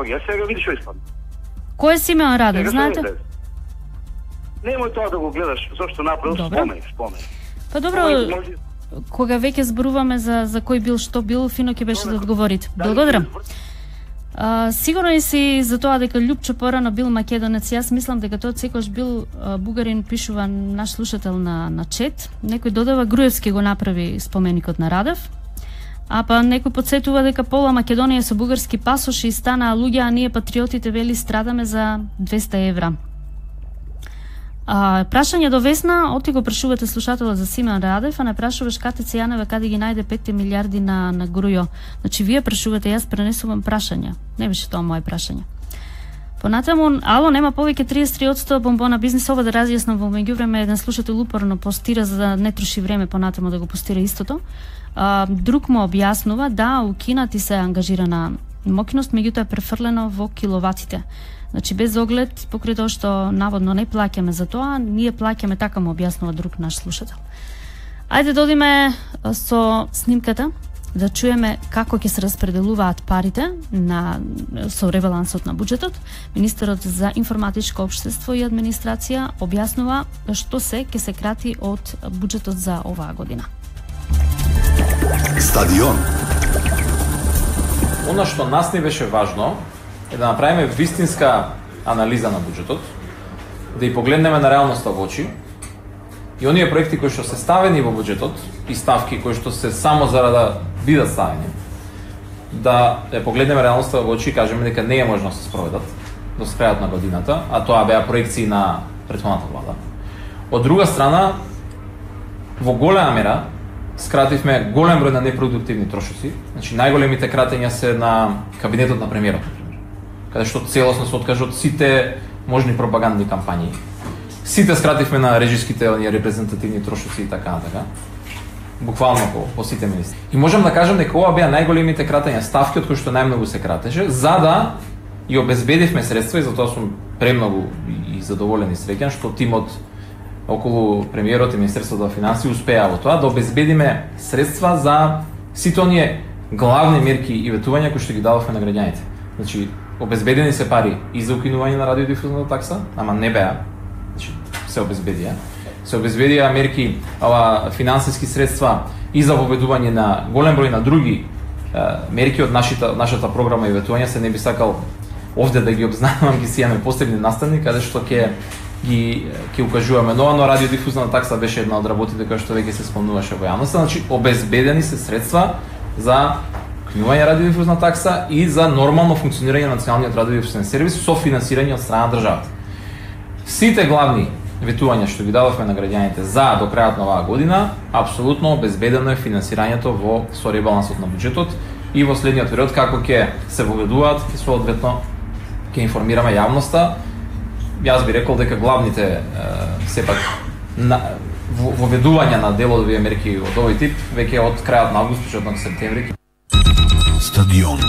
Speaker 7: Ја сега видиш што испадна.
Speaker 2: Кој е Симеон Радев, знаете?
Speaker 7: Немој тоа да го гледаш, зашто направил, спомени, спомени.
Speaker 2: Па добро, кога веќе зборуваме за, за кој бил, што бил, фино ќе беше да одговорите. Благодарам. А, сигурно и си за тоа дека Лјупчо порано бил македонец. Јас мислам дека тоа секојаш бил а, бугарин, пишува наш слушател на, на чет. Некој додава Груевски го направи споменикот на Радев. А па некој подсетува дека пола Македонија со бугарски пасош и станаа луѓе, а ние патриотите вели страдаме за двеста евра. А, прашање до Весна, оти го прашувате слушателот за Симеон Радев, а не прашуваш Кате Цијанова каде ги најде петте милиарди на, на Грујо. Значи, вие прашувате, јас пренесувам прашања. Не беше тоа моje прашање. Понатаму, ало, нема повеќе триесет и три одсто бомбона бизнес. Ова да разјаснам, во меѓувреме еден слушател упорно постира за да не троши време понатаму да го постира истото. А, друг му објаснува да у Кина ти се ангажирана мокност, меѓутоа е префрлено во киловатите. Значи без оглед покрај тоа што наводно не плаќаме за тоа, ние плаќаме, така му објаснува друг наш слушател. Ајде да одиме со снимката да чуеме како ќе се распределуваат парите на со ребалансот на буџетот. Министерот за информатичко општество и администрација објаснува што се ќе се крати од буџетот за оваа година.
Speaker 12: Стадион.
Speaker 13: Она што нас не беше важно е да направиме вистинска анализа на буџетот, да и погледнеме на реалноста во очи и оние проекти кои што се ставени во буџетот и ставки кои што се само зарада да бидат ставени, да ја погледнеме реалноста во очи и кажеме дека не е можно да се спроведат до крајот на годината, а тоа беа проекции на претходната влада. Од друга страна, во голема мера скративме голем број на непродуктивни трошоци. Значи најголемите кратења се на кабинетот на премиерот, каде што целосно се откажа од сите можни пропагандни кампањи. Сите скративме на режиските, оние репрезентативни трошоци и така натака. Буквално по, по сите министри. И можам да кажам дека ова беа најголемите кратења, ставки од кои што најмногу се кратеше, за да и обезбедивме средства, и затоа сум премногу и задоволен и среќен што тимот околу премиерот и Министерството за финансии успеа во тоа да обезбедиме средства за сите оние главни мерки и ветувања кои што ги дававме на граѓаните. Значи, обезбедени се пари и за укинување на радиодифузната такса, ама не беа, значи се обезбедија. Се обезбедија мерки, ова финансиски средства и за воведување на голем број на други е, мерки од нашата нашата програма и ветување. Се не би сакал овде да ги обзнанувам, ги сијаме посебни настани каде што ќе ги ќе укажуваме, но но радиодифузната такса беше една од работите која што веќе се спомнуваше во јавноста. Значи обезбедени се средства за укинување радиодифузна такса и за нормално функционирање на националниот радиодифузен сервис со финансирање од страна на државата. Сите главни ветувања што ги дадовме на граѓаните за до крајот на оваа година, апсолутно обезбедено е финансирањето во со ребалансот на буџетот и во следниот период како ќе се воведуваат и соодветно ќе информираме јавноста. Јас би рекол дека главните е, сепак на воведување на делови мерки од овој тип веќе од крајот на август, почетокот на септември.
Speaker 1: Стадион.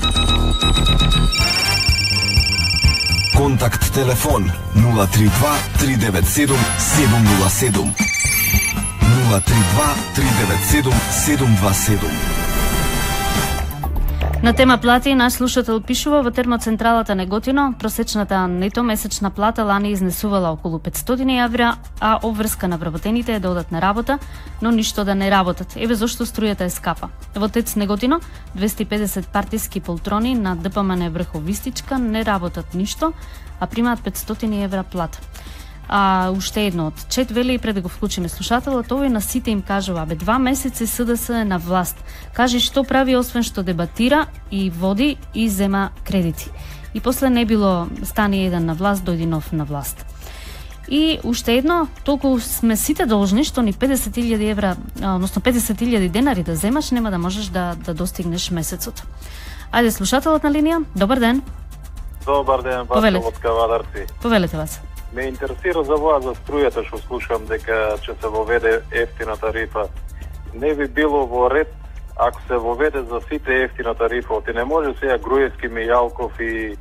Speaker 1: Контакт телефон нула три два три девет седум седум нула седум нула три два три девет седум седум два седум.
Speaker 2: На тема плати, наш слушател пишува: во термоцентралата Неготино просечната нето месечна плата лани изнесувала околу петстотини евра, а обврска на вработените е да одат на работа, но ништо да не работат. Еве зошто струјата е скапа. Во ТЕЦ Неготино двесте и педесет партиски полтрони на ДПМН Врховистичка не работат ништо, а примаат петстотини евра плата. А уште едно од чет вели, пред да го вклучиме слушателот, овој на сите им кажува: бе, два месеци СДС е на власт. Кажи што прави освен што дебатира и води и зема кредити. И после не било стани еден на власт, дојди нов на власт. И уште едно, толку сме сите должни што ни педесет илјади евра, односно педесет илјади денари да земаш, нема да можеш да да достигнеш месецот. Ајде, слушателот на линија, добар ден.
Speaker 12: Добар ден, Васил од Кавадарци.
Speaker 2: Повелете вас.
Speaker 12: Ме интересира за вас за струјата, што слушам дека ќе се воведе ефтина тарифа. Не би било во ред ако се воведе за сите ефтина тарифа. Оти не може сега Груевски, Мијалков и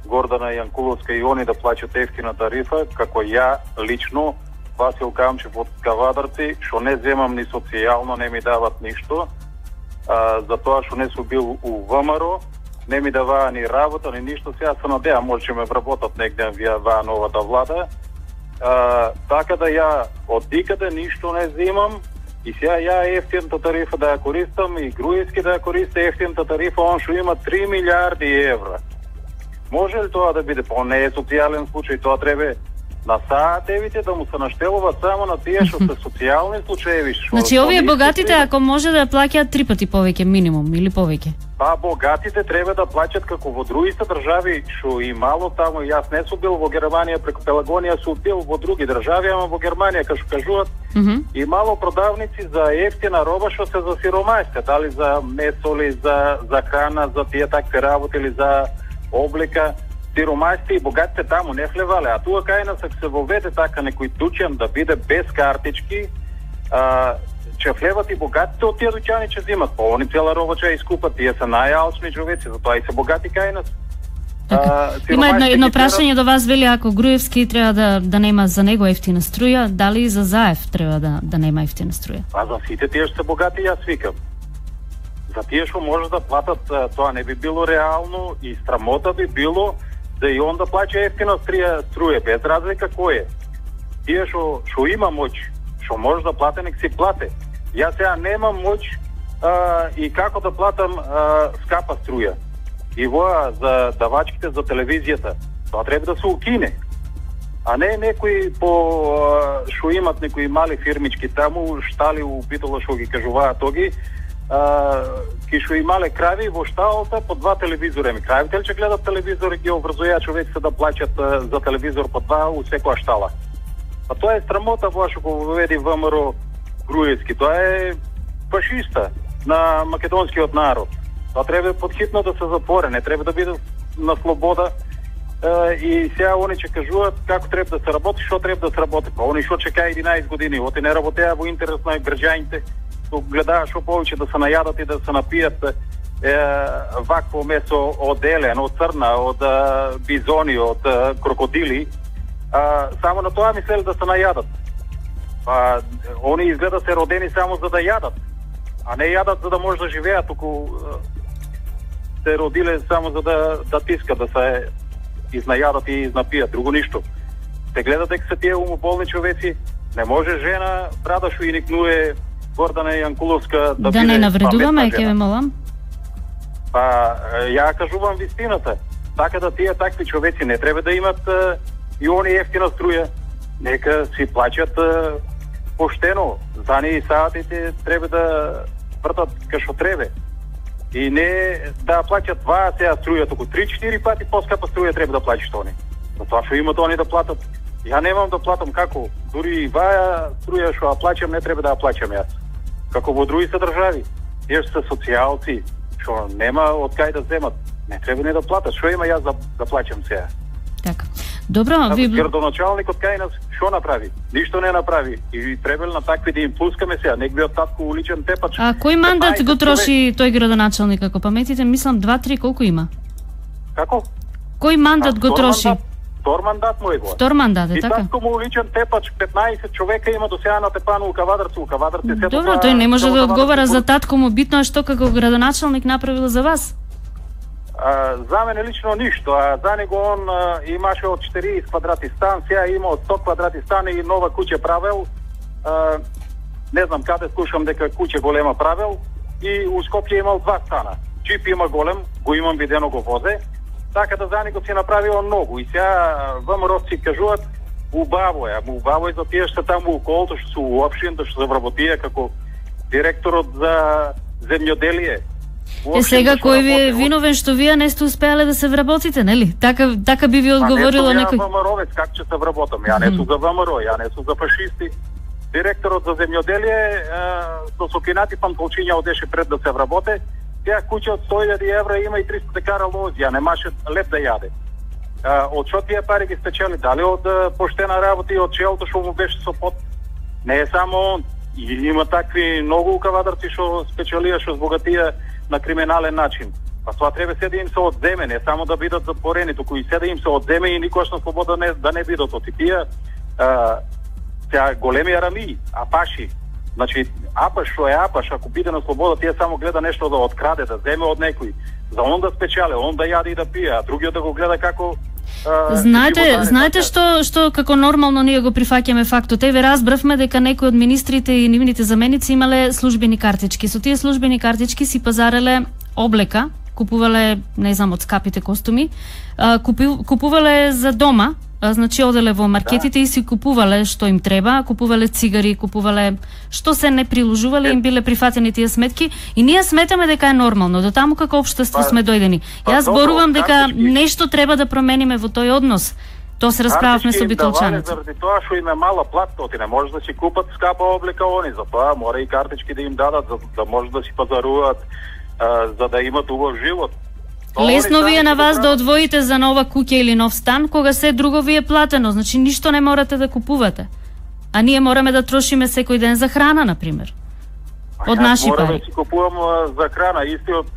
Speaker 12: Гордана Јанкуловска и они да плаќат ефтина тарифа, како ја лично, Васил Камчев од Кавадарци, што не земам ни социјално, не ми дават ништо, а, за тоа што не сум бил у ВМРО, не ми даваа ни работа, ни ништо. Сега се надеам, може ќе ме вработат негде ваа новата влада. А, така да ја од никаде ништо не земам и сега ја ефтината тарифа да ја користам и Груевски да ја користи ефтината тарифа, он што има три милиарди евра. Може ли тоа да биде? По не е социјален случај, тоа треба на саатевите да му се наштелуваат само на тие што се социјални случаеви.
Speaker 2: Значи овие богатите ако може да плаќаат три пати повеќе минимум или повеќе.
Speaker 12: Па богатите треба да плаќат како во другите држави, што и мало таму. Јас не сум бил во Германија преку Пелагонија, сум бил во други држави, ама во Германија кај што кажуваат mm -hmm. и мало продавници за ефтина роба што се за сиромајска, дали за месо или за за храна, за тие такви работи или за облека. Сиромајците и богатите таму не влевале, а тука кај нас се воведе така некој дуќан да биде без картички, а, че влеват и богатите од тие дуќани че земат, па они цела роба ќе искупат, тие се најалчни човеци, затоа и се богати кај нас.
Speaker 2: А, има едно, едно прашање до вас, вели, ако Груевски треба да да нема за него ефтина струја, дали и за Заев треба да да нема ефтина струја?
Speaker 12: А за сите тие што се богати, јас викам. За тие што може да платат, тоа не би било реално и срамота би било да и он да плаќа ефтина струја, струја без разлика кој е. Тие што што има моќ, што може да плате, нек си плате. Јас сега немам моќ а, и како да платам а, скапа струја. И воа за давачките за телевизијата, тоа треба да се укине. А не некои по што имат некои мали фирмички таму, штали у Битола што ги кажуваат тоги, ки што имале крави во шталата по два телевизора. Ми кравите ли ќе гледат телевизор и ги образуја човек се да плаќат за телевизор по два у секоја штала? Па тоа е срамота во што го воведи ВМРО Груевски. Тоа е фашиста на македонскиот народ. Тоа треба подхитно да се запоре, не треба да биде на слобода. И сега они ќе кажуваат како треба да се работи, што треба да се работи. Па они што чека единаесет години, оти не работеа во интерес на граѓаните, гледаа што повеќе да се најадат и да се напијат е, вакво месо од елен, од црна, од а, бизони, од а, крокодили. А, само на тоа мислели да се најадат. Па они изгледа се родени само за да јадат, а не јадат за да може да живеат, туку се родиле само за да да тискат, да се изнајадат и изнапијат, друго ништо. Се гледа дека се тие умоболни човеци, не може жена брада што и никнуе Гордана Јанкуловска да,
Speaker 2: да не навредуваме, ќе ве молам.
Speaker 12: Па ја кажувам вистината. Така да тие такви човеци не треба да имат а, и они ефтина струја. Нека си плаќат а, поштено. За ни саатите треба да вртат кај што треба. И не да плаќат два сега струја, туку три-четири пати поскапа струја треба да плаќаш они. Затоа што имат они да платат. Ја немам да платам како. Дури и ваа струја што ја плаќам не треба да ја плаќам јас. Како во други се држави. Тие што се социјалци, што нема од кај да земат, не треба не да платат. Што има јас да, да плаќам сега?
Speaker 2: Така. Добро, ви
Speaker 12: градоначалникот кај нас што направи? Ништо не направи. И требало на такви да им пускаме сега, нек би од татко уличен тепач.
Speaker 2: А кој мандат го троши тој градоначалник, ако паметите, мислам два-три, колку има?
Speaker 12: Како?
Speaker 2: Кој мандат го троши?
Speaker 12: Мандат, втор мандат му е го.
Speaker 2: Втор мандат, е
Speaker 12: и
Speaker 2: така?
Speaker 12: И татко му уличен тепач, петнаесет човека има до сега на тепану у Кавадарци, у Кавадарци се.
Speaker 2: Добро, тој не може да одговара за татко му, битно е што како градоначалник направил за вас.
Speaker 12: А, за мене лично ништо, а за него он а, имаше од четириесет квадрати стан, сега има од сто квадрати стан и нова куќа правел. А, не знам каде слушам дека куќа голема правел и у Скопје имал два стана. Джип има голем, го имам видено го возе, така да за него си направил многу. И сега ВМРО си кажуваат убаво е, ама убаво е за тие што таму околото, што се уопштината, што се вработија како директорот за земјоделие.
Speaker 2: Е сега кој ви е виновен што вие не сте успеале да се вработите, нели? Така така би ви одговорило некој.
Speaker 12: Па не сум ја ВМРО-вец, как ќе се вработам? Ја не сум за ВМРО, ја не сум за фашисти. Директорот за земјоделие со сокинати пантолчиња одеше пред да се вработе. Тя куќа од сто илјади евра има и триста декара лози, а не маше леп да јаде. Од што тие пари ги спечели? Дали од поштена работа и од челото што му беше со пот? Не е само он. И има такви многу кавадарци што спечелија, што збогатија на криминален начин. Па тоа треба се да им се одземе, не само да бидат затворени, туку и се да им се одземе и никош на слобода не, да не бидат отипија. Сега големи арамии, апаши. Значи, апаш што е апаш, ако биде на слобода, тие само гледа нешто да откраде, да земе од некој. За он да спечеле, он да јаде и да пие, а другиот да го гледа како Uh,
Speaker 2: знаете, знаете што што како нормално ние го прифаќаме фактот. Еве разбравме дека некои од министрите и нивните заменици имале службени картички. Со тие службени картички си пазареле облека, купувале, не знам, од скапите костуми, купувале за дома, значи оделе во маркетите да. И си купувале што им треба, купувале цигари, купувале што се не приложувале, им биле прифатени тие сметки и ние сметаме дека е нормално. До таму како општество па, сме дојдени. Па, Јас зборувам дека картички... нешто треба да промениме во тој однос. Тоа се расправавме со битолчаните.
Speaker 12: Заради тоа што им е мала платка, оти не може да си купат скапа облека они, затоа мора и картички да им дадат за да може да си пазаруваат, за да имат убав живот.
Speaker 2: Лесно ви е на вас да одвоите за нова куќа или нов стан, кога се друго ви е платено, значи ништо не морате да купувате. А ние мораме да трошиме секој ден за храна, например. Од наши пари.
Speaker 12: Морам да си купувам за храна, истиот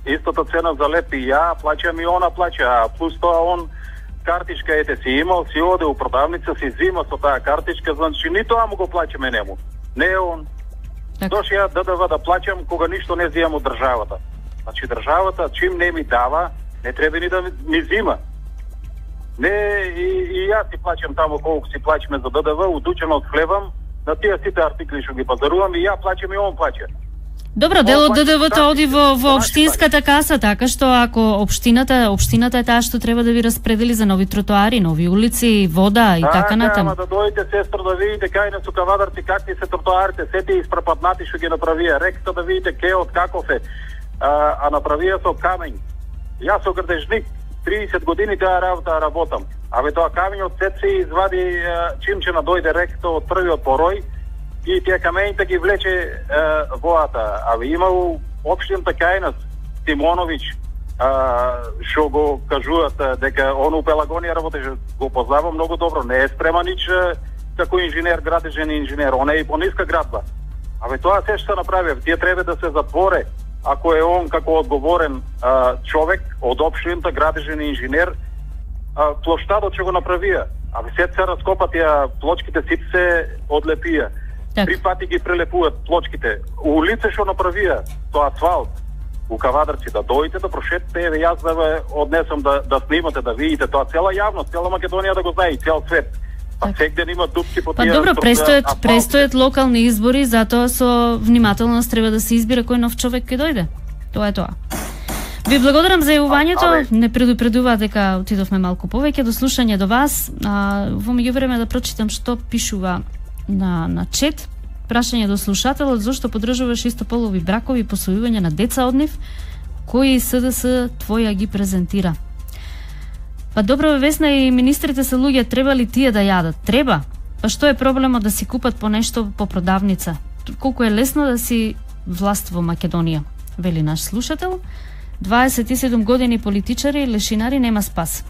Speaker 12: истата цена за леп и ја плаќам и она плаќа, а плюс тоа он картичка ете си имал, си оде у продавница, си зима со таа картичка, значи ни тоа му го плаќаме нему. Не е он. Дош ја ДДВ да плаќам кога ништо не зијам од државата. Значи државата чим не ми дава, не треба ни да ми зима. Не и, и јас си плаќам таму колку си плаќаме за ДДВ, удучено од хлебам, на тие сите артикли што ги пазарувам и ја плаќам и он плаќа.
Speaker 2: Добро, дел од ДДВ-то оди во, во општинската каса, така што ако општината, општината е таа што треба да ви распредели за нови тротоари, нови улици, вода и така натаму.
Speaker 12: Да, да дојдете сестро да видите кај на Кавадарци какви се тротоарите, сите испрападнати што ги направија, реката да видите кеот каков е. А, а направија со камењ. Јас со грдежник триесет години таа работа работам. Абе тоа камењот сет се извади чим че надојде реката од првиот порој и тие камењите ги влече е, воата. Абе имал општината кај нас Тимоновиќ што го кажуваат дека он у Пелагонија работеше, го познавам многу добро, не е спреман нич како инженер, градежен инженер, он е и по ниска градба. Абе тоа се што направи, тие треба да се затворе. Ако е он како одговорен а, човек од општината, градежен инженер, а, плоштадот што го направија. А се се раскопа тие плочките, сите се одлепија. Так. Три пати ги прелепуваат плочките. Улице што направија, тоа асфалт, у Кавадарци да дојдете да прошетите, еве јас да ве однесам да, да снимате, да видите тоа, цела јавност, цела Македонија да го знае и цел свет. Па секде има дупки по тие.
Speaker 2: Па добро, престојат, престојат локални избори, затоа со внимателност треба да се избира кој нов човек ќе дојде. Тоа е тоа. Ви благодарам за јавувањето. Не предупредува дека отидовме малку повеќе до слушање до вас. А, во меѓувреме да прочитам што пишува на на чет. Прашање до слушателот: зошто поддржуваш истополови бракови и посвојување на деца од нив, кои СДС твоја ги презентира? Па добро, Весна, и министрите се луѓе, треба ли тие да јадат? Треба. Па што е проблемот да си купат по нешто по продавница? Колку е лесно да си власт во Македонија, вели наш слушател. дваесет и седум години политичари, лешинари, нема спас.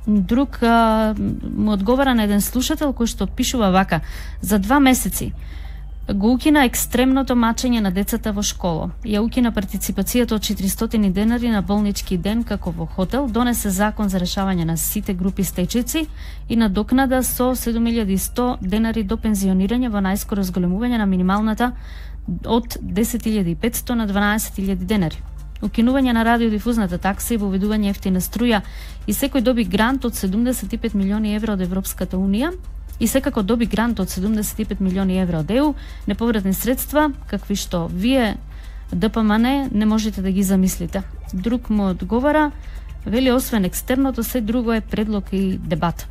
Speaker 2: Друг а, му одговара на еден слушател кој што пишува вака: за два месеци го укина екстремното мачење на децата во школа. Ја укина партиципацијата од четиристотини денари на болнички ден како во хотел, донесе закон за решавање на сите групи стечајци и надокнада со седум илјади и сто денари до пензионирање во најскоро зголемување на минималната од десет илјади и петсто на дванаесет илјади денари. Укинување на радиодифузната такса и воведување ефтина струја и секој доби грант од седумдесет и пет милиони евра од Европската унија и секако доби грант од седумдесет и пет милиони евра од Е У, неповратни средства, какви што вие Д П М Н не можете да ги замислите. Друг му одговара, вели освен екстерното, се друго е предлог и дебат.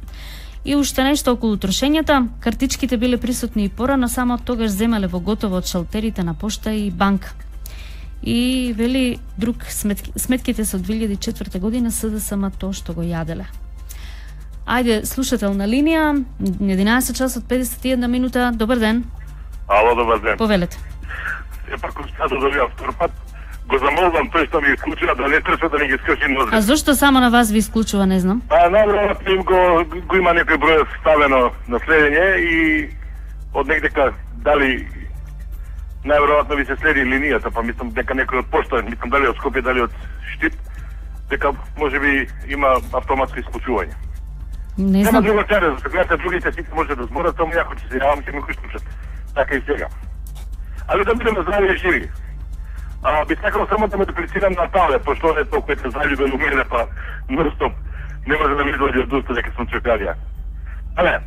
Speaker 2: И уште нешто околу трошењата, картичките биле присутни и порано, само од тогаш земале во готово од шалтерите на пошта и банка. И вели друг сметки, сметките се од две илјади и четврта година С Д С М тоа што го јаделе. Ајде, слушател на линија, единаесет часот педесет и една минута, добар ден.
Speaker 10: Ало, добар ден.
Speaker 2: Повелете.
Speaker 10: Епа, кој да добијам втор пат, го замолвам тој што ми исклучува да не трча да не ги скрши нозе.
Speaker 2: А зошто само на вас ви исклучува, не знам?
Speaker 10: Па, најверојатно им го, го има некој број ставено на следење и од негдека дали најверојатно ви се следи линијата, па мислам дека некој од пошта, мислам дали од Скопје, дали од Штип, дека можеби има автоматско исклучување.
Speaker 2: Не знам.
Speaker 10: Нема друга цена, за којата другите сите може да зборат, само јако ќе се јавам, ќе ми го исклучат. Така и сега. Али да бидеме здрави и живи. А, би сакал само да ме реплицирам на Тале, пошто не толку е заљубен у мене, па нон-стоп не може да ми излаѓа од уста дека сум чекарија. Але,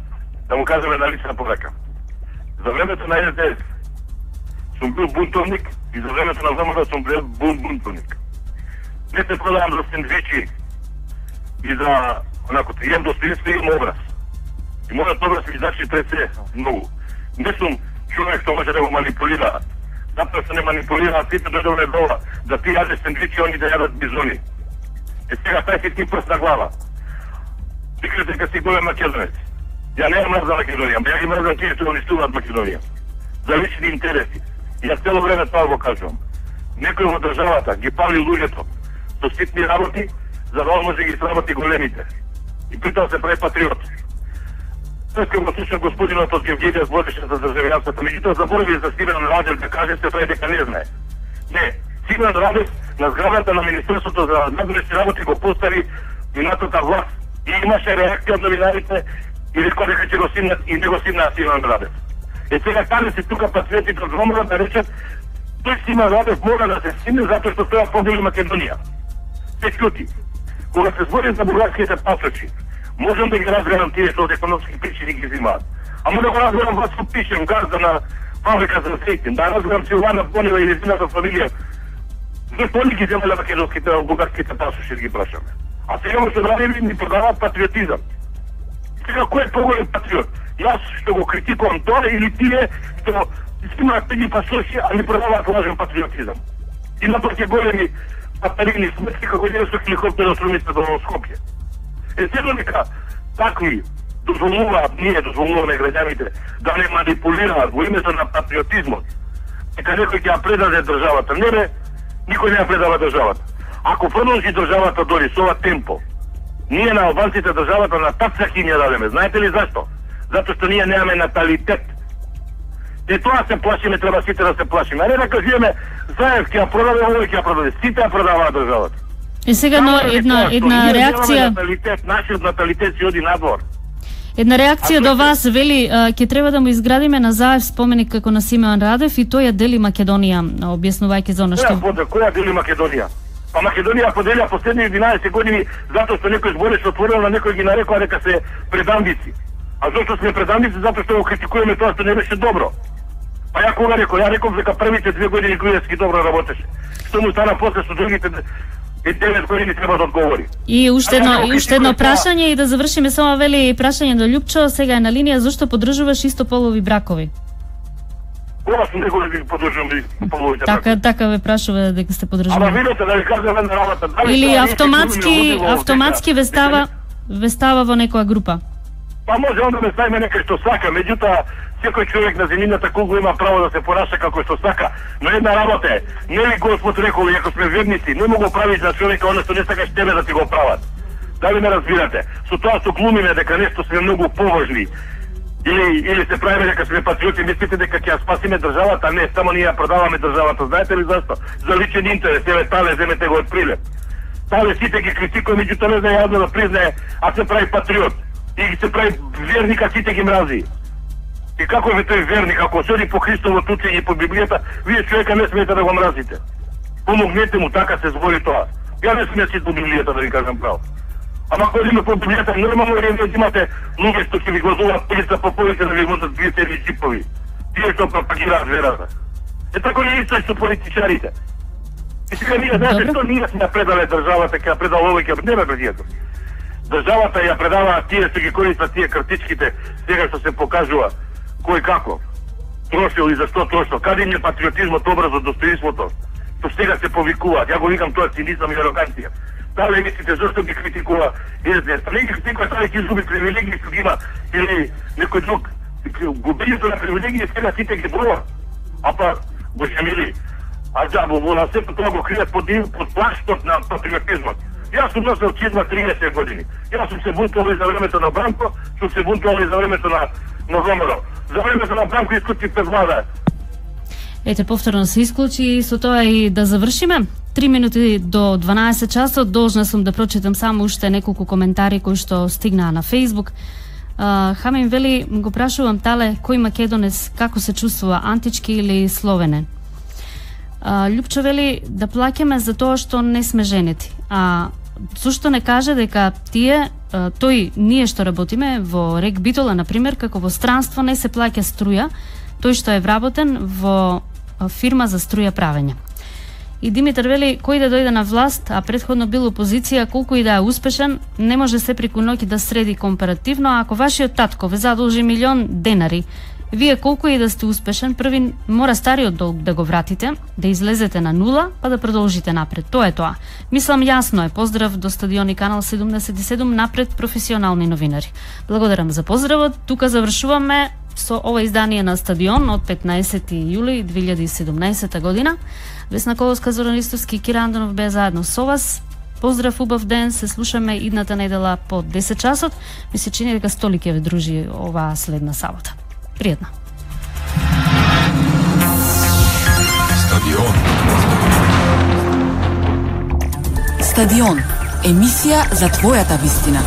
Speaker 10: да му кажеме на лична повека. За времето на С Д С сум бил бунтовник и за времето на В М Р сум бил бун бунтовник. Не се продавам за сендвичи и за онако, имам достоинство и имам образ. И мојот образ ми значи пред се многу. Не сум човек што може да го манипулира. Затоа што не манипулира, сите дојдовме дола да ти јадеш сендвичи, они да јадат бизони. Е сега тај си ти прст на глава. Викаш дека си голем македонец. Ја не мрзам Македонија, ја ги мрзам тие што унистуваат Македонија. За лични интереси. И ја цело време тоа го кажувам. Некој во државата ги пали луѓето со ситни работи, за да може да ги сработи големите. И при тоа се прави патриот. Тој го слушам господинот од Гевгелија збореше за државјанството, меѓутоа заборави за Стивен Радев да каже се тој дека не знае. Не, Стивен Радев на зградата на Министерството за надворешни работи го постави минатата власт и имаше реакција од новинарите и рекоа дека ќе го симнат и не го симнаа Стивен Радев. Е сега каде се тука патриотите од ВМРО да речат тој Стивен Радев мора да се симне затоа што тоа подели Македонија. Се ќути. Кога се збори за бугарските пасочи, можам да ги разгледам тие што од економски причини ги взимаат. Ама да го разгледам вас што пишем, газда на фабрика за Сейтин, да разгледам Силвана Бонева и незината фамилија. Зашто они ги земале македонските, бугарските пасоши да ги прашаме? А сега му се прави ни продаваат патриотизам. Сега кој е поголем патриот? Јас што го критикувам тоа или тие што снимаат тези пасоши, а ни продаваат лажен патриотизам? И напротив големи патарини сметки како еден со хеликоптер од Струмица до Скопје. Е седно дека такви дозволуваат, ние дозволуваме граѓаните да не манипулираат во името на патриотизмот. Дека некој ќе ја предаде државата. Не бе, никој не ја предава државата. Ако продолжи државата дори со ова темпо, ние на албанците државата на тацак ќе ни ја дадеме. Знаете ли зашто? Затоа што ние немаме наталитет. Е тоа се плашиме, треба сите да се плашиме. А не да кажеме, Заев ќе ја продаде, овој ќе ја продаде. Сите ја продаваат државата.
Speaker 2: И сега но една една реакција.
Speaker 10: Наталитет, нашиот наталитет си оди надвор.
Speaker 2: Една реакција до вас вели ќе треба да му изградиме на Заев споменик како на Симеон Радев и тој ја дели Македонија, објаснувајќи за она што.
Speaker 10: Која, која дели Македонија? Па Македонија поделија последни единаесет години затоа што некој збореше отворено, на некој ги нарекоа дека се предамбици. А зошто сме предамбици? Затоа што го критикуваме тоа што не беше добро. Па ја кога рекол, ја реков дека првите две години Груевски добро работеше. Што му стана после со другите и девет години треба да одговори.
Speaker 2: И уште едно, и уште едно прашање и да завршиме само вели прашање до Љупчо, сега е на линија, зошто поддржуваш истополови бракови?
Speaker 10: Кога сум некој да ги поддржувам истополовите бракови?
Speaker 2: Така, така ве прашува дека сте поддржували.
Speaker 10: Ама видете да ви кажам една работа.
Speaker 2: Или автоматски, автоматски ве става, ве става во некоја група?
Speaker 10: Па може он да ме ставиме некој што сака, меѓутоа секој човек на земјината кугла има право да се понаша како што сака, но една работа е, нели Господ рекол, ако сме верници, не му го правиш на човека оно што не сакаш тебе да ти го прават. Дали ме разбирате? Со тоа што глумиме дека нешто сме многу поважни или или се правиме дека сме патриоти, мислите дека ќе ја спасиме државата? Не, само ние ја продаваме државата. Знаете ли зашто? За личен интерес. Еве Тале, земете го од Прилеп. Тале сите ги критикува, меѓутоа не знае јавно да признае, а се прави патриот. И се прави верник, а сите ги мрази. И како е тој верник, ако соди по Христово учење и по Библијата, вие човека не смете да го мразите. Помогнете му, така се збори тоа. Ја не сме си по Библијата, да ви кажам право. Ама ако има по Библијата, нормално е да имате луѓе што ќе ви гласуваат полица по полица да ви возат две серни чипови. Тие што пропагираат верата. Е тако не исто што политичарите. И сега ние, знаете, што ние сме предале државата, ќе ја предал овој, ќе не ме пријател. Државата ја предава тие што ги користат тие картичките, сега што се покажува кој како трошил и зашто трошил. Каде им е патриотизмот, образот, достоинството? Што сега се повикуваат. Ја го викам тоа цинизам и ароганција. Дали мислите зашто ги критикува ес-де-ес? Не ги критикува, сега ќе изгуби привилегии што ги има или некој друг. Губењето на привилегии сега сите ги броа. А па, боже мили, а џабо во на сето тоа го кријат под, под плаштот на патриотизмот. Јас сум носел чизма триесет години. Јас сум се бунтувал и за времето на Бранко, сум се бунтувал и за времето на на ВМРО. За времето на Бранко исклучи пред влада.
Speaker 2: Ете, повторно се исклучи и со тоа и да завршиме. Три минути до дванаесет часот, должна сум да прочитам само уште неколку коментари кои што стигнаа на Facebook. Uh, Хамин вели, го прашувам Тале, кој македонец како се чувствува, антички или словенен? Uh, Љупчо вели да плаќаме за тоа што не сме женети. А зошто не каже дека тие, uh, тој ние што работиме во Рек Битола, например, како во странство не се плаќа струја, тој што е вработен во фирма за струја правење. И Димитар вели, кој да дојде на власт, а предходно бил опозиција, колку и да е успешен, не може се преку ноќ да среди компаративно, а ако вашиот татко ве задолжи милион денари, вие колку и да сте успешен, први мора стариот долг да го вратите, да излезете на нула, па да продолжите напред. Тоа е тоа. Мислам јасно е. Поздрав до стадион и канал седумдесет и седум, напред професионални новинари. Благодарам за поздравот. Тука завршуваме со ова издание на Стадион од петнаесети јули две илјади и седумнаесета година. Весна Коловска, Зоран Ристовски и Кира Андонов беа заедно со вас. Поздрав, убав ден, се слушаме идната недела по десет часот. Ми се чини дека Столи ќе ве дружи оваа следна сабота. Пријатно.
Speaker 1: Стадион.
Speaker 14: Стадион. Емисија за твојата вистина.